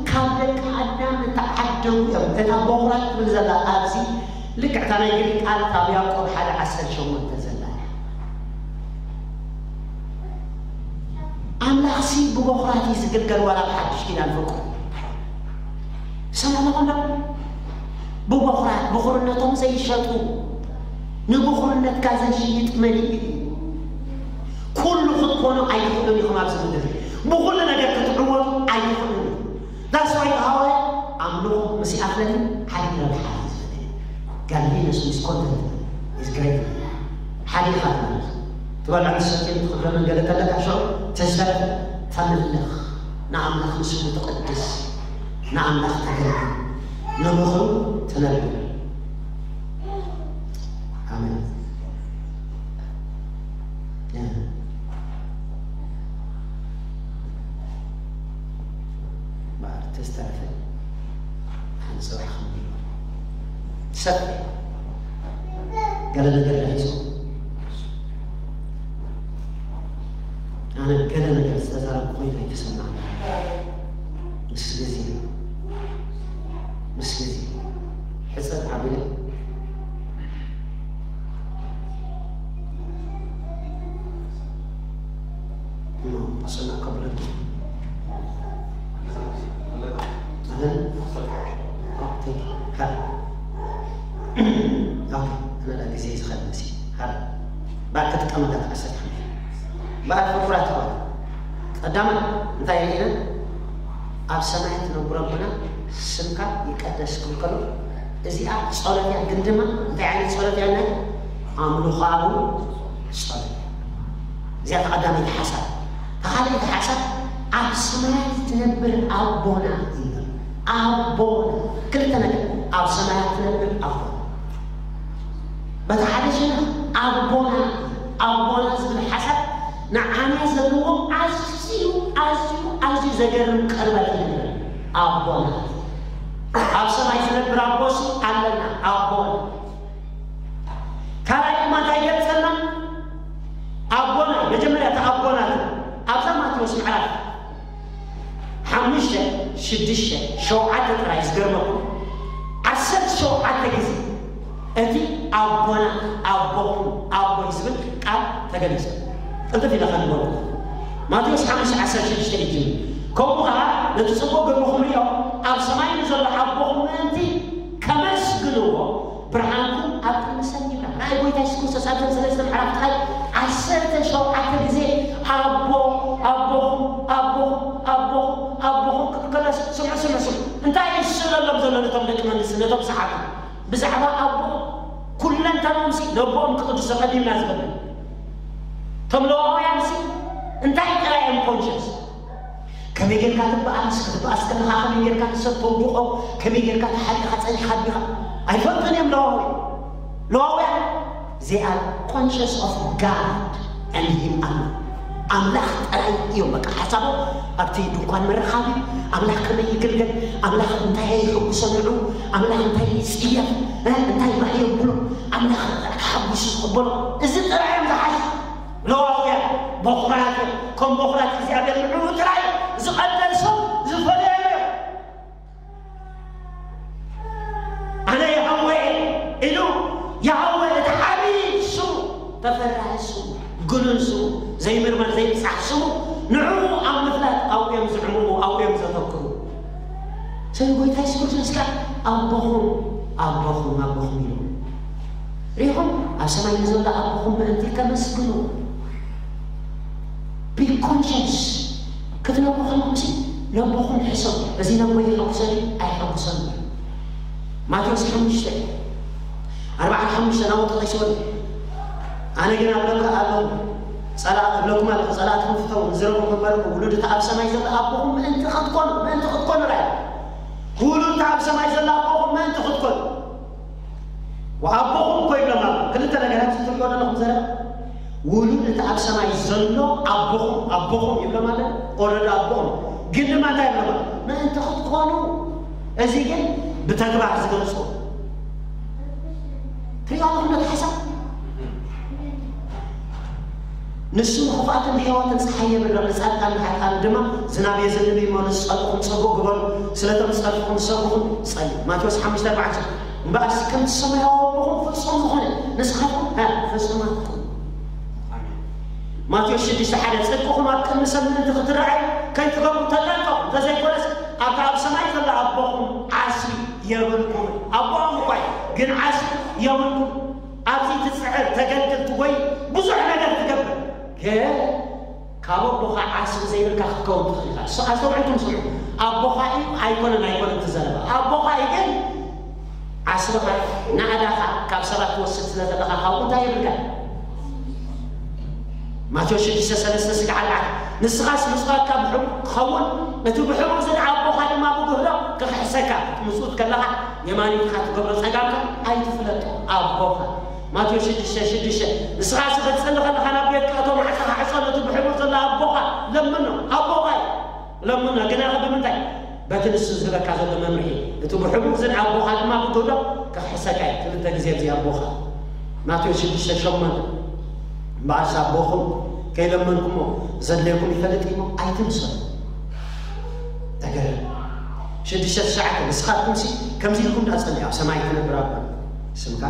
ካብ ደቂ ኣዳም ዝተዓደጉ እዮም። እታ በኹራት ትብል ዘላ ኣብዚ ልክዕ እታ ናይ ግሪክ ቃል ካብ ያዕቆብ ሓደ ዓሰርተ ሸሞንተ ዘላ እያ። ኣምላኽሲ ብበኹራት እዩ ዝግልገል፣ ዋላ ብሓድሽ ኪዳን ፍቅሩ። ሰማዕኹም ዶ? ብበኹራት፣ ብኹርነቶም ዘይሸጡ፣ ንብኹርነትካ ዘይሽይጥ መሊኡ እዩ። ኩሉ ክትኮኑ ኣይትኽእሉን ኢኹም ኣብዚ ምድሪ። ብኹሉ ነገር ክትዕወቱ ኣይትኽእሉን ኢኹም። That's why ሃዋርያ ኣምልኾ ምስ ይኣኽለኒ ሓደ ረብሓ እዩ ዝፈለኒ። Godliness with contentment is great። ሓደ ኢኻ ትመልኽ። ትበልዖ ትሰትዮ ትኽብረ መንገዲ ከለካ ሽዑ ተዝተረፈ ተምልኽ። ንኣምላኽ ንስሙ ትቕድስ። ንኣምላኽ ተገልግል። ንብኽሩ ትነብር። ኣሜን። እምበኣር ተዝተረፈ ሓንቲ ጽባሕ ከም ንብሎ ሰፊሕ ገለ ነገር ዳሂጹ ኣነ ገለ ነገር ዝተዛረብኩ ኮይኑ ኣይተሰማዕኒ። ምስ ግዜ፣ ምስ ግዜ ሕጽር ኣቢለ እሞ ኣሰና ከብለኪ። ኣለን? ኦ፣ ቴንክ ዩ። ሃር። ኦኬ፣ ኣነ ዳ ግዜ ዝኸድ መሲ። ሃር። ባክ ክትቀመጥ ኣትሓሰብ። ባክ ፍቁራት ኣሕዋት። ቀዳማይ እንታይ ርኢና? ኣብ ሰማይ ትነብር ኣቦና ስምካ ይቀደስ ክብል ከሎ፣ እዚኣ ጸሎት እያ፣ ግን ድማ እንታይ ዓይነት ጸሎት እያ? ናይ ኣምልኾኣዊ ጸሎት እያ። እዚኣ እታ ቀዳመይቲ ሓሳብ። እታ ካልኣይቲ ሓሳብ፣ ኣብ ሰማያት ትነብር ኣቦና እዩ። ኣቦና። ክልተ ነገር፣ ኣብ ሰማያት ትነብር ኣቦና። በቲ ሓደ ሸነኽ ኣቦና፣ ኣቦና ዘለዎም ኣዝዩ ኣዝዩ ኣዝዩ ዘገርም ቅርበት እዩ። ኣቦና ኣብ ሰማይ ዝነብር ኣቦሲ ኣለና። ኣቦና ካልኣይ ድማ እንታይ ይገልጸልና? ኣቦና መጀመርያ እቲ ኣቦና ኣብዛ ማቴዎስ ምዕራፍ ሓሙሽተ ሽዱሽተ ሸውዓተ ጥራይ ዝገርመኩም ዓሰርተ ሸውዓተ ግዜ እቲ ኣቦና ኣቦኹም ኣቦይ ዝብል ቃል ተገሊጹ። ቅልጥፍ ኢለ ከንብበልኩም። ማቴዎስ ሓሙሽተ ዓሰርተ ሽዱሽተ እዩ። ከምኡ ኸዓ ነቲ ጽቡቕ ግብርኹም ርእዮም ኣብ ሰማይ ንዘሎ ኣቦኹም ምእንቲ ከመስግንዎ ብርሃንኩም ኣብ ቅድሚ ሰብ ይብራህ። ናይ ጎይታ የሱስ ክርስቶስ ኣብዘን ሰለስተ ምዕራፍ ጥራይ ዓሰርተ ሸውዓተ ግዜ ኣቦ ኣቦኹም ኣቦኹም ኣቦኹም ኣቦኹም ክብል ከሎ ስምዑ ስምዑ ስምዑ እንታይ እዩ ዝስእለሎም ዘሎ ነቶም ደቂ መንግስቲ ነቶም ሰሓቱ ብዛዕባ ኣቦ ኩለንተኖምሲ ነቦኦም ክቕድሶ ቀዲምና ዝፈልጥ እቶም ለዋውያን ሲ እንታይ ጥራይ እዮም ኮንሽስ ከመይ ጌርካ ትበኣስ ክትበኣስ ከለኻ ከመይ ጌርካ ንሰብ ተውድቖ ከመይ ጌርካ ተሓሊኻ ጸኒሕካ ኣቢኻ ኣይፈልጡን እዮም ለዋውያን ለዋውያን they are conscious of God and him alone ኣምላኽ ጥራይ እዮም በቃ ሓሳቦም ኣብቲ ድንኳን ምርኻብ እዩ ኣምላኽ ከመይ ይግልገል ኣምላኽ እንታይ የሕጉሶ ንዑ ኣምላኽ እንታይ ይጽየፍ እንታይ ባህ የብሎ ኣምላኽ ተሓጒሱ ዝቕበሎ እዚ ጥራይ እዮም ዝሓዝ ለዋውያን በኹራት እዮም ከም በኹራት እግዚኣብሔር ንዕኡ ጥራይ ዝቐደሶም ዝፈለዮም እዮም ኣነ የሃወ ኢሉ የሃወ እቲ ዓብዪ ስሙ ተፈራሒ ስሙ ግኑን ስሙ ዘይምርመር ዘይብፃሕ ስሙ ንዕኡ ኣብ ምፍላጥ ኣብኡ እዮም ዝዕምሙ ኣብኡ እዮም ዘተክሩ ስለዚ ጎይታ የሱስ ክርስቶስ ከዓ ኣቦኹም ኣቦኹም ኣቦኹም ኢሉ ሪኹም ኣብ ሰማይ ንዘሎ ኣቦኹም ምእንቲ ከመስግኑ be conscious ክትነብሩ ከለኹም ሲ ነቦኹም ሕሰቡ እዚ ነቦ ይሐጉሰኒ ኣይሐጉሰኒ ማቴዎስ ሓሙሽተ ኣርባዓን ሓሙሽተን ኣብኡ ጠቒስዎ ኣሎ ኣነ ግን ኣብለካ ኣለኹ ጸላእ እብለኩም ኣለኹ ጸላእትኩም ፍተዉ ንዝረቡ ከንበረኩም ውሉድ እቲ ኣብ ሰማይ ዘሎ ኣቦኹም ምእንቲ ክትኮኑ ምእንቲ ክትኮኑ ራይ ውሉድ እቲ ኣብ ሰማይ ዘሎ ኣቦኹም ምእንቲ ክትኮኑ ወኣቦኹም እኮ ይብሎም ኣሎ ክልተ ነገራት ትሪኦ ዘለኹም ዘረባ ውሉድ እቲ ኣብ ሰማይ ዘሎ ኣቦኹም ኣቦኹም ይብሎም ኣሎ ኦረዲ ኣቦኹም ግን ድማ እንታይ ይብሎም ኣሎ ምእንቲ ክትኮኑ እዚ ግን ብተግባር ዝገልጾ ትሪኦ ኣለኹም ነቲ ሓሳብ ንሱ ንኽፉኣትን ንሕያዋትን ፀሓይ የብርህ ንፃድቃን ንሓጥኣን ድማ ዝናብ የዝንብ እዩ እሞ ንዝፀልእኹም ፅቡቕ ግበሩ ስለቶም ዝፀልእኹም ዝሰጉኹም ፀልዩ ማቴዎስ ሓሙሽተ ኣርባዕተ እምበኣርሲ ከምቲ ሰማያዊ ኣቦኹም ፍፁም ዝኾነ ንስኻትኩም ፍፁማት ትኹኑ ማቴዎስ ሽዱሽተ ሓደ ፅድቅኹም ኣብ ቅድሚ ሰብ ምእንቲ ክትረኣዩ ከይትገብሩ ተጠንቀቑ እንተዘይኮነስ ኣብቲ ኣብ ሰማይ ዘሎ ኣቦኹም ዓስቢ የብልኩም ኣቦኹም እኳ እዩ ግን ዓስቢ የብልኩም ኣብዚ ትፅዕር ተገልግል ትጎይ ብዙሕ ነገር ትገብር ግን ካብ ኣቦኻ ዓስቢ ዘይብልካ ክትከውን ትኽእል ኢኻ እሱ ኣስተውዕልኩም ስምዑ ኣቦኻ እዩ ኣይኮነን ኣይኮነን ትዘረባ ኣቦኻ እዩ ግን ዓስብኻ ናእዳኻ ካብ ሰባት ትወስድ ስለ ዘለኻ ካብኡ እንታይ የብልካ ማቴዎስ ሽዱሽተ ሰለስተ ስግዓ ኣርባዕተ ንስኻስ ምጽዋትካ ብሕቡእ ክኸውን እቲ ብሕቡእ ዝደዓቦኻ ድማ ብጉህዶ ክኽሕሰካ ክትምጽውት ከለኻ የማኒትካ ትገብሮ ጸጋምካ ኣይትፍለጦ ኣቦኻ ማቴዎስ ሽዱሽተ ሽዱሽተ ንስኻ ስኽትጽሊ ከለኻ ናብ ቤትካ እቶ ማዕጸኻ ዕጾ ነቲ ብሕቡእ ዘሎ ኣቦኻ ለምኖ ኣቦኻ እዩ ለምኖ ግናኸ ብምንታይ በቲ ንሱ ዝህበካ ዘሎ መምርሒ እቲ ብሕቡእ ዝደዓቦኻ ድማ ብጉህዶ ክኽሕሰካ እዩ ክልተ ግዜ እዚ ኣቦኻ ማቴዎስ ሽዱሽተ ሸሞንተ እምበኣርስ ኣቦኹም ከይለመንኩሞ ዘድልየኩም ይፈልጥ እሞ ኣይትምሰሉ ተገረም ሽዱሽተ ትሽዓተ ንስኻትኩምሲ ከምዚ ኢልኩም ዳኣ ጸልዩ ኣብ ሰማይ ትነብር ኣቦ ስምካ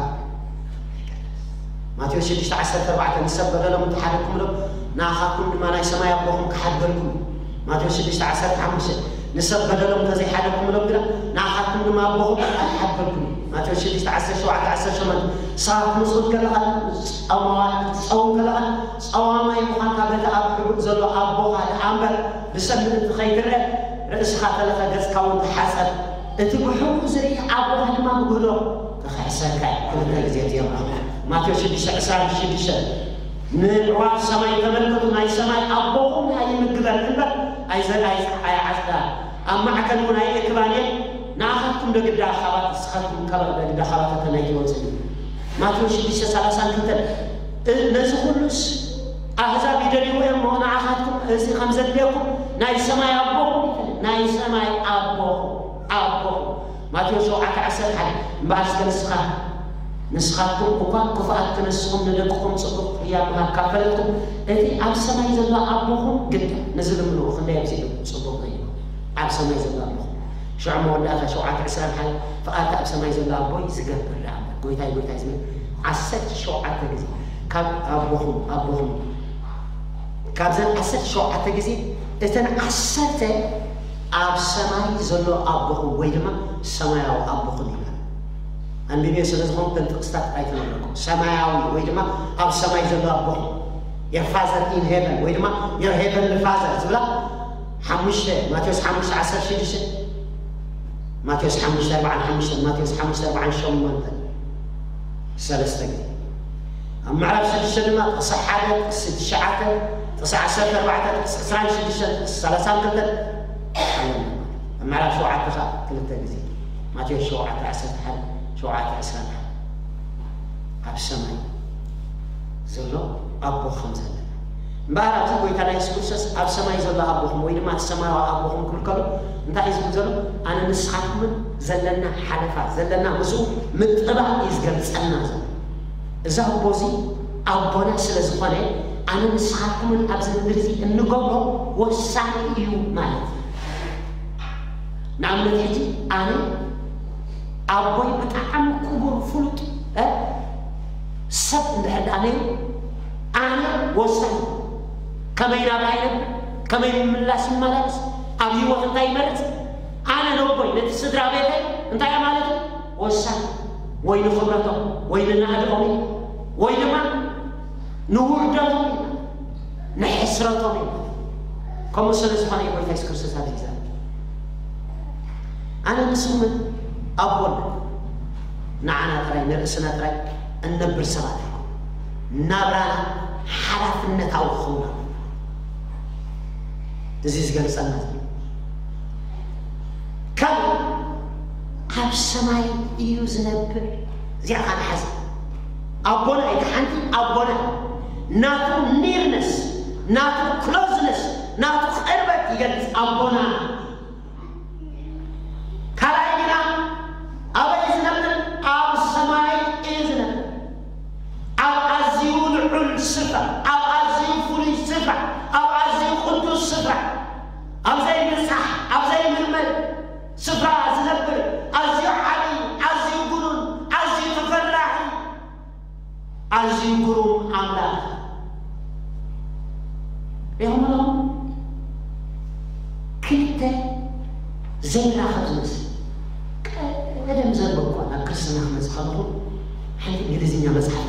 ማቴዎስ ሽዱሽተ ዓሰርተ ኣርባዕተ ንሰብ በደሎም እንተሓደግኩምሎም ንኣኻትኩም ድማ ናይ ሰማይ ኣቦኹም ክሓድገልኩም እዩ ማቴዎስ ሽዱሽተ ዓሰርተ ሓሙሽተ ንሰብ በደሎም እንተዘይሓደግኩምሎም ግና ንኣኻትኩም ድማ ኣቦኹም ኣይሓድገልኩም እዩ ማቴዎስ ሽዱሽተ ዓሰርተ ሸውዓተ ዓሰርተ ሸሞንተ ንስኻ ክትምጽውት ከለኻ ጸማዋይ ክትጸውም ከለኻ ጸዋማይ ምዃንካ በቲ ኣብ ሕቡእ ዘሎ ኣቦኻ ደኣ እምበር ብሰብ ምእንቲ ኸይትረአ ርእስኻ ተለኸ ገጽካ እውን ተሓጸብ እቲ ብሕቡእ ዝርኢ ኣቦኻ ድማ ብግህዶ ክኽሕሰካ እዩ ክልተ ግዜ እዚኦም ማቴዎስ ሽዱሽተ ዕስራን ሽዱሽተን ንዕዋፍ ሰማይ ተመልከቱ ናይ ሰማይ ኣቦኹም ደኣ ይምግበን እምበር ኣይዘርኣይ ኣይዓጽዳ ኣብ ማዕከን እውን ኣይእክባን እየን ንኣኻትኩም ደግዳ ኣኻባት ንስኻትኩም ካብ ደግዳ ኣኻባት እተን ኣይትወፅን እዩ ማቴዎስ ሽዱሽተ ሰላሳን ክልተን ነዚ ኩሉስ ኣህዛብ ይደልይዎ እዮም ንዓኻትኩም እዚ ከም ዘድልየኩም ናይ ሰማይ ኣቦኹም ይፈልጥ። ናይ ሰማይ ኣቦኹም፣ ኣቦኹም። ማቴዎስ ሸውዓተ ዓሰርተ ሓደ። እምበኣር እስከ ንስኻ፣ ንስኻትኩም እኳ ክፉኣት ክነስኹም ንደቅኹም ጽቡቕ ቅያ ምሃብ ካብ ፈለጥኩም፣ እቲ ኣብ ሰማይ ዘሎ ኣቦኹም ግዳ ንዝልምንዎ ክንደይ ኣብዚሑ ጽቡቕ እዩ። ኣብ ሰማይ ዘሎ ኣቦኹም። ሽዑ መወዳእታ ሸውዓተ ዕስራን ሓደ፣ ፍቓድቲ ኣብ ሰማይ ዘሎ ኣቦይ ዝገብር ደኣ እምበር፣ ጎይታይ፣ ጎይታይ ዝብል ዓሰርተ ሸውዓተ ግዜ ካብ ኣቦኹም፣ ኣቦኹም፣ ካብዘን ዓሰርተ ሸውዓተ ግዜ እተን ዓሰርተ ኣብ ሰማይ ዘሎ ኣቦኹም ወይ ድማ ሰማያዊ ኣቦኹም ይብል። ኣንቢብዮ ስለ ዝኾንኩ እተን ጥቕስታት ኣይተመለኩም። ሰማያዊ ወይ ድማ ኣብ ሰማይ ዘሎ ኣቦኹም፣ your father in heaven ወይ ድማ your heavenly father ዝብላ ሓሙሽተ፣ ማቴዎስ ሓሙሽተ ዓሰርተ ሽዱሽተ፣ ማቴዎስ ሓሙሽተ ኣርባዓን ሓሙሽተ፣ ማቴዎስ ሓሙሽተ ኣርባዓን ሸሞንተ፣ ሰለስተ ግዜ። ኣብ ምዕራፍ ሽዱሽተ ድማ ጥቕሲ ሓደ፣ ጥቕሲ ትሽዓተ፣ ጥቕሲ ዓሰርተ ኣርባዕተ፣ ጥቕሲ ዕስራን ሽዱሽተን፣ ጥቕሲ ሰላሳን ክልተን ኣለና። ኣብ ምዕራፍ ሸውዓተ ከዓ ክልተ ግዜ፣ ማቴዎስ ሸውዓተ ዓሰርተ ሓደ፣ ሸውዓተ ዕስራን ሓደ። ኣብ ሰማይ ዘሎ ኣቦ ከም ዘለና። እምበኣር ኣብዚ ጎይታና የሱስ ክርስቶስ ኣብ ሰማይ ዘሎ ኣቦኹም ወይ ድማ እቲ ሰማያዊ ኣቦኹም ክብል ከሎ እንታይ እዩ ዝብል ዘሎ? ኣነ ንስኻትኩምን ዘለና ሓለፋ፣ ዘለና ምስኡ ምጥባቕ እዩ ዝገልጸልና ዘሎ። እዚ ኣቦ እዚ ኣቦና ስለ ዝኾነ፣ ኣነ ንስኻትኩምን ኣብዚ ምድሪ እዚ እንገብሮ ወሳኒ እዩ ማለት እዩ። ንኣብነት ሕጂ ኣነ ኣቦይ ብጣዕሚ ክቡር ፍሉጥ፣ እ፣ ሰብ እንድሕር ደኣ ነይሩ፣ ኣነ ወሳኒ። ከመይ ናብራ ይነብር፣ ከመይ ምምላስ ይመላለስ፣ ኣብ ህይወት እንታይ ይመርጽ፣ ኣነ ነቦይ ነቲ ስድራ ቤተይ እንታይ እየ ማለት እዩ? ወሳኒ። ወይ ንኽብረቶም ወይ ንናእድኦም እዩ፣ ወይ ድማ ንውርደቶም እዩ፣ ንሕስረቶም እዩ። ከምኡ ስለ ዝኾነ እዩ ጎይታ የሱስ ክርስቶስ ኣብዚ ይዛረብ። ኣነ ንስኹምን ኣቦን ንዓና ጥራይ፣ ንርእስና ጥራይ እንነብር ሰባት ኣይኮን። ናብራና ሓላፍነታዊ ክኸውን ኣለዎ። እዚ ዝገልጸና ዘሎ ካብ ኣብ ሰማይ እዩ ዝነብር። እዚኣ ኻን ሓዚ ኣቦና እታ ሓንቲ ኣቦና ናቱ ኒርነስ፣ ናቱ ክሎዝነስ፣ ናቱ ቅርበት ይገልጽ ኣቦና። ካልኣይ ግና ኣበይ ዝነብር? ኣብ ሰማይ እዩ ዝነብር። ኣብ ኣዝዩ ልዑል ስፍራ፣ ኣብ ኣዝዩ ፍሉይ ስፍራ፣ ኣብ ኣዝዩ ቅዱስ ስፍራ፣ ኣብ ዘይብጻሕ፣ ኣብ ዘይምርመር ስፍራ ዝነብር ኣዝዩ ዓቢ፣ ኣዝዩ ግኑን፣ ኣዝዩ ተፈራሒ፣ ኣዝዩ ግሩም ኣምላኽ። ሪኢኹም ኣለኹም? ክልተ ዘይራኸብ ዝመስል። ቀደም ዘንበብኳ ናብ ክርስትና ክመጽእ ከለኹ ሓንቲ እንግሊዝኛ መጽሓፍ